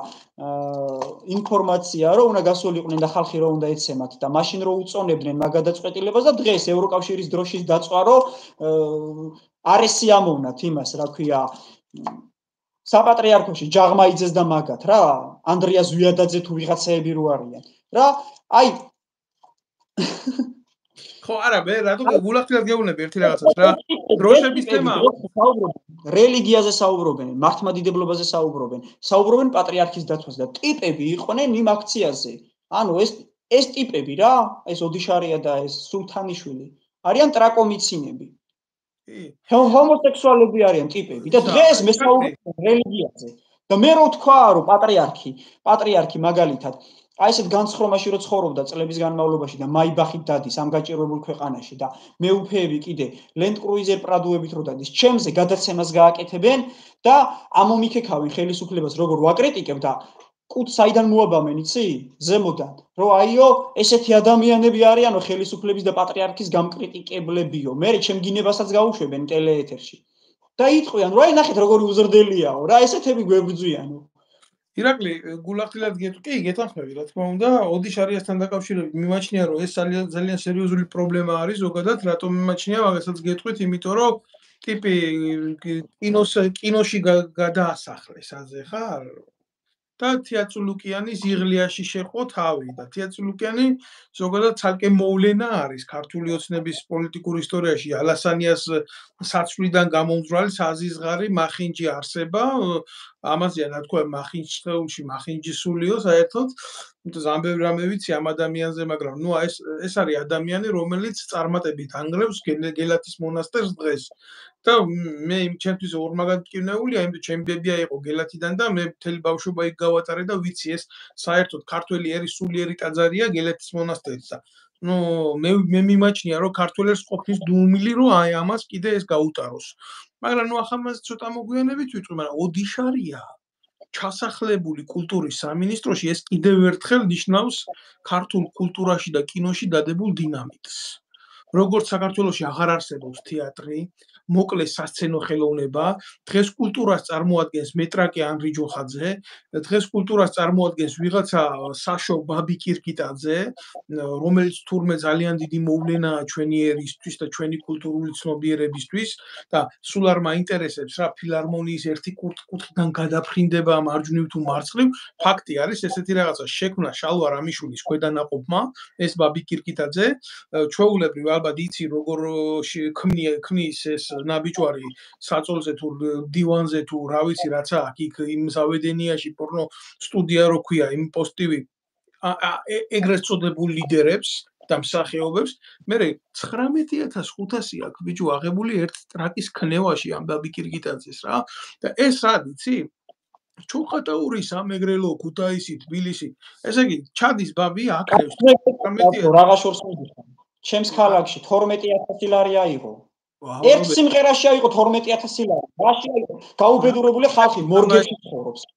ინფორმაცია რომ უნდა გასულიყვნენ და ხალხი რო უნდა ეცემათ და მაშინ რო უწონებდნენ მაგ გადაწყვეტილებას და დღეს ევროკავშირის დროშის დაწვა რო არ ესიამოვნათ იმას რა ქვია საპატრიარქოში ჯაღმაიძეს და მაგათ რა ანდრია ზვიადაძე თუ ვიღაცაები რო არიან რა აი ხო არა მე რატო გულახდილად გეუბნები ერთი რაღაცას რა დროშების თემა რელიგიაზე საუბრობენ მართლმადიდებლობაზე საუბრობენ პატრიარქის დაცვას და ტიპები იყვნენ იმ აქციაზე ანუ ეს ტიპები რა ეს ოდიშარია და ეს სულთანიშვილი არიან ტრაკომიცინები ჰომოსექსუალები არიან ტიპები და დღეს მე საუბრობ რელიგიაზე და მე რო თქვა რომ პატრიარქი მაგალითად აი ესეთ განცხრომაში რო ცხოვრობდა წლების განმავლობაში და მაიბახით დადის ამ გაჭირვებულ ქვეყანაში და მეუფეები კიდე Land Cruiser პრადუებით რო დადის ჩემზე გადაცემას გააკეთებენ და ამომიქექავენ ხელისუფლებას როგორ ვაკრიტიკებ და კუთ საიდან მოაბამენ, იცი? ზემოდან. რომ აიო, ესეთი ადამიანები არიანო ხელისუფლების და პატრიარქის გამკრიტიკებლებიო. მე ჩემ გინებასაც გაუშვებენ ტელეეთერში. და იტყვიან, რომ აი ნახეთ როგორი უზრდელიაო, რა ესეთები გვებრძვიანო. ირაკლი, გულახდილად კი, გეთანხმები, რა თქმა უნდა, ოდიშარიასთან დაკავშირებით მიმაჩნია, რომ ეს ძალიან სერიოზული პრობლემა არის ზოგადად, რატომ მიმაჩნია, მაგასაც გეტყვით, იმიტომ რომ ტიპი კინოში გადაასახლეს აზე ხარ? და თეატრულუკიანი ზიღლიაში შეყო თავი და თეატრულუკიანი ზოგადად ცალკე მოვლენა არის ქართული ოცნების პოლიტიკურ ისტორიაში ალასანიას საცვლიდან გამომძვრალი საზიზღარი მახინჯი არსება ამაზეა რა თქვა მახინჯში მახინჯისულიო საერთოდ ზამბევ რამე ვიცი ამ ადამიანზე მაგრამ ნუ ეს არის ადამიანი რომელიც წარმატებით ანგრევს გელათის მონასტერს დღეს და მე ჩემთვის ორმაგად მტკივნეულია, იმიტომ ჩემი ბებია იყო გელათიდან და მე მთელი ბავშვობა იქ გავატარე და ვიცი ეს საერთოდ ქართველი ერის სულიერი ტაძარია გელათის მონასტერიც და ნუ მე მიმაჩნია რომ ქართველებს ყოფნის დუმილი რომ აი ამას კიდე ეს გაუტაროს. მაგრამ ნუ ახლა მას ცოტა მოგვიანებით ვიტყვი, მაგრამ ოდიშარია ჩასახლებული კულტურის სამინისტროში ეს კიდევ ერთხელ ნიშნავს ქართულ კულტურაში და კინოში დადებულ დინამიკს. როგორც საქართველოში აღარ არსებობს თეატრი, მოკლე სასცენო ხელოვნება, დღეს კულტურას წარმოადგენს მეტრაკე ანრი ჯოხაძე, დღეს კულტურას წარმოადგენს ვიღაცა საშო ბაბი კირკიტაძე, რომელიც თურმე ძალიან დიდი მოვლენაა ჩვენი ერისთვის და ჩვენი კულტურული ცნობიერებისთვის და სულ არ მაინტერესებს რა ფილარმონიის ერთი კუთხიდან გადაფრინდება მარჯვნივ თუ მარცხნივ, ფაქტი არის ესეთი რაღაცა შექმნა შალვა რამიშვილის ქვედანაყოფმა, ეს ბაბი კირკიტაძე, ჩვეულებრივ ალბათ იცი როგორ ქმნის ეს ნაბიჯვარი საწოლზე თუ დივანზე თუ რა ვიცი რაცა აქ იმ ზავედენიაში პორნო სტუდია რო ქვია იმ პოსტივი ეგრეთ წოდებულ ლიდერებს და მსახიობებს მე 19500 აქვს ბიჭო აღებული ერთ ტრაკის ქნევაში ამ ბაბი კირკიტაძეს რა და ეს რა იცი ჩოხატაურის ამეგრელო ქუთაისი თბილისი ესე იგი ჩადის ბაბი აკრევს 19000 რაღა შორს მიდიხარ ჩემს ქალაქში 12000 ლარი აიღო ერთ სიმღერაში აიღო 12000 ლარი რაში აიღო გაუბედურებული ხალხი მორგებში ცხოვრობს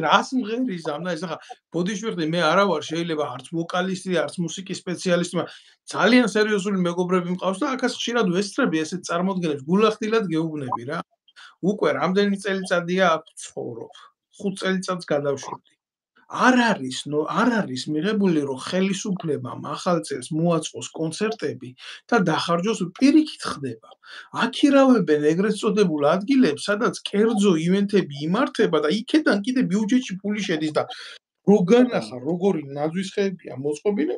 რას მღერის ამ და ეს ახლა ბოდიშვილი მე არა ვარ შეიძლება არც ვოკალისტი არც მუსიკის სპეციალისტი მაგრამ ძალიან სერიოზული მეგობრები მყავს და აქაც ხშირად ვესწრები ესეთ წარმოდგენებს გულახდილად გეუბნები რა უკვე რამდენი წელიწადია აქ ცხოვრობ 5 წელიწადს გადავშვები არ არის მიღებული რომ ხელისუფლებამ ახალ წელს მოაწყოს კონცერტები და დახარჯოს პირიქით ხდება აქირავებენ ეგრეთ წოდებულ ადგილებს სადაც კერძო ივენთები იმართება და იქიდან კიდე ბიუჯეტში ფული შედის და როგანახა როგორი ნაძვისხეებია მოწყობილი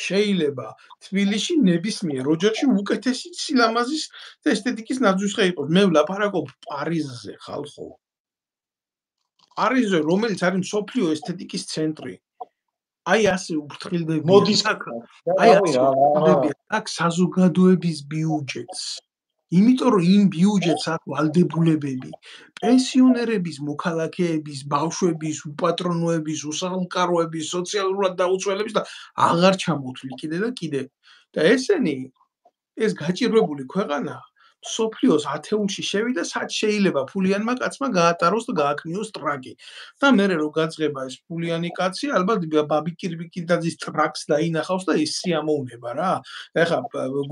შეიძლება თბილისში ნებისმიერ ოჯახში უკეთესი სილამაზის და ესთეტიკის ნაძვისხე იყოს მე ვლაპარაკობ პარიზზე ხალხო პარიზზე რომელიც არის მსოფლიო ესთეტიკის ცენტრი აი ასე უფრთხილდება მოდის აქ საზოგადოების ბიუჯეტს იმიტომ რომ იმ ბიუჯეტს აქვს ვალდებულებები პენსიონერების მოქალაქეების ბავშვების უპატრონოების უსახლკაროების სოციალურად დაუცველების და აღარ ჩამოთვლი კიდე და კიდე და ესენი ეს გაჭირვებული ქვეყანა სოფლიოს ათეულში შევიდა სად შეიძლება ფულიანმა კაცმა გაატაროს და გააკნიოს ტრაკი და მე რო გაძღება ეს ფულიანი კაცი ალბათ ბაბი კირკიტაძის ტრაკს დაინახავს და ის სიამოვნება რა ეხა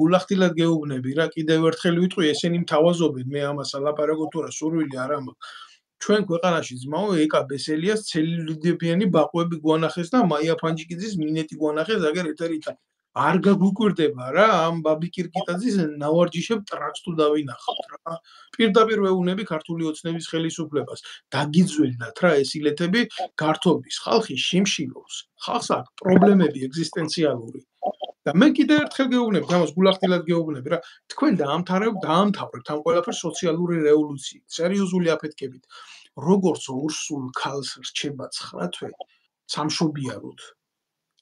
გულახდილად გეუბნები რა კიდევ ერთხელ ვიტყვი ესენი მთავაზობენ მე ამას ალაპარაკო თუ რა სურვილი არ ამაქვს ჩვენ ქვეყანაში ძმაო ეკა ბესელიას ცელულიდებიანი ბაყვები გვანახეს და მაია ფანჯიკიძის მინეტი გვანახეს აგერ ეთერით არ გაგვიკვირდება რა ამ ბაბი კირკიტაძის ნავარჯიშებ ტრაკს თუ დავინახავთ რა პირდაპირ ვეუბნები ქართული ოცნების ხელისუფლებას დაგიძველნათ რა ეს ილეთები გართობის ხალხი შიმშილობს ხალხს აქვს პრობლემები ეგზისტენციალური და მე კიდევ ერთხელ გეუბნები ამას გულახდილად გეუბნები რა თქვენ დაამთავრებთ ამ ყველაფერს სოციალური რევოლუციით სერიოზული აფეთქებით როგორც ორსულ ქალს რჩება 9 თვე სამშობიაროდ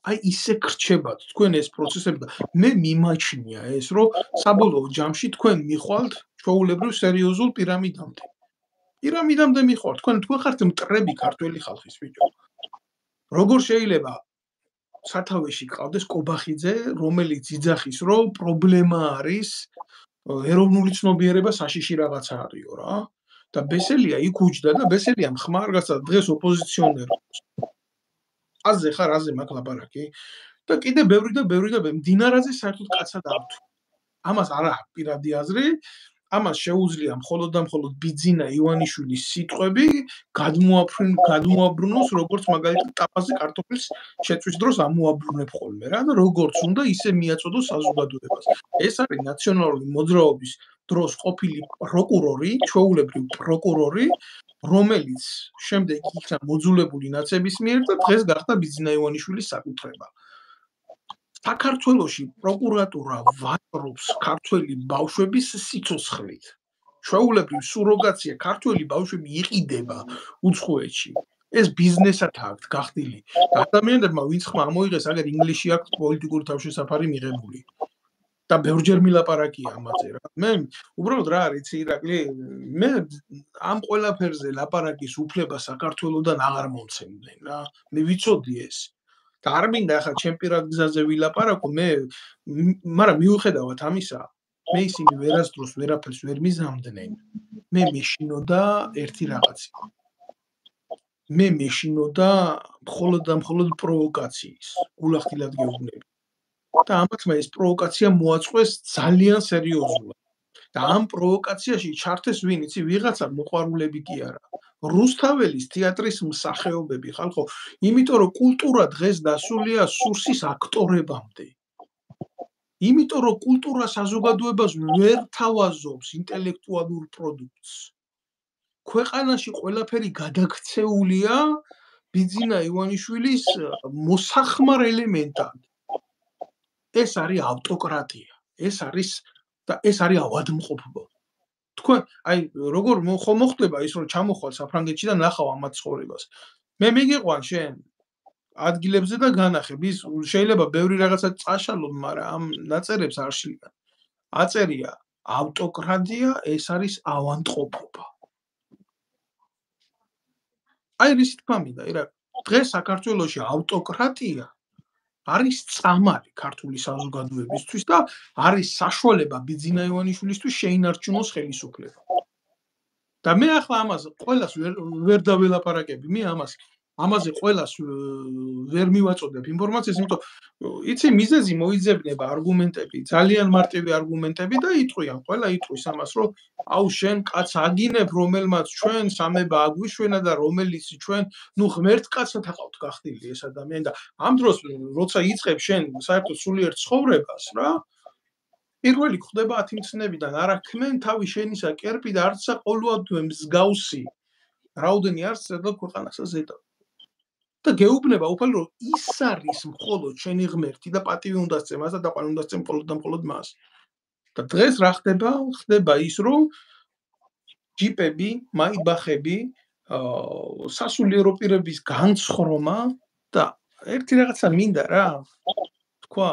აი ისე გრჩებათ თქვენ ეს პროცესები და მე მიმაჩნია ეს რომ საბოლოო ჯამში თქვენ მიხვალთ ჩვეულებრივ სერიოზულ პირამიდამდე მიხვალთ თქვენ ხართ მტრები ქართველი ხალხის ბიჭო როგორ შეიძლება სათავეში ყავდეს კობახიძე რომელიც იძახის რომ პრობლემა არის ეროვნული ცნობიერება საშიში რაღაცა არისო რა და ბესელია იქ უჯდა და ბესელიამ ხმარ გასცა დღეს ოპოზიციონერი. აზე ხარ, აზე მაგ ლაპარაკი და კიდე ბევრი და მდინარაზე საერთოდ კაცად არ თუ. ამას არა პირადი აზრი, ამას შეუძლია მხოლოდ და მხოლოდ ბიძინა ივანიშვილის სიტყვები გადმოაბრუნოს როგორც მაგალითად ტაფაზე კარტოფილს შეწვის დროს ამოაბრუნებ ხოლმე რა და როგორც უნდა ისე მიაწოდოს საზოგადოებას. ეს არის ნაციონალური მოძრაობის დროს ყოფილი პროკურორი, ჩვეულებრივ პროკურორი, რომელიც შემდეგ იქნა მოძულებული ნაცების მიერ და დღეს გახდა ბიძინა ივანიშვილის საკუთრება. საქართველოში პროკურატურა ვაჭრობს ქართველი ბავშვების სიცოცხლით. ჩვეულებრივ სუროგაცია ქართველი ბავშვები იყიდება უცხოეთში. ეს ბიზნესად აქვს გახდილი. და ადამიანებმა ვინც ხმა ამოიღეს, აგერ ინგლისში აქვს პოლიტიკური თავშესაფარი მიღებული. და ბევრჯერ მილაპარაკია ამაზე რა. მე უბრალოდ რა არის, ირაკლი, მე ამ ყველაფერზე ლაპარაკის უფლება საქართველოსდან აღარ მომცემდნენ რა. მე ვიცოდი ეს. და არ მინდა ახლა ჩემ პირად გზაზე ვილაპარაკო, მაგრამ მიუხედავად ამისა, მე ისინი ვერასდროს ვერაფერს ვერ მიზამდნენ. მე მეშინოდა ერთი რაღაცა. მე მეშინოდა მხოლოდ და მხოლოდ პროვოკაციის, გულახდილად გეუბნები. და ამათმა ეს პროვოკაცია მოაწყვეს ძალიან სერიოზულად. და ამ პროვოკაციაში ჩართეს ვინ იცი, ვიღაცა მოყვარულები კი არა. რუსთაველის თეატრის მსახიობები ხალხო, იმიტომ რომ კულტურა დღეს დასულია სურსის აქტორებამდე. იმიტომ რომ კულტურა საზოგადოებას ვერ თავაზობს ინტელექტუალურ პროდუქტს. ქვეყანაში ყველაფერი გადაქცეულია ბიძინა ივანიშვილის მოსახმარ ელემენტად. ეს არის ავტოკრატია. ეს არის ავადმყოფობა. თქვენ აი როგორ მოხდება ის რომ ჩამოხვალ საფრანგეთში და ნახავ ამათ ცხოვრებას. მე მიგიყვან შენ ადგილებზე და განახებ ის შეიძლება ბევრი რაღაცა წაშალო, მაგრამ ამ ნაწერებს არ შლიან. აწერია ავტოკრატია, ეს არის ავადმყოფობა. აი რის თქმა მინდა, დღეს საქართველოში ავტოკრატია არის წამალი ქართული საზოგადოებისთვის და არის საშუალება ბიძინა ივანიშვილისთვის შეინარჩუნოს ხელისუფლება. და მე ახლა ამას ყველას ვერ დაველაპარაკები, მე ამაზე ყველას ვერ მივაწოდებ ინფორმაციას, იმიტომ იცი მიზეზი მოიძებნება არგუმენტები, ძალიან მარტივი არგუმენტები და იტყვიან, ყველა იტყვის ამას, რომ აუ შენ კაც აგინებ, რომელმაც ჩვენ სამება აგვიშვენა და რომელიც ჩვენ ღმერთ კაცად აყავთ გახდილი ეს ადამიანი და ამ დროს როცა იწყებ შენ საერთოდ სულიერ ცხოვრებას რა, პირველი ხდება 10 მცნებიდან, არა ქმენ თავი შენისა კერპი და არცა ყოლუადვე მსგავსი. რაოდენი არც ზედა ქვეყანასა ზედა. და გეუბნება უფალ რომ ის არის მხოლოდ შენი ღმერთი და პატივი უნდა სცემ, ასა და ყველა უნდა სცემ მხოლოდ და მხოლოდ მას. და დღეს რა ხდება? ხდება ის რომ ჯიპები, მაიბახები, სასულიერო პირების განცხრომა და ერთი რაღაცა მინდა რა. თქვა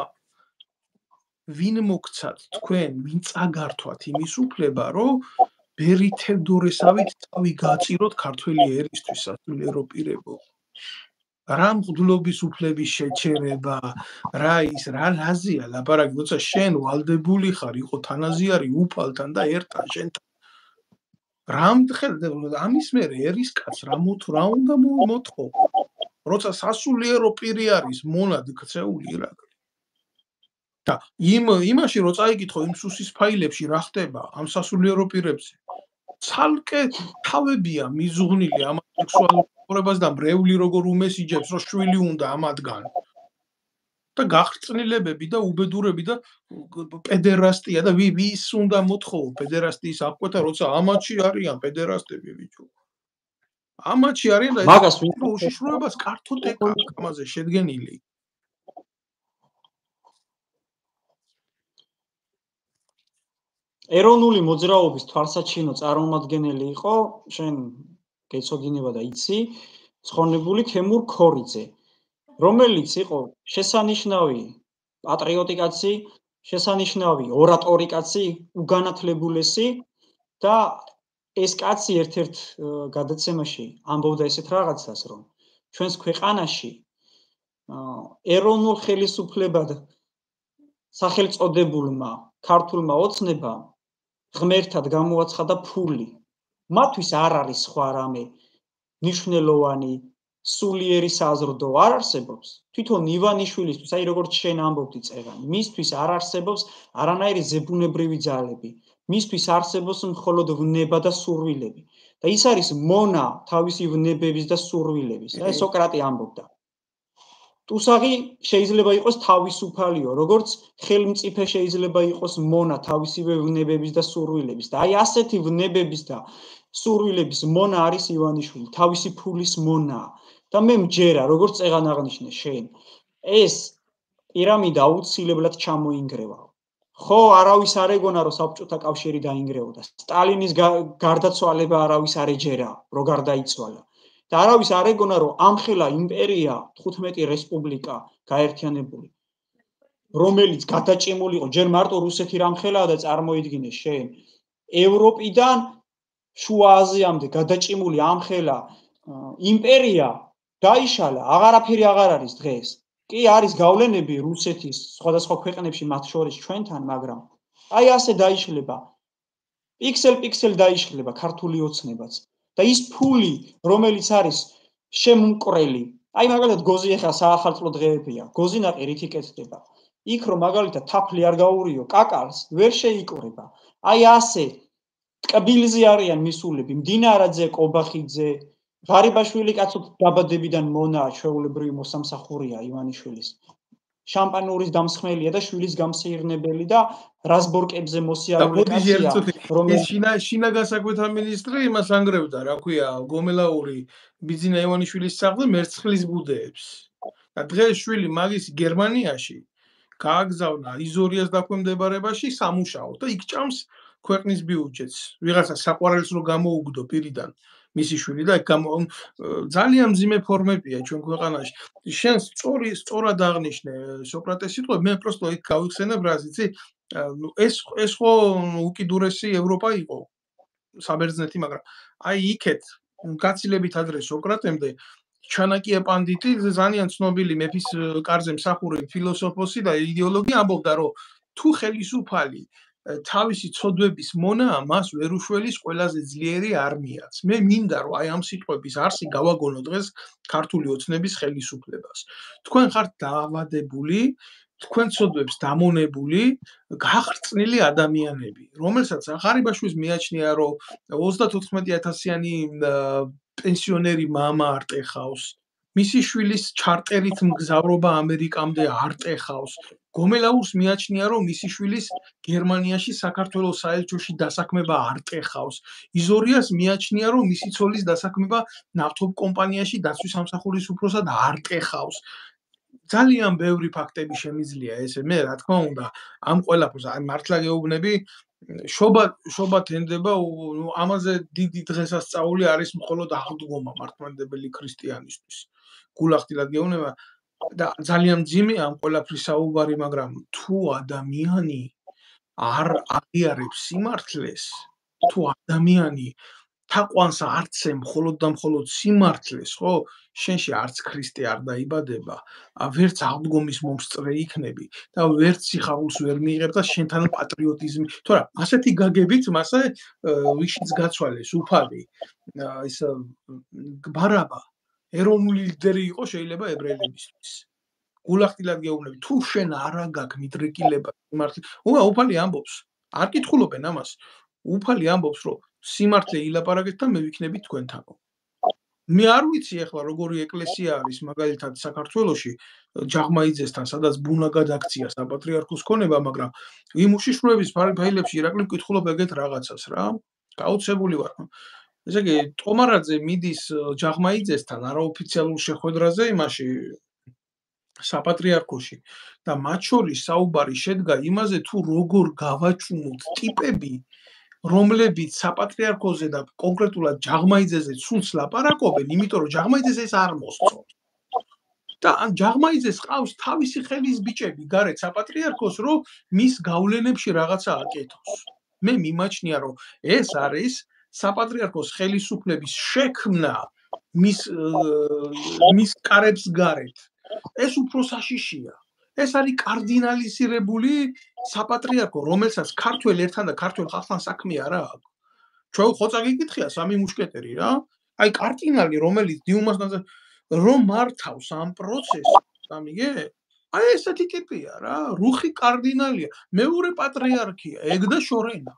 ვინ მოგცათ თქვენ, ვინ წაგართვათ იმის უფლება, რომ ბერი თევდორესავით თავი გააწიროთ ქართველი ერისთვის სასულიერო პირებო. რა მღვდლობის უფლების შეჩერება, რა რაზია ლაპარაკი, როცა შენ ვალდებული ხარ, იყო თანაზიარი უფალთან და ერთთან შენთან. ამის მერე ერისკაც რა უნდა მოთხოვ, როცა სასულიერო პირი არის მონად ქცეული ირაკლი. და იმაში რო წაიკითხო იმ სუსის ფაილებში რა ხდება ამ სასულიერო პირებზე, ცალკე თავებია მიზუღნილი ამ სექსუალურ ცხოვრებას და მრევლი როგორ უმესიჯებს, რომ შვილი უნდა ამათგან. და გახრწნილებები და უბედურები და პედერასტია და ვის უნდა მოთხოვო პედერასტიის აღკვეთა, როცა ამათში არიან პედერასტები ბიჭო. ამათში არიან და მაგას უშიშროებას კართოტეკა ამაზე შედგენილი. ეროვნული მოძრაობის თვალსაჩინო წარმომადგენელი იყო, შენ გეცოდინება და იცი, ცხონებული თემურ ქორიძე, რომელიც იყო შესანიშნავი პატრიოტი კაცი, შესანიშნავი ორატორი კაცი, უგანათლებულესი და ეს კაცი ერთ-ერთ გადაცემაში ამბობდა ესეთ რაღაცას, რომ ჩვენს ქვეყანაში ეროვნულ ხელისუფლებად სახელწოდებულმა ქართულმა ოცნებამ ღმერთად გამოაცხადა ფული მათთვის არ არის სხვა რამე მნიშვნელოვანი სულიერი საზრდო არ არსებობს. თვითონ ივანიშვილისთვის, აი როგორც შენ ამბობდი წეგანი, მისთვის არ არსებობს არანაირი ზებუნებრივი ძალები. მისთვის არსებობს მხოლოდ ვნება და სურვილები. და ის არის მონა თავისი ვნებების და სურვილების. და სოკრატე ამბობდა. ტუსაღი შეიძლება იყოს თავისუფალიო, როგორც ხელმწიფე შეიძლება იყოს მონა თავისივე ვნებების და სურვილების. და აი ასეთი ვნებების და სურვილების მონა არის ივანიშვილი, თავისი ფულის მონა. და მე მჯერა, როგორც წეგან აღნიშნე შენ, ეს პირამიდა აუცილებლად ჩამოინგრევა. ხო, არავის არ ეგონა, რომ საბჭოთა კავშირი დაინგრეოდა. სტალინის გარდაცვალება არავის არ ეჯერა, რომ გარდაიცვალა. და არავის არ ეგონა, რომ ამხელა იმპერია 15 რესპუბლიკა გაერთიანებული, რომელიც გადაჭიმული იყო, ჯერ მარტო რუსეთი რამხელაა და წარმოიდგინე შენ, ევროპიდან შუა აზიამდე გადაჭიმული ამხელა იმპერია დაიშალა, აღარაფერი აღარ არის დღეს. კი არის გავლენები რუსეთის სხვადასხვა ქვეყნებში, მათ შორის ჩვენთან, მაგრამ აი ასე დაიშლება. პიქსელ დაიშლება ქართული ოცნებაც. და ის ფული, რომელიც არის შემმკვრელი, აი მაგალითად გოზი ახლა საახალწლო დღეებია, გოზინაყი რით იკეთდება. იქ რომ მაგალითად თაფლი არ გაურიო, კაკალს ვერ შეიკვრება. აი ასე ტკბილზე არიან მისულები, მდინარაძე, კობახიძე, ღარიბაშვილი კაცოთ დაბადებიდან მონაა, ჩვეულებრივი მოსამსახურია ივანიშვილის. შამპანურის დამსხმელია და შვილის გამსეირნებელი და რაზბორკებზე მოსიარული კაცია, რომელიც შინაგან საქმეთა მინისტრი იმას ანგრევდა, რა ქვია, გომელაური ბიძინა ივანიშვილის სახლზე მერცხლის ბუდეებს. და დღეს შვილი მაგის გერმანიაში გააგზავნა იზორიას დაქვემდებარებაში სამუშაოდ და იქ ჭამს ქვეყნის ბიუჯეტს. ვიღაცა საყვარელს რო გამოუგდო პირიდან მისი შვილი და ძალიან მძიმე ფორმებია ჩვენ ქვეყანაში. შენ სწორად აღნიშნე სოკრატეს სიტყვები, მე პროსტო იქ გავიხსენებ რას, იცი? ეს ხო უკიდურესი ევროპა იყო საბერძნეთი, მაგრამ აი იქეთ გაცილებით ადრე სოკრატემდე ჩანაკია პანდიტი, ძალიან ცნობილი მეფის კარზე მსახური ფილოსოფოსი და იდეოლოგი ამბობდა, რომ თუ ხელისუფალი თავისი ცოდვების მონაა, მას ვერ უშველის ყველაზე ძლიერი არმიაც. მე მინდა რომ აი ამ სიტყვების არსი გავაგონო დღეს ქართული ოცნების ხელისუფლებას. თქვენ ხართ დაავადებული, თქვენ ცოდვებს დამონებული, გახრწნილი ადამიანები, რომელსაც ღარიბაშვილს მიაჩნია, რომ 34,000-იანი პენსიონერი მამა არ ტეხავს. მისი შვილის ჩარტერით მგზავრობა ამერიკამდე არ ტეხავს. გომელაურს მიაჩნია, რომ მისი შვილის გერმანიაში საქართველოს საელჩოში დასაქმება არ ტეხავს. იზორიას მიაჩნია, რომ მისი ცოლის დასაქმება ნავთობ კომპანიაში დაცვის სამსახურის უფროსად არ ტეხავს. ძალიან ბევრი ფაქტები შემიძლია ესე. მე რა თქმა უნდა, ამ ყველაფერს აი მართლა გეუბნები, შობა თენდება, ამაზე დიდი დღესასწაული არის მხოლოდ აღდგომა მართლმადიდებელი ქრისტიანისთვის. გულახდილად გეუბნება და ძალიან მძიმე ამ ყველაფრის საუბარი, მაგრამ თუ ადამიანი არ აღიარებს სიმართლეს, თუ ადამიანი თაყვანს არცე მხოლოდ და მხოლოდ სიმართლეს, ხო? შენში არც ქრისტე არ დაიბადება, ვერც აღდგომის მომსწრე იქნები და ვერც სიხარულს ვერ მიიღებ და შენთან პატრიოტიზმი. თორე ასეთი გაგებით მასე ვიშიც გაცვალეს უფალი ის ბარაბა ეროვნული ლიდერი იყო შეიძლება ებრაელებისთვის. გულახდილად გეუბნები, თუ შენ არა გაქვს მიდრეკილება სიმართლე, უფალი ამბობს, არ კითხულობენ ამას. უფალი ამბობს, რომ სიმართლე ილაპარაკეთ და მე ვიქნები თქვენთანო. მე არ ვიცი ახლა როგორი ეკლესია არის მაგალითად საქართველოში ჯაღმაიძესთან, სადაც ბუნა გადაქცია საპატრიარქოს ქონება, მაგრამ იმ უშიშროების ფაილებში ირაკლი ვკითხულობ ეგეთ რაღაცას რა. გაუცებული ვარ. ესე იგი, ტომარაძე მიდის ჯაღმაიძესთან არაოფიციალურ შეხვედრაზე იმაში საპატრიარქოში და მათ შორის საუბარი შედგა იმაზე, თუ როგორ გავაჩუმოთ ტიპები, რომლებიც საპატრიარქოზე და კონკრეტულად ჯაღმაიძეზე ცუდს ლაპარაკობენ, იმიტომ რომ ჯაღმაიძეს ეს არ მოსწონს. და ან ჯაღმაიძეს ყავს თავისი ხელის ბიჭები გარეთ საპატრიარქოს, რომ მის გავლენებში რაღაცა აკეთოს. მე მიმაჩნია, რომ ეს არის საპატრიარქოს ხელისუფლების შექმნა მის კარებს გარეთ. ეს უფრო საშიშია. ეს არის კარდინალიზირებული საპატრიარქო, რომელსაც ქართველ ერთან და ქართველ ხალხთან საქმე არ აქვს. ჩვენ ხოცა გიკითხია სამი მუშკეტერი რა. აი კარტინალი რომელიც დიუმასთან რომ მართავს ამ პროცესს, სამიგე? აი ესეთი ტიპია რა, რუხი კარდინალია, მეორე პატრიარქია, ეგ და შორენა.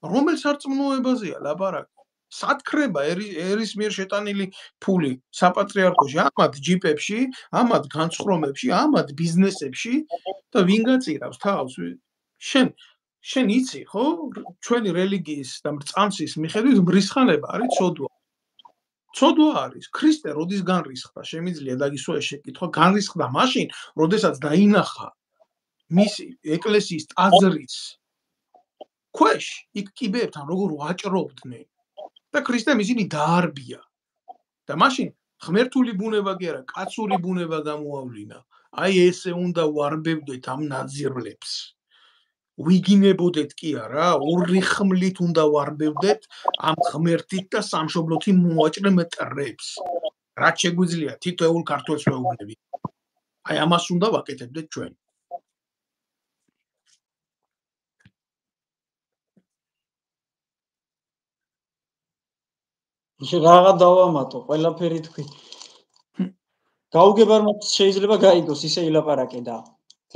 რომელ სარწმუნოებაზეა ლაპარაკი? სათქრება ერის მიერ შეტანილი ფული საპატრიარქოში, ამათ ჯიპებში, ამათ განცხრომებში, ამათ ბიზნესებში და ვინ გაწირავს თავს? შენ იცი, ხო? ჩვენი რელიგიის და წამსის მიხედვით მრისხანება არის ცოდვა. ცოდვა არის. ქრისტე როდის განრისხდა? შემიძლია დაგისვა შეკითხვა, განრისხდა მაშინ, როდესაც დაინახა მისი ეკლესიის ტაძრის ქვეშ იქ კიბეებთან როგორ ვაჭრობდნენ და ქრისტემ ისინი დაარბია. და მაშინ ღმერთული ბუნება კი არა, კაცური ბუნება გამოავლინა. აი ესე უნდა ვარბევდეთ ამ ნაძირლებს. ვიგინებოდეთ კი არა, ორი ხმლით უნდა ვარბევდეთ ამ ღმერთით და სამშობლოთი მოვაჭრე მტრებს. რაც შეგვიძლია თითოეულ ქართველს ვეუბნები. აი ამას უნდა ვაკეთებდეთ ჩვენ. რაღა დავამატო, ყველაფერი თქვი. გაუგებარმა შეიძლება გაიგოს ისე ილაპარაკე და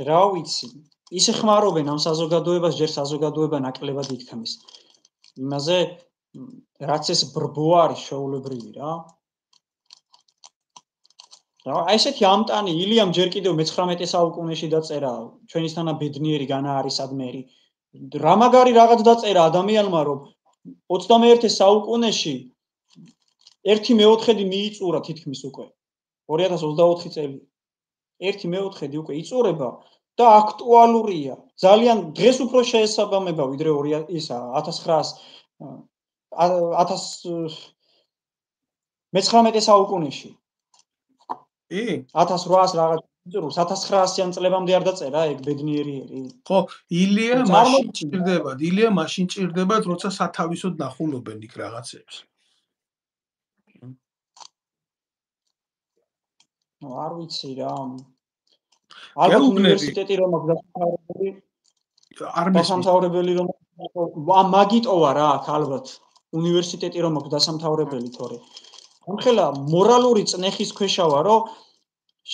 რა ვიცი, ისე ხმარობენ ამ საზოგადოებას, ჯერ საზოგადოება ნაკლებად იქთმის. იმაზე რაც ეს ბრბო არის შეულებრივი რა. აი ესეთი ამტანი ილიამ ჯერ კიდევ მე-19 საუკუნეში დაწერა ჩვენისთანა ბედნიერი განა არის ადმერი. რა მაგარი რაღაც დაწერა ადამიანმა რომ 21 საუკუნეში 1/4 მიიწურა თითქმის უკვე 2024 წელი 1/4 უკვე იწურება და აქტუალურია ძალიან დღეს უფრო შეესაბამება ვიდრე 19 საუკუნეში 1800 რაღაც იწურს 1900-იან წლებამდე არ დაწერა ეგ ბედნიერიერი ხო ილია მაშინ ჭირდებათ ილია მაშინ ჭირდებათ როცა სათავისოდ ნახულობენ იქ რაღაცებს არ ვიცი რა. ალბათ უნივერსიტეტი რომ დასამთავრებელი რომ მაგიტოვა რა აქ ალბათ უნივერსიტეტი რომ აქვს დასამთავრებელი თორე. ამხელა მორალური წნეხის ქვეშავა რომ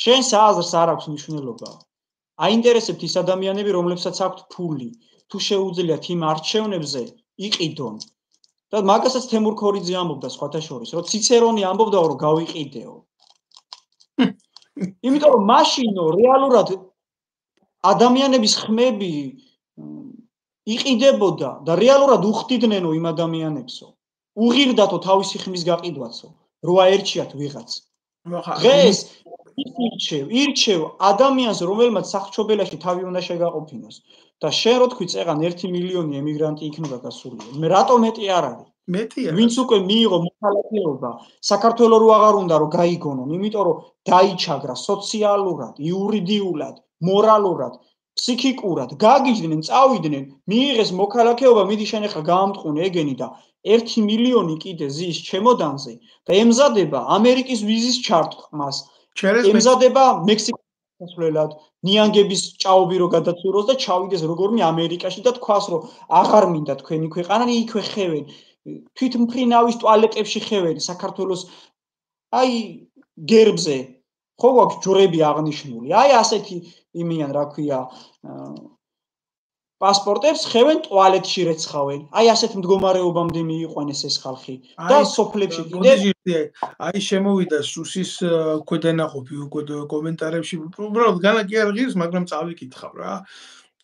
შენ სააზრს არ აქვს მნიშვნელობა. აინტერესებთ ის ადამიანები რომლებსაც აქვთ ფული თუ შეუძლიათ იმ არჩევნებზე იყიდონ. და მაგასაც თემურ ქორიძე ამბობდა სხვათა შორის რომ ციცერონი ამბობდა რომ გავიყიდეო. იმიტომ რომ მაშინო რეალურად ადამიანების ხმები იყიდებოდა და რეალურად უხდიდნენო იმ ადამიანებსო. უღირდათო თავისი ხმის გაყიდვაცო, რო აერჩიათ ვიღაც. დღეს ირჩევ ადამიანს, რომელმაც სახჩობელაში თავი უნდა შეგაყოფინოს და შენ რო თქვი წეღან 1 მილიონი ემიგრანტი იქნება გასული. მე რატო მეტი არ არის? მეტია. ვინც უკვე მიიღო მოქალაქეობა, საქართველოს რო აღარ უნდა რომ გაიგონონ, იმიტომ რომ დაიჩაგრა სოციალურად, იურიდიულად, მორალურად, ფსიქიკურად, გაგიჯდნენ, წავიდნენ, მიიღეს მოქალაქეობა, მიდი შენ ახლა გაამტყუნე ეგენი და 1 მილიონი კიდე ზის ჩემოდანზე და ემზადება ამერიკის ვიზის ჩარტყმას. ემზადება მექსიკის დასვლელად, ნიანგების ჭაობი რო გადაცუროს და ჩავიდეს როგორმე ამერიკაში და თქვას რომ აღარ მინდა თქვენი ქვეყანა, იქვე ხევენ. თვითმფრინავის ტუალეტებში ხევენ საქართველოს აი გერბზე ხო გვაქვს ჯვრები აღნიშნული აი ასეთი იმიან რა ქვია პასპორტებს ხევენ ტუალეტში რეცხავენ აი ასეთ მდგომარეობამდე მიიყვანეს ეს ხალხი და სოფლებში კიდე აი შემოვიდა სუსის ქვედანაყოფი უკვე კომენტარებში უბრალოდ განა კი არ ღირს მაგრამ წავიკითხავ რა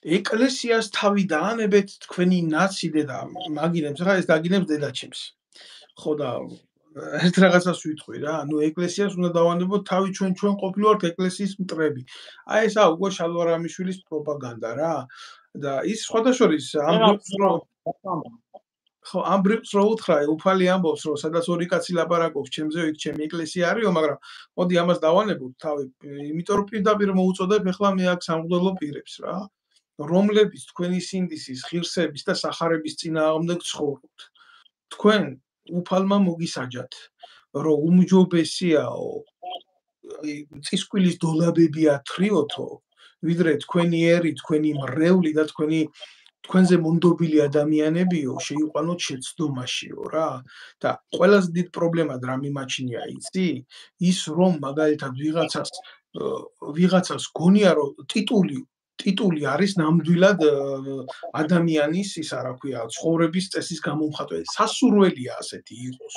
ეკლესიას თავი დაანებეთ თქვენი ნაცი დედა მაგინებს რა ეს დაგინებს დედაჩემს ხო და ერთ რაღაცას ვიტყვი რა ნუ ეკლესიას უნდა დავანებოთ თავი ჩვენ ყოფილვართ ეკლესიის მტრები აი ესა უკვე შალვარამიშვილის პროპაგანდა რა და ის სხვადასხვის ამ ბრიფს რო უთხრა უფალი ამბობს რომ სადაც ორი კაცი ლაპარაკობს ჩემზე იქ ჩემი ეკლესია არისო მაგრამ მოდი ამას დავანებოთ თავი იმიტომ რომ პირდაპირ მოუწოდებ ეხლა მე აქ სამღვდელო პირებს რა რომლებიც თქვენი სინდისის, ღირსების და სახარების წინააღმდეგ ცხოვრობთ. თქვენ უფალმა მოგისაჯათ, რომ უმჯობესიაო წისკვილის დოლაბები ათრიოთო, ვიდრე თქვენი ერი, თქვენი მრევლი და თქვენი თქვენზე მონდობილი ადამიანებიო, შეიყვანოთ შეცდომაშიო რა. და ყველაზე დიდ პრობლემად რა მიმაჩნია იცი? ის რომ მაგალითად ვიღაცას გონია რომ ტიტული არის ნამდვილად ადამიანის ისა რა ქვია, ცხოვრების წესის გამომხატველი. სასურველია ასეთი იყოს.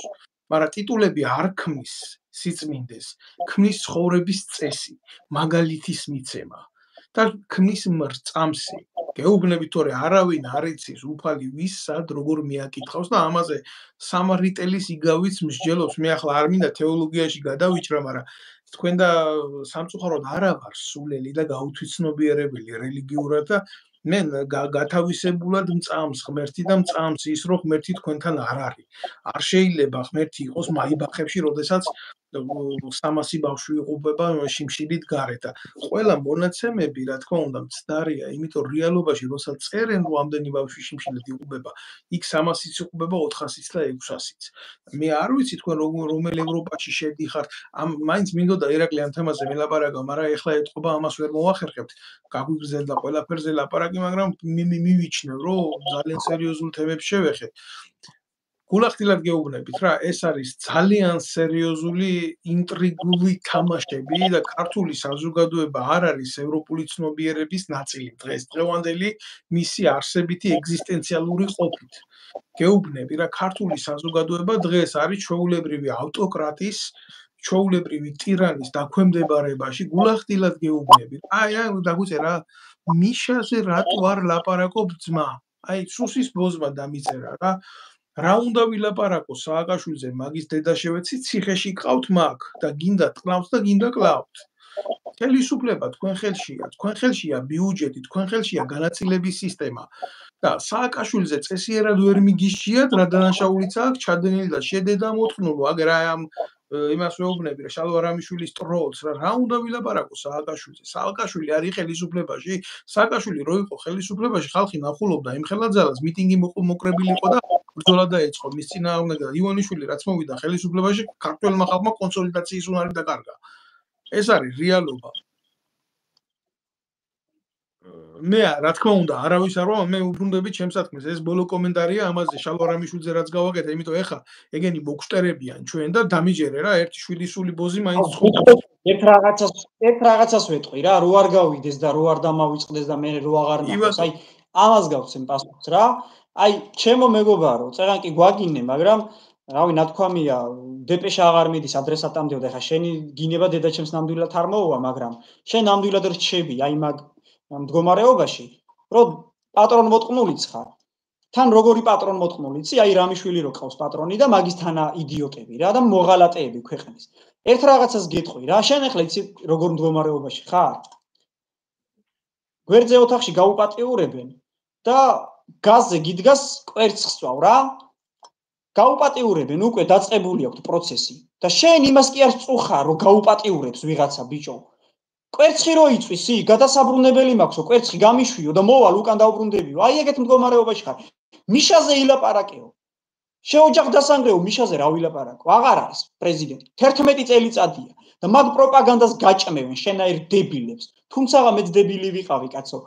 მაგრამ ტიტულები არ ქმნის სიწმინდეს, ქმნის ცხოვრების წესი, მაგალითის მიცემა და ქმნის მრწამსი. გეუბნებით თორე არავინ არ იცის უფალი ვის სად როგორ მიაკითხავს და ამაზე სამარიტელის იგავიც მსჯელობს. მე ახლა არ მინდა თეოლოგიაში გადავიჭრა, მაგრამ თქვენ და სამწუხაროდ არა ვარ სულელი და გაუთვითცნობიერებელი რელიგიურად და მე გათავისებულად მწამს ღმერთი და მწამს ის რომ ღმერთი თქვენთან არ არის. არ შეიძლება ღმერთი იყოს მაიბახებში, როდესაც 300 ბავშვი იყუბება შიმშილით გარეთ და ყველა მონაცემები რა თქმა უნდა მცდარია, იმიტომ რეალობაში როცა წერენ რომ ამდენი ბავშვი შიმშილით იყუბება, იქ 300-იც იყუბება 400-იც და 600-იც. მე არ ვიცი თქვენ რომელ ევროპაში შედიხართ, მაინც მინდოდა ირაკლი ამ თემაზე ველაპარაკო, მაგრამ ეხლა ეთყობა ამას ვერ მოვახერხებთ. გაგვიგრძელდა ყველაფერზე ლაპარაკი, მაგრამ მივიჩნევ რომ ძალიან სერიოზულ თემებს შევეხეთ. გულახდილად გეუბნებით რა, ეს არის ძალიან სერიოზული ინტრიგული თამაშები და ქართული საზოგადოება არ არის ევროპული ცნობიერების ნაწილი დღევანდელი მისი არსებითი ეგზისტენციალური ყოფით. გეუბნები რა, ქართული საზოგადოება დღეს არის ჩვეულებრივი ავტოკრატის, ჩვეულებრივი ტირანის დაქვემდებარებაში. გულახდილად გეუბნები. აი დაგვიწერა მიშაზე რატო არ ლაპარაკობ ძმა? აი სუსის ბოზმა დამიწერა რა. რა უნდა ვილაპარაკო სააკაშვილზე, მაგის დედა შევეცი, ციხეში ყავთ მაგ და გინდა ტყნავთ და გინდა კლავთ. ხელისუფლება თქვენ ხელშია, თქვენ ხელშია ბიუჯეტი, თქვენ ხელშია განაწილების სისტემა. და სააკაშვილზე წესიერად ვერ მიგიშიათ, რა დანაშაულიც აქვს ჩადენილი და შედედა მოთხნულო, აგერ აი ამ იმას ვეუბნები რა, შალვა რამიშვილის ტროლს რა უნდა ვილაპარაკო სააკაშვილზე. სააკაშვილი არის ხელისუფლებაში, სააკაშვილი რო იყო ხელისუფლებაში, ხალხი ნახულობდა იმ ხელაძალას, მიტინგი მოკრებილი იყო და ბრძოლა დაეწყო მის წინააღმდეგ და ივანიშვილი რაც მოვიდა ხელისუფლებაში, ქართველმა ხალხმა კონსოლიდაციის უნარი დაკარგა. ეს არის რეალობა. მე რა თქმა უნდა არავის არ ვარ, მე უბრუნდები ჩემს საქმეს. ეს ბოლო კომენტარია ამაზე შალვა რამიშვილზე რაც გავაკეთე, იმიტომ ეხა ეგენი მოგშტერებიან ჩვენ და დამიჯერე რა, ერთი შვიდისული ბოზი მაინც ცხოვრობს. ერთ რაღაცას ვეტყვი რა, რო არ გავიდეს და რო არ დამავიწყდეს და მე რო აღარ ნახოს. აი ამას გავცემ პასუხს რა. აი ჩემო მეგობარო, წერან კი გვაგინე, მაგრამ რავი, ნათქვამია, დეპეშა აღარ მიდის ადრესატამდე და ეხა შენი გინება დედაჩემს ნამდვილად არ მოუვა, მაგრამ შენ ნამდვილად რჩები აი მაგ მდგომარეობაში, რომ პატრონ მოწყნულიც ხარ. თან როგორი პატრონ მოწყნულიცი, აი რამიშვილი რო ყავს პატრონი და მაგისთანა იდიოტები რა და მოღალატეები ქვეყნის. ერთ რაღაცას გეტყვი რა, შენ ახლა იცი როგორ მდგომარეობაში ხარ? გვერდზე ოთახში გაუპატიურებენ და გაზზე გიდგას კვერცხს წვავ რა. გაუპატიურებენ, უკვე დაწყებული აქვს პროცესი და შენ იმას კი არ წუხარ, რომ გაუპატიურებს ვიღაცა ბიჭო. კვერცხი რო იწვისი, გადასაბრუნებელი მაქვსო, კვერცხი გამიშვიო და მოვალ უკან დაუბრუნდებიო. აი ეგეთ მდგომარეობაში ხარ. მიშაზე ილაპარაკეო. შეოჯახ დასანგრეო, მიშაზე რა ვილაპარაკო? აღარ არის პრეზიდენტი. 11 წელიწადია და მაგ პროპაგანდას გაჭმევენ შენაირ დებილებს. თუმცა მეც დებილი ვიყავი, კაცო.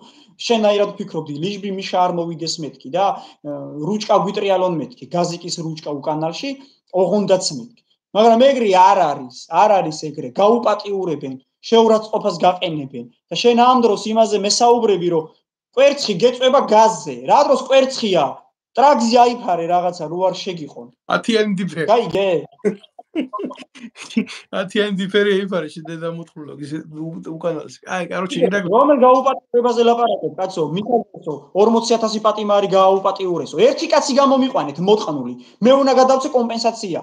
შენაირად ვფიქრობდი, ლიჟბი მიშა არ მოვიდეს მეთქი და რუჭკა გვიტრიალონ მეთქი, გაზიკის რუჭკა უკანალში, ოღონდაც მეთქი. მაგრამ ეგრე არ არის ეგრე. გაუპატიურებენ, შეურაცხყოფას გაყენებენ და შენ ამ დროს იმაზე მესაუბრები, რომ კვერცხი გეწვება გაზზე. რა დროს კვერცხია? ტრაქზე აიფარე რაღაცა, რო არ შეგიყონ. 10-იანი დიფერი. გაიგე? 10-იანი დიფერი აიფარე შედედა მოთხრულო, ისე უკანალში. აი, კაროჩე, რომელ გაუპატიურებაზე ლაპარაკობ, კაცო? მიხარცო, 40,000 პატიმარი გააუპატიურესო. ერთი კაცი გამომიყვანეთ მოწყნული. მე უნდა გადავწე კომპენსაცია.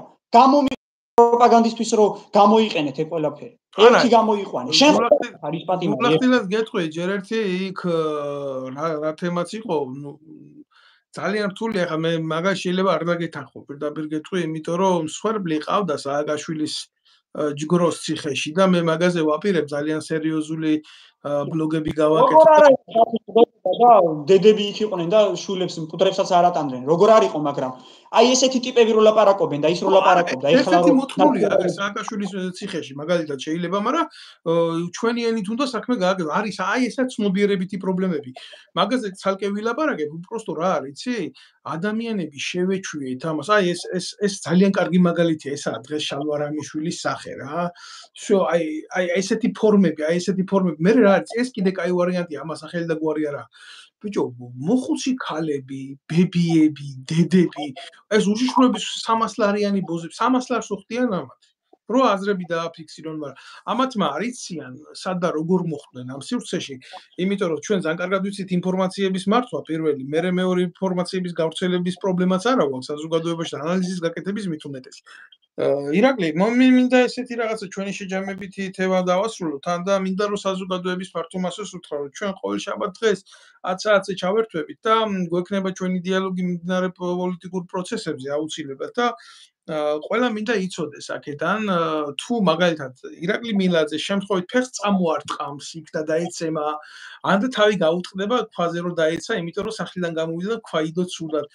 პროპაგანდისტვის რო გამოიყენეთ ეგ ყველაფერი. ერთი გამოიყვანე. შენ არის პატიმარი. გულახდილად გეტყვი, ჯერ ერთი იქ რა თემაც იყო, ნუ ძალიან რთულია, ხა მე მაგას შეიძლება არ დაგეთანხო, პირდაპირ გეტყვი, იმიტომ რომ მსხვერპლი ყავდა სააკაშვილის ჯგროს ციხეში და მე მაგაზე ვაპირებ ძალიან სერიოზული ბლოგები როგორ გავაკეთო. არა და დედები იქ იყვნენ და შვილებს მკვდრებსაც არ ატანდნენ. როგორ არ იყო, მაგრამ აი ესეთი ტიპები რო ლაპარაკობენ და ის რო ლაპარაკობდა, ეხლა ერთ-ერთი რომ მოთხოვნია აგერ სააკაშვილის ციხეში მაგალითად შეიძლება, მაგრამ ჩვენი ენით უნდა საქმე გააკეთო. არის აი ესა ცნობიერებითი პრობლემები. მაგაზე ცალკე ვილაპარაკებ, უბრალოდ რა არის, იცი? ადამიანები შევეჩვიეთ ამას. აი ეს ძალიან კარგი მაგალითია, ესაა დღეს შალვა რამიშვილის სახე რა. всё, აი ესეთი ფორმები, მე რა არის, ეს კიდე კაი ვარიანტია, ამას სახელი და გვარი არა. ბიჭო, მოხუცი ქალები, ბებიები, დედები, ეს უშიშროების 300 ლარიანი ბოზები, 300 ლარს უხდიან ამათ. რო აზრები დააფიქსირონ, მაგრამ ამათმა არიციან სად და როგორ მოხვდნენ ამ სივრცეში, იმიტომ რომ ჩვენ ძალიან კარგად ვიცით ინფორმაციების მართვა პირველი, მერე მეორე ინფორმაციების გავრცელების პრობლემაც არა გვაქვს საზოგადოებაში და ანალიზის გაკეთების მით უმეტეს. ირაკლი, მინდა ესეთი რაღაცა ჩვენი შეჯამებითი თემა დავასრულოთ, თან და მინდა რომ საზოგადოების ფართო მასას უთხრა, რომ ჩვენ ყოველ შაბათ დღეს 10 საათზე ჩავერთვებით და გვექნება ჩვენი დიალოგი მიმდინარე პოლიტიკურ პროცესებზე აუცილებლად და ყველა მინდა იცოდეს აქედან თუ მაგალითად ირაკლი მილაძე შემთხვევით ფეხს წამოარტყამს იქ და დაეცემა ან და თავი გაუტყდება ქვაზე რომ დაეცა, იმიტომ რომ სახლიდან გამოვიდა და ქვაიდო ცუდად.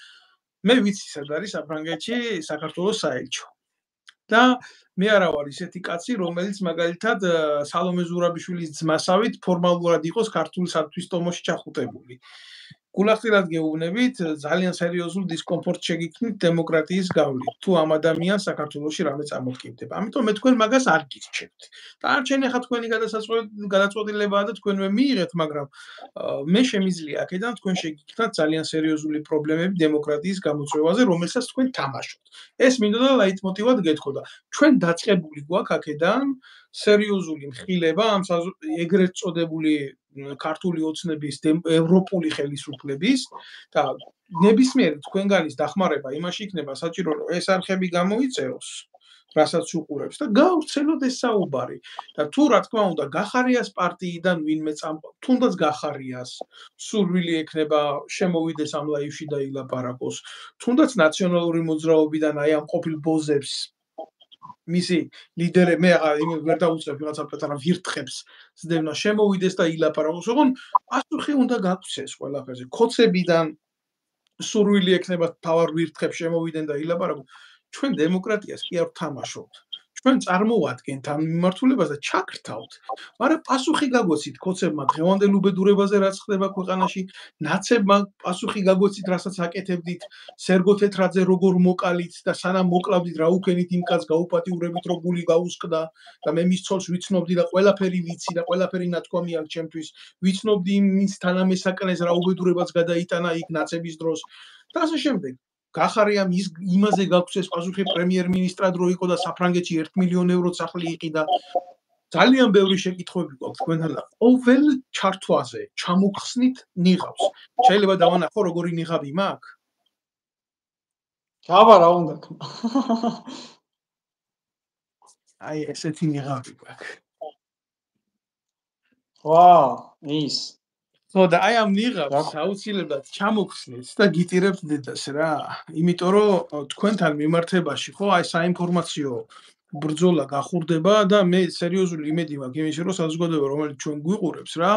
მე ვიცი სად არის საფრანგეთში საქართველოს საელჩო. და მე არა ვარ ისეთი კაცი, რომელიც მაგალითად სალომე ზურაბიშვილის ძმასავით ფორმალურად იყოს ქართული სათვის ტომოში ჩახუტებული. გულახდილად გეუბნებით, ძალიან სერიოზულ დისკომფორტს შეგიქმნით დემოკრატიის გავლით, თუ ამ ადამიანს საქართველოში რამე წამოდგინდება. ამიტომ მე თქვენ მაგას არ გირჩევთ. დანარჩენი ახლა თქვენი გადაწყვეტილებაა და თქვენ მე მიიღეთ, მაგრამ მე შემიძლია აქედან თქვენ შეგიქმნათ ძალიან სერიოზული პრობლემები დემოკრატიის გამოწვევაზე, რომელსაც თქვენ თამაშობთ. ეს მინდოდა ლაიტმოტივად გეთხოვდა. ჩვენ დაწყებული გვაქვს აქედან სერიოზული მხილება ამ ეგრეთ წოდებული ქართული ოცნების ევროპული ხელისუფლების და ნებისმიერი თქვენგანის დახმარება იმაში იქნება საჭირო, რომ ეს არხები გამოიწეროს, რასაც უყურებს და გავრცელოთ ეს საუბარი. და თუ რა თქმა უნდა გახარიას პარტიიდან ვინმე თუნდაც გახარიას, სურვილი ექნება შემოვიდეს ამ ლაივში და ილაპარაკოს, თუნდაც ნაციონალური მოძრაობიდან აი ამ ყოფილ ბოზებს მისი ლიდერი მე ვერ დაუწევ ვიღაცა პატარა ვირთხებს ზდევნა შემოვიდეს და ილაპარაკოს, ოღონ პასუხი უნდა გაგვცეს ყველაფერზე. ქოცებიდან სურვილი ექნება თავარ ვირთხებს შემოვიდნენ და ილაპარაკოს. ჩვენ დემოკრატიას კი არ ვთამაშობთ. ჩვენ წარმოვადგენთ ამ მიმართულებას და ჩაგრთავთ. მაგრამ პასუხი გაგვეცით ქოცებმა დღევანდელ უბედურებაზე რაც ხდება ქვეყანაში, ნაცებმა პასუხი გაგვეცით, რასაც აკეთებდით, სერგო თეთრაძე როგორ მოკალით და სანამ მოკლავდით რა უქენით იმ კაცს გაუპატიურებით რო გული გაუსკდა და მე მის ცოლს ვიცნობდი და ყველაფერი ვიცი და ყველაფერი ნათქვამი აქვს ჩემთვის. ვიცნობდი იმის თანამესაკნეს რა უბედურებაც გადაიტანა იქ ნაცების დროს და ასე შემდეგ. გახარიამ იმაზე გაგვცეს პასუხი პრემიერ-მინისტრად რო იყო და საფრანგეთში 1 მილიონ ევროს სახლი იყიდა. ძალიან ბევრი შეკითხვები გვაქვს თქვენთან და ყოველ ჩართვაზე ჩამოგხსნით ნიღავს. შეიძლება დავანახო როგორი ნიღაბი მაქვს? ჩავა რა უნდა. აი ესეთი ნიღაბი გვაქვს. ვა, ის ხო და აი ამ ნიღაბს აუცილებლად ჩამოგხსნით და გიტირებთ დედას რა. იმიტომ რომ თქვენთან მიმართებაში ხო აი საინფორმაციო ბრძოლა გახურდება და მე სერიოზული იმედი მაქვს იმის რომ საზოგადოება რომელიც ჩვენ გვიყურებს რა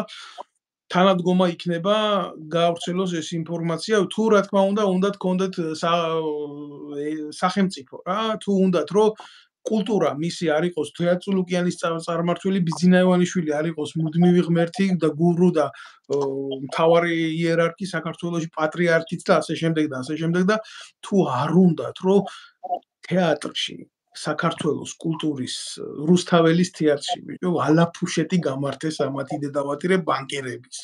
თანადგომა იქნება გავრცელოს ეს ინფორმაცია თუ რა თქმა უნდა გქონდეთ სახელმწიფო რა თუ უნდათ რომ კულტურა მისი არ იყოს თეატროლოგიანის წარმართველი ბიძინა ივანიშვილი არ იყოს მუდმივი ღმერთი და გურუ და მთავარი იერარქი საქართველოში პატრიარქიც და ასე შემდეგ და თუ არ უნდათ რომ თეატრში საქართველოს კულტურის რუსთაველის თეატრში ბიჭო ალაფუშეტი გამართეს ამათი დედავატირე ბანკერების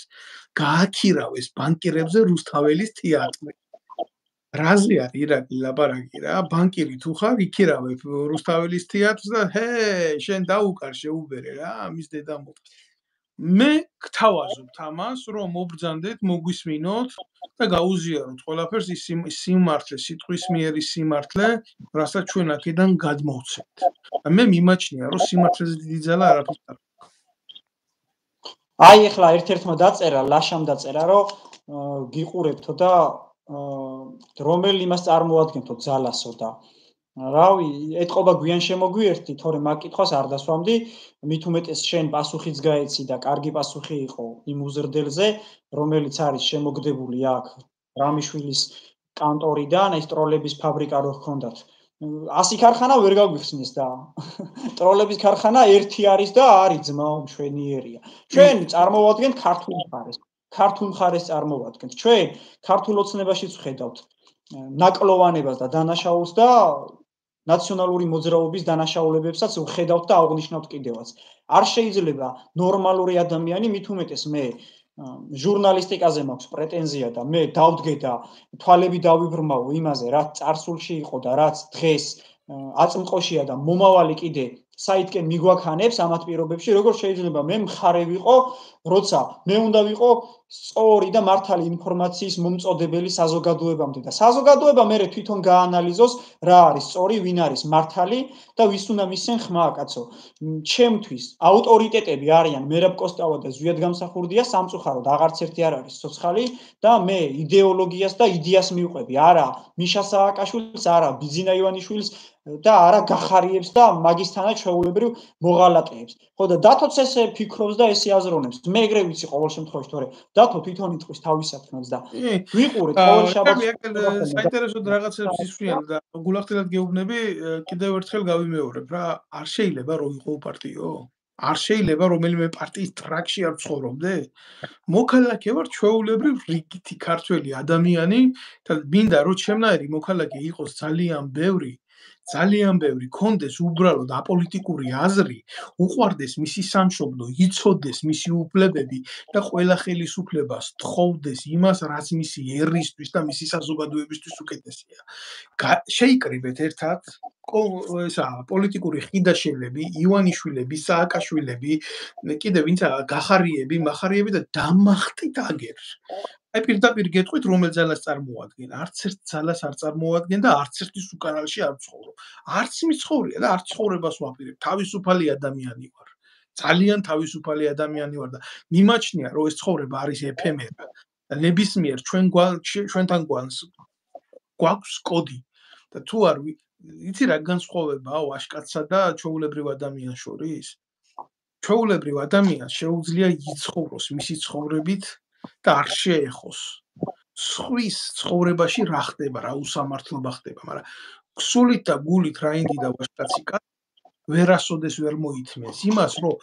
გააქირავეს ბანკერებზე რუსთაველის თეატრი რაზე არის ირაკლი ლაპარაკი რა ბანკირი თუ ხარ იქირავებ რუსთაველის თეატრს და ჰე შენ დაუკარ შეუბერე რა ამის დედა მოყ მე გთავაზობთ ამას რომ მობრძანდეთ მოგვისმინოთ და გაუზიაროთ ყველაფერს ის სიმართლე სიტყვის მიერი სიმართლე რასაც ჩვენ აქედან გადმოვცემთ და მე მიმაჩნია რომ სიმართლეზე დიდი ძალა არაფერს არ აქვს აი ახლა ერთ-ერთმა დაწერა ლაშამ დაწერა რომ გიყურებთო და რომელი იმას წარმოადგენთო ძალასო და რავი, ეთყობა გვიან შემოგვიერთდი, თორემ მაგ კითხვას არ დასვამდი, მით უმეტეს შენ პასუხიც გაეცი და კარგი პასუხი იყო იმ უზრდელზე, რომელიც არის შემოგდებული აქ რამიშვილის კანტორიდან, ეს ტროლების ფაბრიკა რო ჰქონდათ. 100 ქარხანა ვერ გაგვიხსნეს და ტროლების ქარხანა ერთი არის და არის ძმაო მშვენიერია. ჩვენ წარმოვადგენთ ქართულ მხარეს. ქართულ მხარეს წარმოვადგენთ. ჩვენ ქართულ ოცნებაშიც ვხედავთ ნაკლოვანებას და დანაშაულს და ნაციონალური მოძრაობის დანაშაულებებსაც ვხედავთ და აღვნიშნავთ კიდევაც. არ შეიძლება ნორმალური ადამიანი, მით უმეტეს მე ჟურნალისტიკაზე მაქვს პრეტენზია და მე დავდგე და თვალები დავიბრმავო იმაზე, რაც წარსულში იყო და რაც დღეს აწმყოშია და მომავალი კიდე საითკენ მიგვაქანებს ამათ პირობებში, როგორ შეიძლება მე მხარე ვიყო, როცა მე უნდა ვიყო სწორი და მართალი ინფორმაციის მომწოდებელი საზოგადოებამდე და საზოგადოება მე თვითონ გაანალიზოს რა არის სწორი, ვინ არის მართალი და ვის უნდა მისცენ ხმა, კაცო. ჩემთვის ავტორიტეტები არიან მერაბ კოსტავა და ზვიად გამსახურდია, სამწუხაროდ აღარც ერთი არ არის ცოცხალი და მე იდეოლოგიას და იდეას მივყვები, არა მიშა სააკაშვილს, არა ბიძინა ივანიშვილს და არა გახარიებს და მაგისთანაც ჩვეულებრივ მოღალატეებს. ხო და დათოც ესე ფიქრობს და ესე აზროვნებს. მე ეგრე ვიცი ყოველ შემთხვევაში, თორე დათო თვითონ იტყვის თავის საქმეს და ვიყურეთ ყოველ შაბათს. საინტერესოდ რაღაცებს ისვრიან და გულახდილად გეუბნები, კიდევ ერთხელ გავიმეორებ რა, არ შეიძლება რომ იყო პარტიო? არ შეიძლება რომელიმე პარტიის ტრაქში არ ცხოვრობდე? მოქალაქე ვარ ჩვეულებრივ რიგითი ქართველი ადამიანი და მინდა რომ ჩემნაირი მოქალაქე იყოს ძალიან ბევრი, კონდეს უბრალოდ აპოლიტიკური აზრი, უყვარდეს მისი სამშობლო, იცოდეს მისი უფლებები და ყველა ხელისუფლებას თხოვდეს იმას, რაც მისი ერისთვის და მისი საზოგადოებისთვის უკეთესია. შეიკრიბეთ ერთად პოლიტიკური ხიდაშელები, ივანიშვილები, სააკაშვილები, კიდე ვინცა გახარიები, მახარიები და დამახტით აგერ. აი პირდაპირ გეტყვით რომელ ძალას წარმოადგენ? არც ერთ ძალას არ წარმოადგენ და არც ერთის უკანალში არ ვცხოვრობ. არც მიცხოვრია და არც ცხოვრებას ვაპირებ. თავისუფალი ადამიანი ვარ. ძალიან თავისუფალი ადამიანი ვარ და მიმაჩნია რომ ეს ცხოვრება არის ეფემერა. და ნებისმიერ ჩვენთან გვაქვს კოდი და თუ არ იცი რა განსხვავებაა ვაჟკაცსა და ჩვეულებრივ ადამიანს შორის? ჩვეულებრივ ადამიანს შეუძლია იცხოვროს მისი ცხოვრებით და არ შეეხოს. სხვის ცხოვრებაში რა ხდება, რა უსამართლობა ხდება, მაგრამ ქსულით და გულით რაინდი და ვაჟკაცი ვერასოდეს ვერ მოითმენს იმას, რომ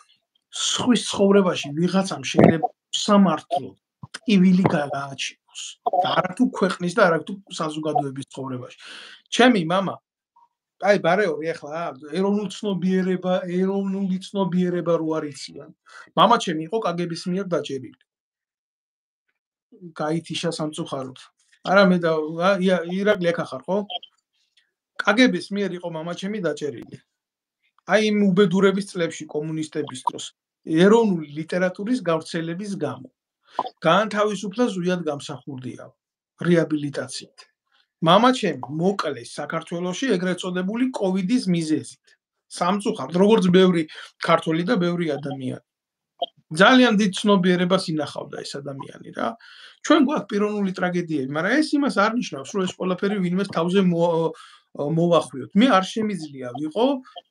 სხვის ცხოვრებაში ვიღაცამ შეიძლება უსამართლო ტკივილი გააჩინოს და არათუ ქვეყნის და არათუ საზოგადოების ცხოვრებაში. ჩემი მამა აი ბარეორი ახლა ეროვნული ცნობიერება რო არ იციან. მამა ჩემი იყო კგბ-ის მიერ დაჭერილი. გაითიშა სამწუხაროდ. არა მე და ირაკლი აქ ახარ ხო? კგბ-ის მიერ იყო მამა ჩემი დაჭერილი. აი იმ უბედურების წლებში კომუნისტების დროს ეროვნული ლიტერატურის გავრცელების გამო. განთავისუფლა ზვიად გამსახურდია რეაბილიტაციით. მამა ჩემი მოკლეს საქართველოში ეგრეთ წოდებული კოვიდის მიზეზით. სამწუხაროდ, როგორც ბევრი ქართველი და ბევრი ადამიანი. ძალიან დიდ ცნობიერებას ინახავდა ეს ადამიანი რა. ჩვენ გვაქვს პიროვნული ტრაგედიები, მაგრამ ეს იმას არ ნიშნავს, რომ ეს ყველაფერი ვინმეს თავზე მოვახვიოთ. მე არ შემიძლია ვიყო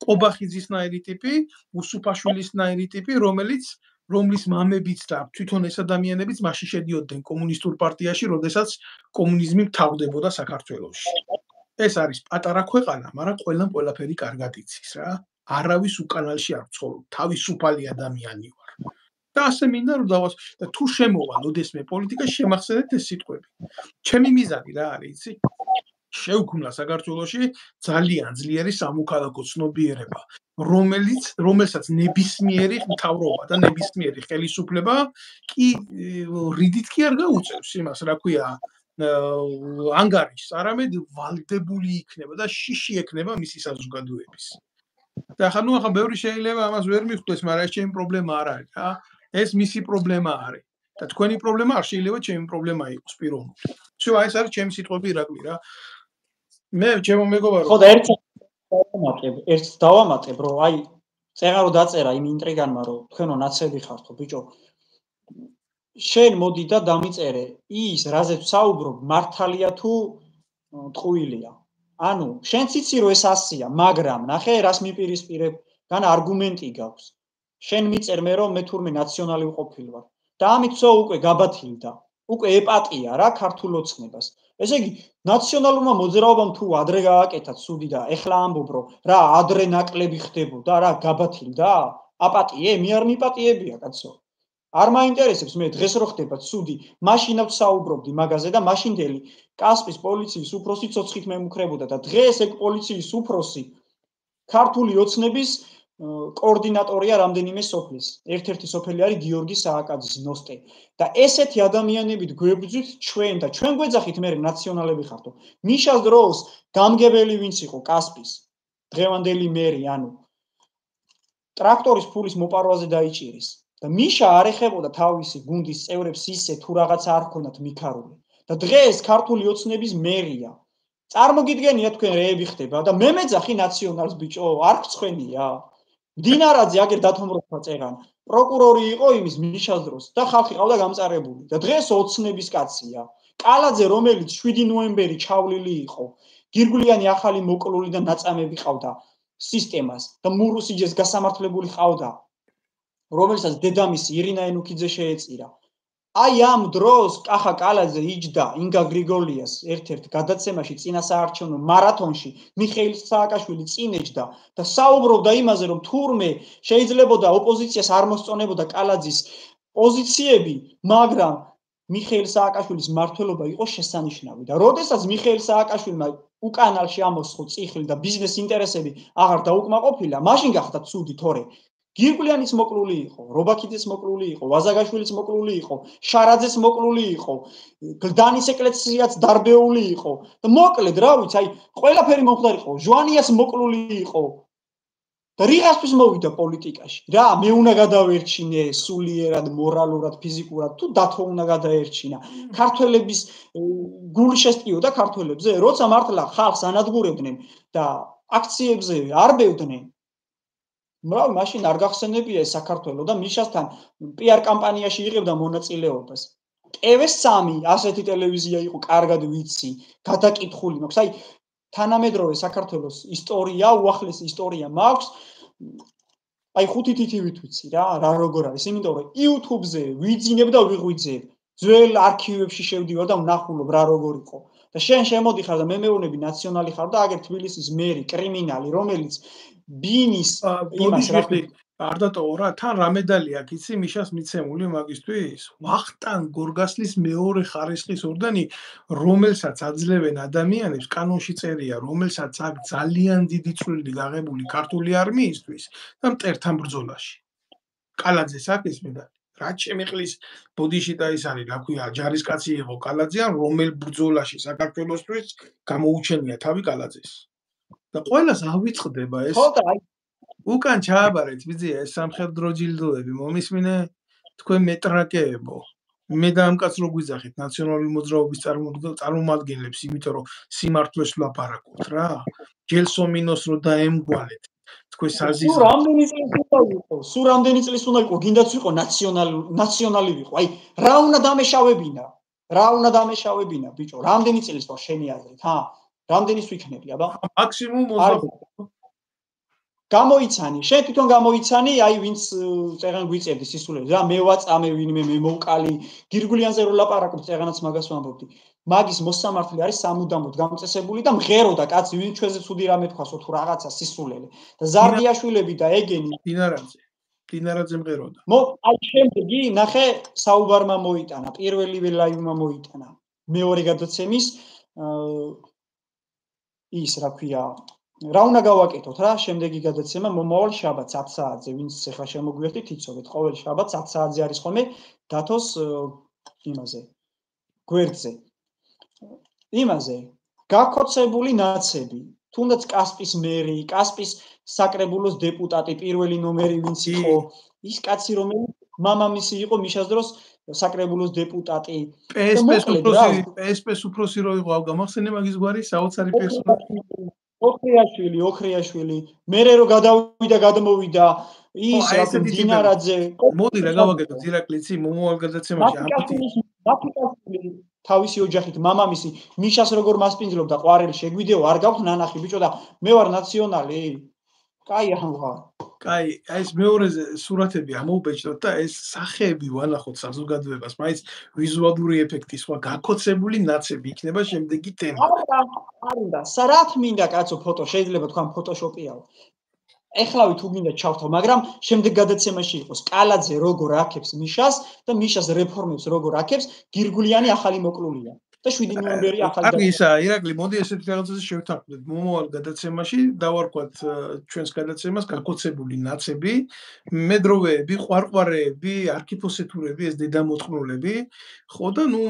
ყობახიძისნაირი ტიპი, უსუფაშვილისნაირი ტიპი, რომლის მამებიც და თვითონ ეს ადამიანებიც მასში შედიოდნენ კომუნისტურ პარტიაში, როდესაც კომუნიზმი მთავრდებოდა საქართველოში. ეს არის პატარა ქვეყანა, მაგრამ ყველამ ყველაფერი კარგად იცის რა. არავის უკანალში არ ვცხოვრობ, თავისუფალი ადამიანი ვარ. და ასე მინდა რომ და თუ შემოვალ ოდესმე პოლიტიკაში შემახსენეთ ეს სიტყვები. ჩემი მიზანი რა არის, იცი? შევქმნა საქართველოში ძალიან ძლიერი სამოქალაქო ცნობიერება, რომელსაც ნებისმიერი მთავრობა და ნებისმიერი ხელისუფლება კი რიდით კი არ გაუწევს იმას, რა ქვია, ანგარიშს, არამედ ვალდებული იქნება და შიში ექნება მისი საზოგადოების. და ახლა ბევრი შეიძლება ამას ვერ მიხვდეს, მაგრამ ეს ჩემი პრობლემა არ არის რა. ეს მისი პრობლემა არის. და თქვენი პრობლემა არ შეიძლება ჩემი პრობლემა იყოს პიროვნული. всё, აი ეს არის ჩემი სიტყვები ირაკლი რა. მე ჩემო მეგობარო. ხო და ერთს დავამატებ, რომ აი წეღარო დაწერა იმ ინტრიგანმა, რომ თქვენო ნაცები ხართ ხო ბიჭო. შენ მოდი და დამიწერე ის, რაზეც საუბრობ, მართალია თუ ტყუილია. ანუ შენც იცი რომ ეს 100-ია, მაგრამ ნახე რას მიპირისპირებ, გან არგუმენტი გაქვს. შენ მიწერ მე რომ მე თურმე ნაციონალი ვყოფილი ვარ. და ამით სო უკვე გაბათილდა. უკვე ეპატია რა ქართულ ოცნებას. ესე იგი, ნაციონალურმა მოძრაობამ თუ ადრე გააკეთა ცუდი და ეხლა ამბობ რომ რა ადრე ნაკლები ხდებოდა, რა გაბათილდა? აპატიე, მე არ მიპატიებია კაცო. არ მაინტერესებს მე დღეს რო ხდება ცუდი, მაშინაც საუბრობდი მაგაზე და მაშინდელი კასპის პოლიციის უფროსი ცოცხით მემუქრებოდა და დღეს ეგ პოლიციის უფროსი ქართული ოცნების კოორდინატორია რამდენიმე სოფლის. ერთ-ერთი სოფელი არის გიორგი სააკაძის ნოსტე და ესეთი ადამიანებით გვებძვით ჩვენ და ჩვენ გვეძახით მე ნაციონალები ხართო. მიშას დროს გამგებელი ვინც იყო კასპის დღევანდელი მერი, ანუ ტრაქტორის ფულის მოპარვაზე დაიჭირეს. და მიშა არ ეხებოდა თავისი გუნდის წევრებს ისე თუ რაღაცა არ ჰქონდათ მიქარული. და დღეს ქართული ოცნების მერია. წარმოგიდგენია თქვენ რეები ხდება და მე მეძახი ნაციონალს ბიჭო, არ გწხვენია. დინარაძე აგერ დათომროთა წერან. პროკურორი იყო იმის მიშას დროს და ხალხი ყავდა გამწარებული. და დღეს ოცნების კაცია. კალაძე რომელიც 7 ნოემბერი ჩავლილი იყო. გირგვლიანი ახალი მოკლული და ნაწამები ყავდა სისტემას და მურუსიძეს გასამართლებული ყავდა. რომელსაც დედამისი ირინა ენუქიძე შეეწირა. აი ამ დროს კახა კალაძე იჯდა ინგა გრიგოლიას ერთ-ერთ გადაცემაში წინა საარჩევნო მარათონში მიხეილ სააკაშვილი წინეჯდა და საუბრობდა იმაზე რომ თურმე შეიძლებოდა ოპოზიციას არ მოსწონებოდა კალაძის პოზიციები, მაგრამ მიხეილ სააკაშვილის მმართველობა იყო შესანიშნავი და როდესაც მიხეილ სააკაშვილმა უკანალში ამოსხო წიხლი და ბიზნეს ინტერესები აღარ დაუკმაყოფილა, მაშინ გახდა ცუდი თორე გირგვლიანის მოკლული იყო, რობაქიძეს მოკლული იყო, ვაზაგაშვილის მოკლული იყო, შარაძეს მოკლული იყო, გლდანის ეკლესიაც დარბეული იყო და მოკლედ რა ვიცი, აი ყველაფერი მომხდარიყო, ჟვანიას მოკლული იყო და რიღასთვის მოვიდა პოლიტიკაში. რა, მე უნდა გადავერჩინე სულიერად, მორალურად, ფიზიკურად, თუ დათო უნდა გადაერჩინა. ქართველების გული შესტიოდა ქართველებზე, როცა მართლა ხალხს ანადგურებდნენ და აქციებზე არბევდნენ მრავალ მაშინ არ გახსენებია საქართველოს და მიშასთან PR კამპანიაში იღებდა მონაწილეობას. TV3 ასეთი ტელევიზია იყო, კარგად ვიცი, გადაკითხული მაქვს. აი თანამედროვე საქართველოს ისტორია, უახლესი ისტორია მაქვს. აი 5 თითივით ვიცი რა როგორ არის, იმიტომ რომ YouTube-ზე ვიძინებ და ვიღვიძებ. ძველ არქივებში შევდივარ და ვნახულობ რა როგორ იყო. და შენ შემოდიხარ და მე მეუბნები ნაციონალი ხარ და აგერ თბილისის მერი, კრიმინალი, რომელიც ბინის იმას რა არ დატოვა რა თან რა მედალი აქვს იცი მიშას მიცემული მაგისთვის ვახტანგ გორგასლის მეორე ხარისხის ორდენი რომელსაც აძლევენ ადამიანებს კანონში წერია რომელსაც აქვს ძალიან დიდი წვლილი გაღებული ქართული არმიისთვის და მტერთან ბრძოლაში კალაძეს აქვს მედალი რა შემიყლის ბოდიში და ის არის რა ქვია ჯარისკაცი იყო კალაძე ან რომელ ბრძოლაში საქართველოსთვის გამოუჩენია თავი კალაძეს და ყველას ავიწყდება ეს უკან ჩააბარეთ ბიძია ეს სამხედრო ჯილდოები მომისმინე თქვენ მეტრაკეებო მე და ამ კაც რო გვიძახით ნაციონალური მოძრაობის წარმომადგენლებს იმიტომ რომ სიმართლეს ვლაპარაკობთ რა ჯელსომინოს რო დაემგვალეთ თქვენ საზიზო სულ რამდენი წლის უნდა იყო გინდაც ვიყო ნაციონალი ვიყო აი რა უნდა დამეშავებინა ბიჭო რამდენი წლის თქო შენი აზრით რამდენის ვიქნები აბა მაქსიმუმ 20 გამოიცანი შენ თვითონ გამოიცანი აი ვინც წერან გვიწევდი სისულელს რა მე ვაწამე ვინმე მე მოვკალი გირგვლიანზე რო ლაპარაკობ წერანაც მაგას ვამბობდი მაგის მოსამართლე არის სამუდამოდ გამწესებული და მღეროდა კაცი ვინ ჩვენზე ცუდი რამე თქვასო თუ რაღაცა სისულელე და ზარდიაშვილები და ეგენი დინარაძე მღეროდა აი შემდეგი ნახე საუბარმა მოიტანა პირველივე ლაივმა მოიტანა მეორე გადაცემის ის რა ქვია რა უნდა გავაკეთოთ რა შემდეგი გადაცემა მომავალ შაბათს 10 საათზე ვინც ახლა შემოგვიერთით იცოდეთ ყოველ შაბათს 10 საათზე არის ხოლმე დათოს იმაზე გვერდზე იმაზე გაქოცებული ნაცები თუნდაც კასპის მერი კასპის საკრებულოს დეპუტატი პირველი ნომერი ვინც იყო ის კაცი რომელიც მამამისი იყო მიშას დროს საკრებულოს დეპუტატი PSP-ს უფროსი რო იყო გამახსენე მაგის გვარი საოცარი პერსონაჟი ოქრიაშვილი მერე რო გადავიდა გადმოვიდა ის რა დინარაძე მოდი რა გავაკეთოთ ირაკლიცი მომავალ გადაცემაში მათიკაშვილი თავისი ოჯახით მამამისი მიშას როგორ მასპინძლობდა ყვარელი შეგვიდეო არ გაქვს ნანახი ბიჭო და მე ვარ ნაციონალი კაი ამღა კაი ეს მეორეზე სურათები ამოუბეჭდოთ და ეს სახეები ვანახოთ საზოგადოებას მაინც ვიზუალური ეფექტი სხვა გაკოცებული ნაცები იქნება შემდეგი თემა არ უნდა სარათ მინდა კაცო ფოტო შეიძლება თქვა ფოტოშოპიაო ეხლავი თუ გინდა ჩავთავ მაგრამ შემდეგ გადაცემაში იყოს კალაძე როგორ აქებს მიშას და მიშას რეფორმებს როგორ აქებს გირგულიანი ახალი მოკლულია და 7 ნოემბერი ახალი კარგი ისა ირაკლი მოდი ესეთი რაღაცაზე შევთანხმდეთ მომავალ გადაცემაში დავარქვათ ჩვენს გადაცემას გაკოცებული ნაცები მედროვეები ყვარყვარეები არქიფოსეთურები ეს დედამოწყნულები ხო და ნუ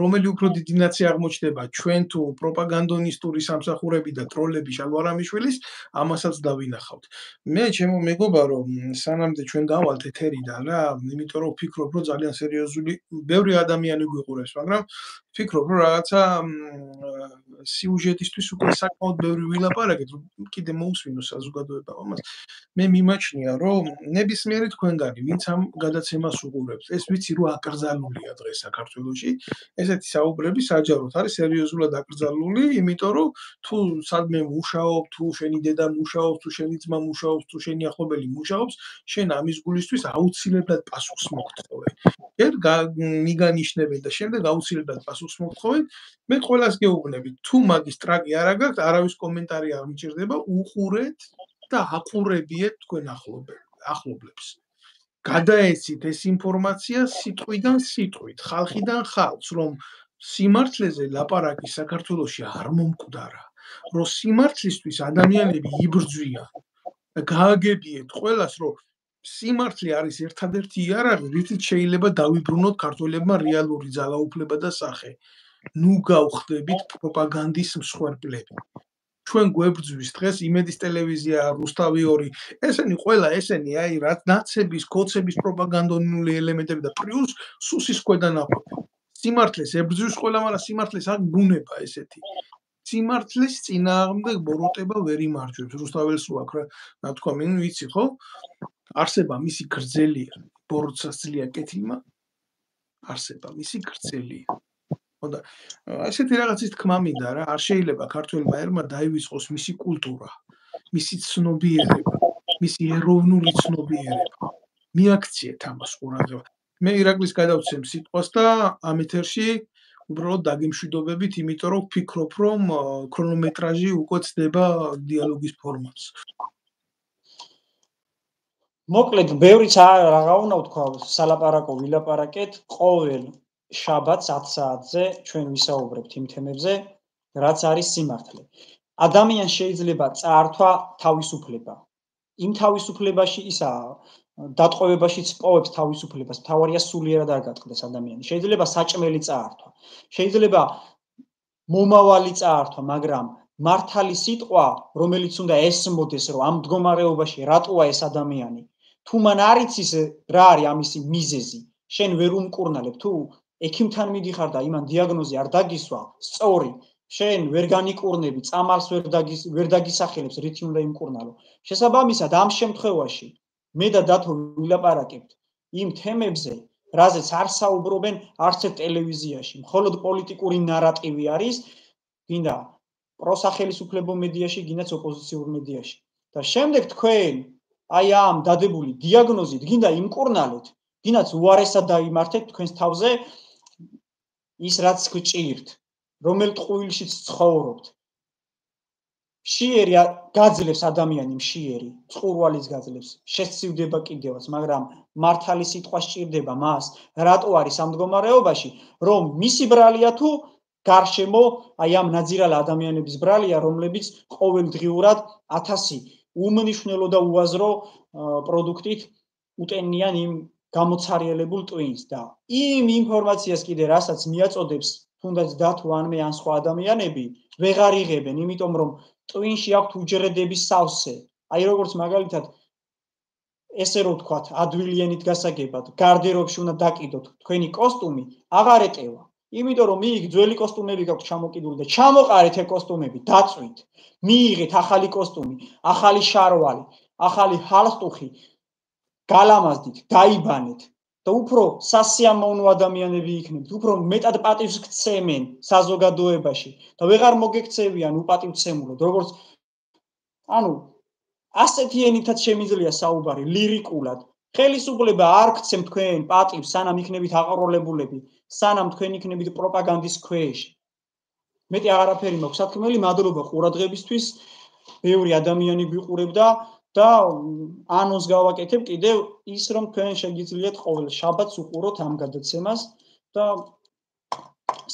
რომელი უფრო დიდი ნაცი აღმოჩნდება ჩვენ თუ პროპაგანდონისტური სამსახურები და ტროლები შალვარამიშვილის ამასაც დავინახავთ მე ჩემო მეგობა რომ სანამდე ჩვენ გავალთ ეთერიდან რა იმიტომ რომ ვფიქრობ რომ ძალიან სერიოზული ბევრი ადამიანი გვიყურებს მაგრამ ვფიქრობ რომ რაღაცა სიუჟეტისთვის უკვე საკმაოდ ბევრი ვილაპარაკეთ რომ კიდე მოусვინოს საზოგადოებამ ამას მე მიმაჩნია რომ ნებისმიერი თქვენგანი ვინც ამ გადაცემას უყურებს ეს ვიცი რომ აკრძალულია დღეს საქართველოში ესეთი საუბრები საჯაროდ არის სერიოზულად აკრძალული იმიტომ რომ თუ სადმე მუშაობ თუ შენი დედა მუშაობს თუ შენი ძმა მუშაობს თუ შენი ახლობელი მუშაობს შენ ამის გულისთვის აუცილებლად პასუხს მოგთხოვე ერთ მიგანიშნებენ და შემდეგ აუცილებლად პასუხს მოგთხოვენ მე ყველას გეუბნებით თუ მაგის ტრაკი არ აგაქვთ არავის კომენტარი არ მიჭირდება უყურეთ და აყურებიეთ თქვენ ახლობლებს გადაეცით ეს ინფორმაცია სიტყვიდან სიტყვით ხალხიდან ხალხს რომ სიმართლეზე ლაპარაკი საქართველოში არ მომკვდარა რომ სიმართლისთვის ადამიანები იბრძვიან და გააგებიეთ ყველას რომ სიმართლე არის ერთადერთი იარაღი რითიც შეიძლება დავიბრუნოთ ქართველებმა რეალური ძალაუფლება და სახე ნუ გავხდებით პროპაგანდის მსხვერპლები ჩვენ გვებრძვის დღეს იმედის ტელევიზია რუსთავი 2 ესენი ყველა ესენი აი რაც ნაცების კოცების პროპაგანდონული ელემენტები და პლუს სუსის ქვედანაყოფი სიმართლეს ებრძვის ყველა მაგრამ სიმართლეს აქ ბუნება ესეთი სიმართლის წინააღმდეგ ბოროტება ვერ იმარჯვებს რუსთაველს უაქ რა თქვა მე ვიცი ხო არსება მისი გრძელია ბოროტსაც ძლია კეთილმა არსება მისი გრძელია ხო და ესეთი რაღაცის თქმა მინდა რა არ შეიძლება ქართველმა ერმა დაივიწყოს მისი კულტურა მისი ცნობიერება მისი ეროვნული ცნობიერება მიაქციეთ ამას ყურადღება მე ირაკლის გადავცემ სიტყვას და ამ ეთერში უბრალოდ დაგემშვიდობებით იმიტომ რომ ვფიქრობ რომ ქრონომეტრაჟი უკვე ცდება დიალოგის ფორმას მოკლედ ბევრიც რაღა უნდა ვთქვა სალაპარაკო ვილაპარაკეთ ყოველ შაბათს 10 საათზე ჩვენ ვისაუბრებთ იმ თემებზე რაც არის სიმართლე ადამიანს შეიძლება წაართვა თავისუფლება იმ თავისუფლებაში ისა დატყვევებაშიც პოვებს თავისუფლებას თავარია სულიერად არ გატყდეს ადამიანი შეიძლება საჭმელი წაართვა შეიძლება მომავალი წაართვა მაგრამ მართალი სიტყვა რომელიც უნდა ესმოდეს რომ ამ მდგომარეობაში რატოა ეს ადამიანი თუ მან არ იცის რა არის ამისი მიზეზი შენ ვერ უმკურნალებ თუ ექიმთან მიდიხარ და იმან დიაგნოზი არ დაგისვა სწორი შენ ვერ განიკურნები წამალს ვერ დაგისახელებს რითი უნდა იმკურნალო შესაბამისად ამ შემთხვევაში მე და დათო ვილაპარაკებთ იმ თემებზე რაზეც არ საუბრობენ არც ერთ ტელევიზიაში მხოლოდ პოლიტიკური ნარატივი არის გინდა პროსახელისუფლებო მედიაში გინდაც ოპოზიციურ მედიაში და შემდეგ თქვენ აი ამ დადებული დიაგნოზით გინდა იმკურნალოთ გინდაც უარესად დაიმართეთ თქვენს თავზე ის რაც გჭირთ რომელ ტყუილშიც ცხოვრობთ მშიერი გაძლევს ადამიანი მშიერი წყურვალის გაძლევს შესცივდება კიდევაც მაგრამ მართალი სიტყვა სჭირდება მას რატო არის ამ მდგომარეობაში რომ მისი ბრალია თუ გარშემო აი ამ ნაძირალ ადამიანების ბრალია რომლებიც ყოველდღიურად 1000 უმნიშვნელო და უაზრო პროდუქტით უტენიან იმ გამოცარიელებულ ტვინს და იმ ინფორმაციას კიდე რასაც მიაწოდებს თუნდაც დათო ან მე ან სხვა ადამიანები ვეღარ იღებენ იმიტომ რომ ტვინში აქვთ უჯრედების სავსე აი როგორც მაგალითად ესე რომ ვთქვათ ადვილიანით გასაგებად გარდერობში უნდა დაკიდოთ თქვენი კოსტუმი აღარ ეტევა იმიტომ რომ მიიგ ძველი კოსტუმები გაქვთ ჩამოკიდული და ჩამოყარეთ ეს კოსტუმები დაწვით მიიღეთ ახალი კოსტუმი ახალი შარვალი ახალი ჰალსტუხი გალამაზდით დაიბანეთ და უფრო სასიამოვნო ადამიანები იქნებით, უფრო მეტად პატივს გცემენ საზოგადოებაში და ვეღარ მოგექცევიან უპატივცემულოდ, როგორც ანუ ასეთი ენითაც შემიძლია საუბარი ლირიკულად. ხელისუფლება არ გცემ თქვენ პატივს, სანამ იქნებით აყროლებულები, სანამ თქვენ იქნებით პროპაგანდის ქვეშ. მეტი აღარაფერი მაქვს სათქმელი, მადლობა ყურადღებისთვის. ბევრი ადამიანი გვიყურებდა და ანონს გავაკეთებ კიდევ ის, რომ თქვენ შეგიძლიათ ყოველ შაბათს უყუროთ ამ გადაცემას და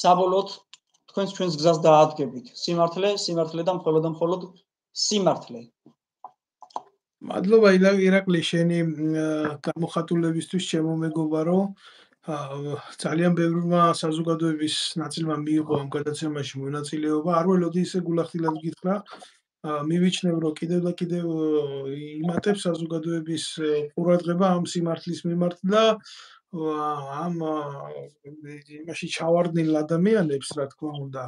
საბოლოოდ თქვენს ჩვენს გზას დაადგებით. სიმართლე და მხოლოდ სიმართლე. მადლობა ირაკლი შენი გამოხატულებისთვის, ჩემო მეგობარო. ძალიან ბევრმა საზოგადოების ნაწილმა მიიღო ამ გადაცემაში მონაწილეობა. არ ველოდი ისე გულახდილად გითხრა. მივიჩნევ, რომ კიდევ და კიდევ იმატებს საზოგადოების ყურადღება ამ სიმართლის მიმართ და ამ იმაში ჩავარდნილ ადამიანებს, რა თქმა უნდა,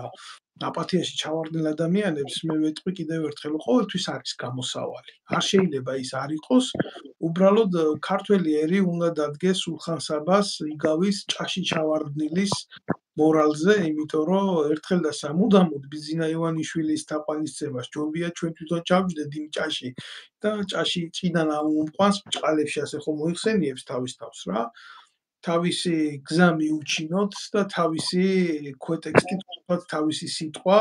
აპათიაში ჩავარდნილ ადამიანებს მე ვეთქვი კიდევ ერთხელ, ყოველთვის არის გამოსავალი. არ შეიძლება ის არ იყოს, უბრალოდ ქართველი ერი უნდა დადგეს სულხან-საბას იგავის ჭაში ჩავარდნილის მორალზე, იმიტომ რომ ერთხელ და სამუდამოდ ბიზინა ივანიშვილის თაყვანისცემას ჯობია ჩვენ თვითონ ჩავჯდეთ იმ ჭაში და ჭაში წიდან ამომყვანს ბჭყალებში ასე ხომ მოიხსენიებს თავის თავს რა. თავისი გზა მიუჩინოთ და თავისი ქვეტექსტი, თავისი სიტყვა,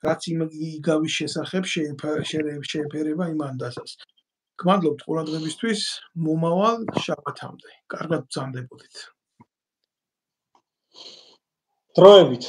რაც იგავის შესახებ შეეფერება იმ ანდაზას. გმადლობთ ყურადღებისთვის, მომავალ შაბათამდე. კარგად ბრძანდებოდეთ. დროებით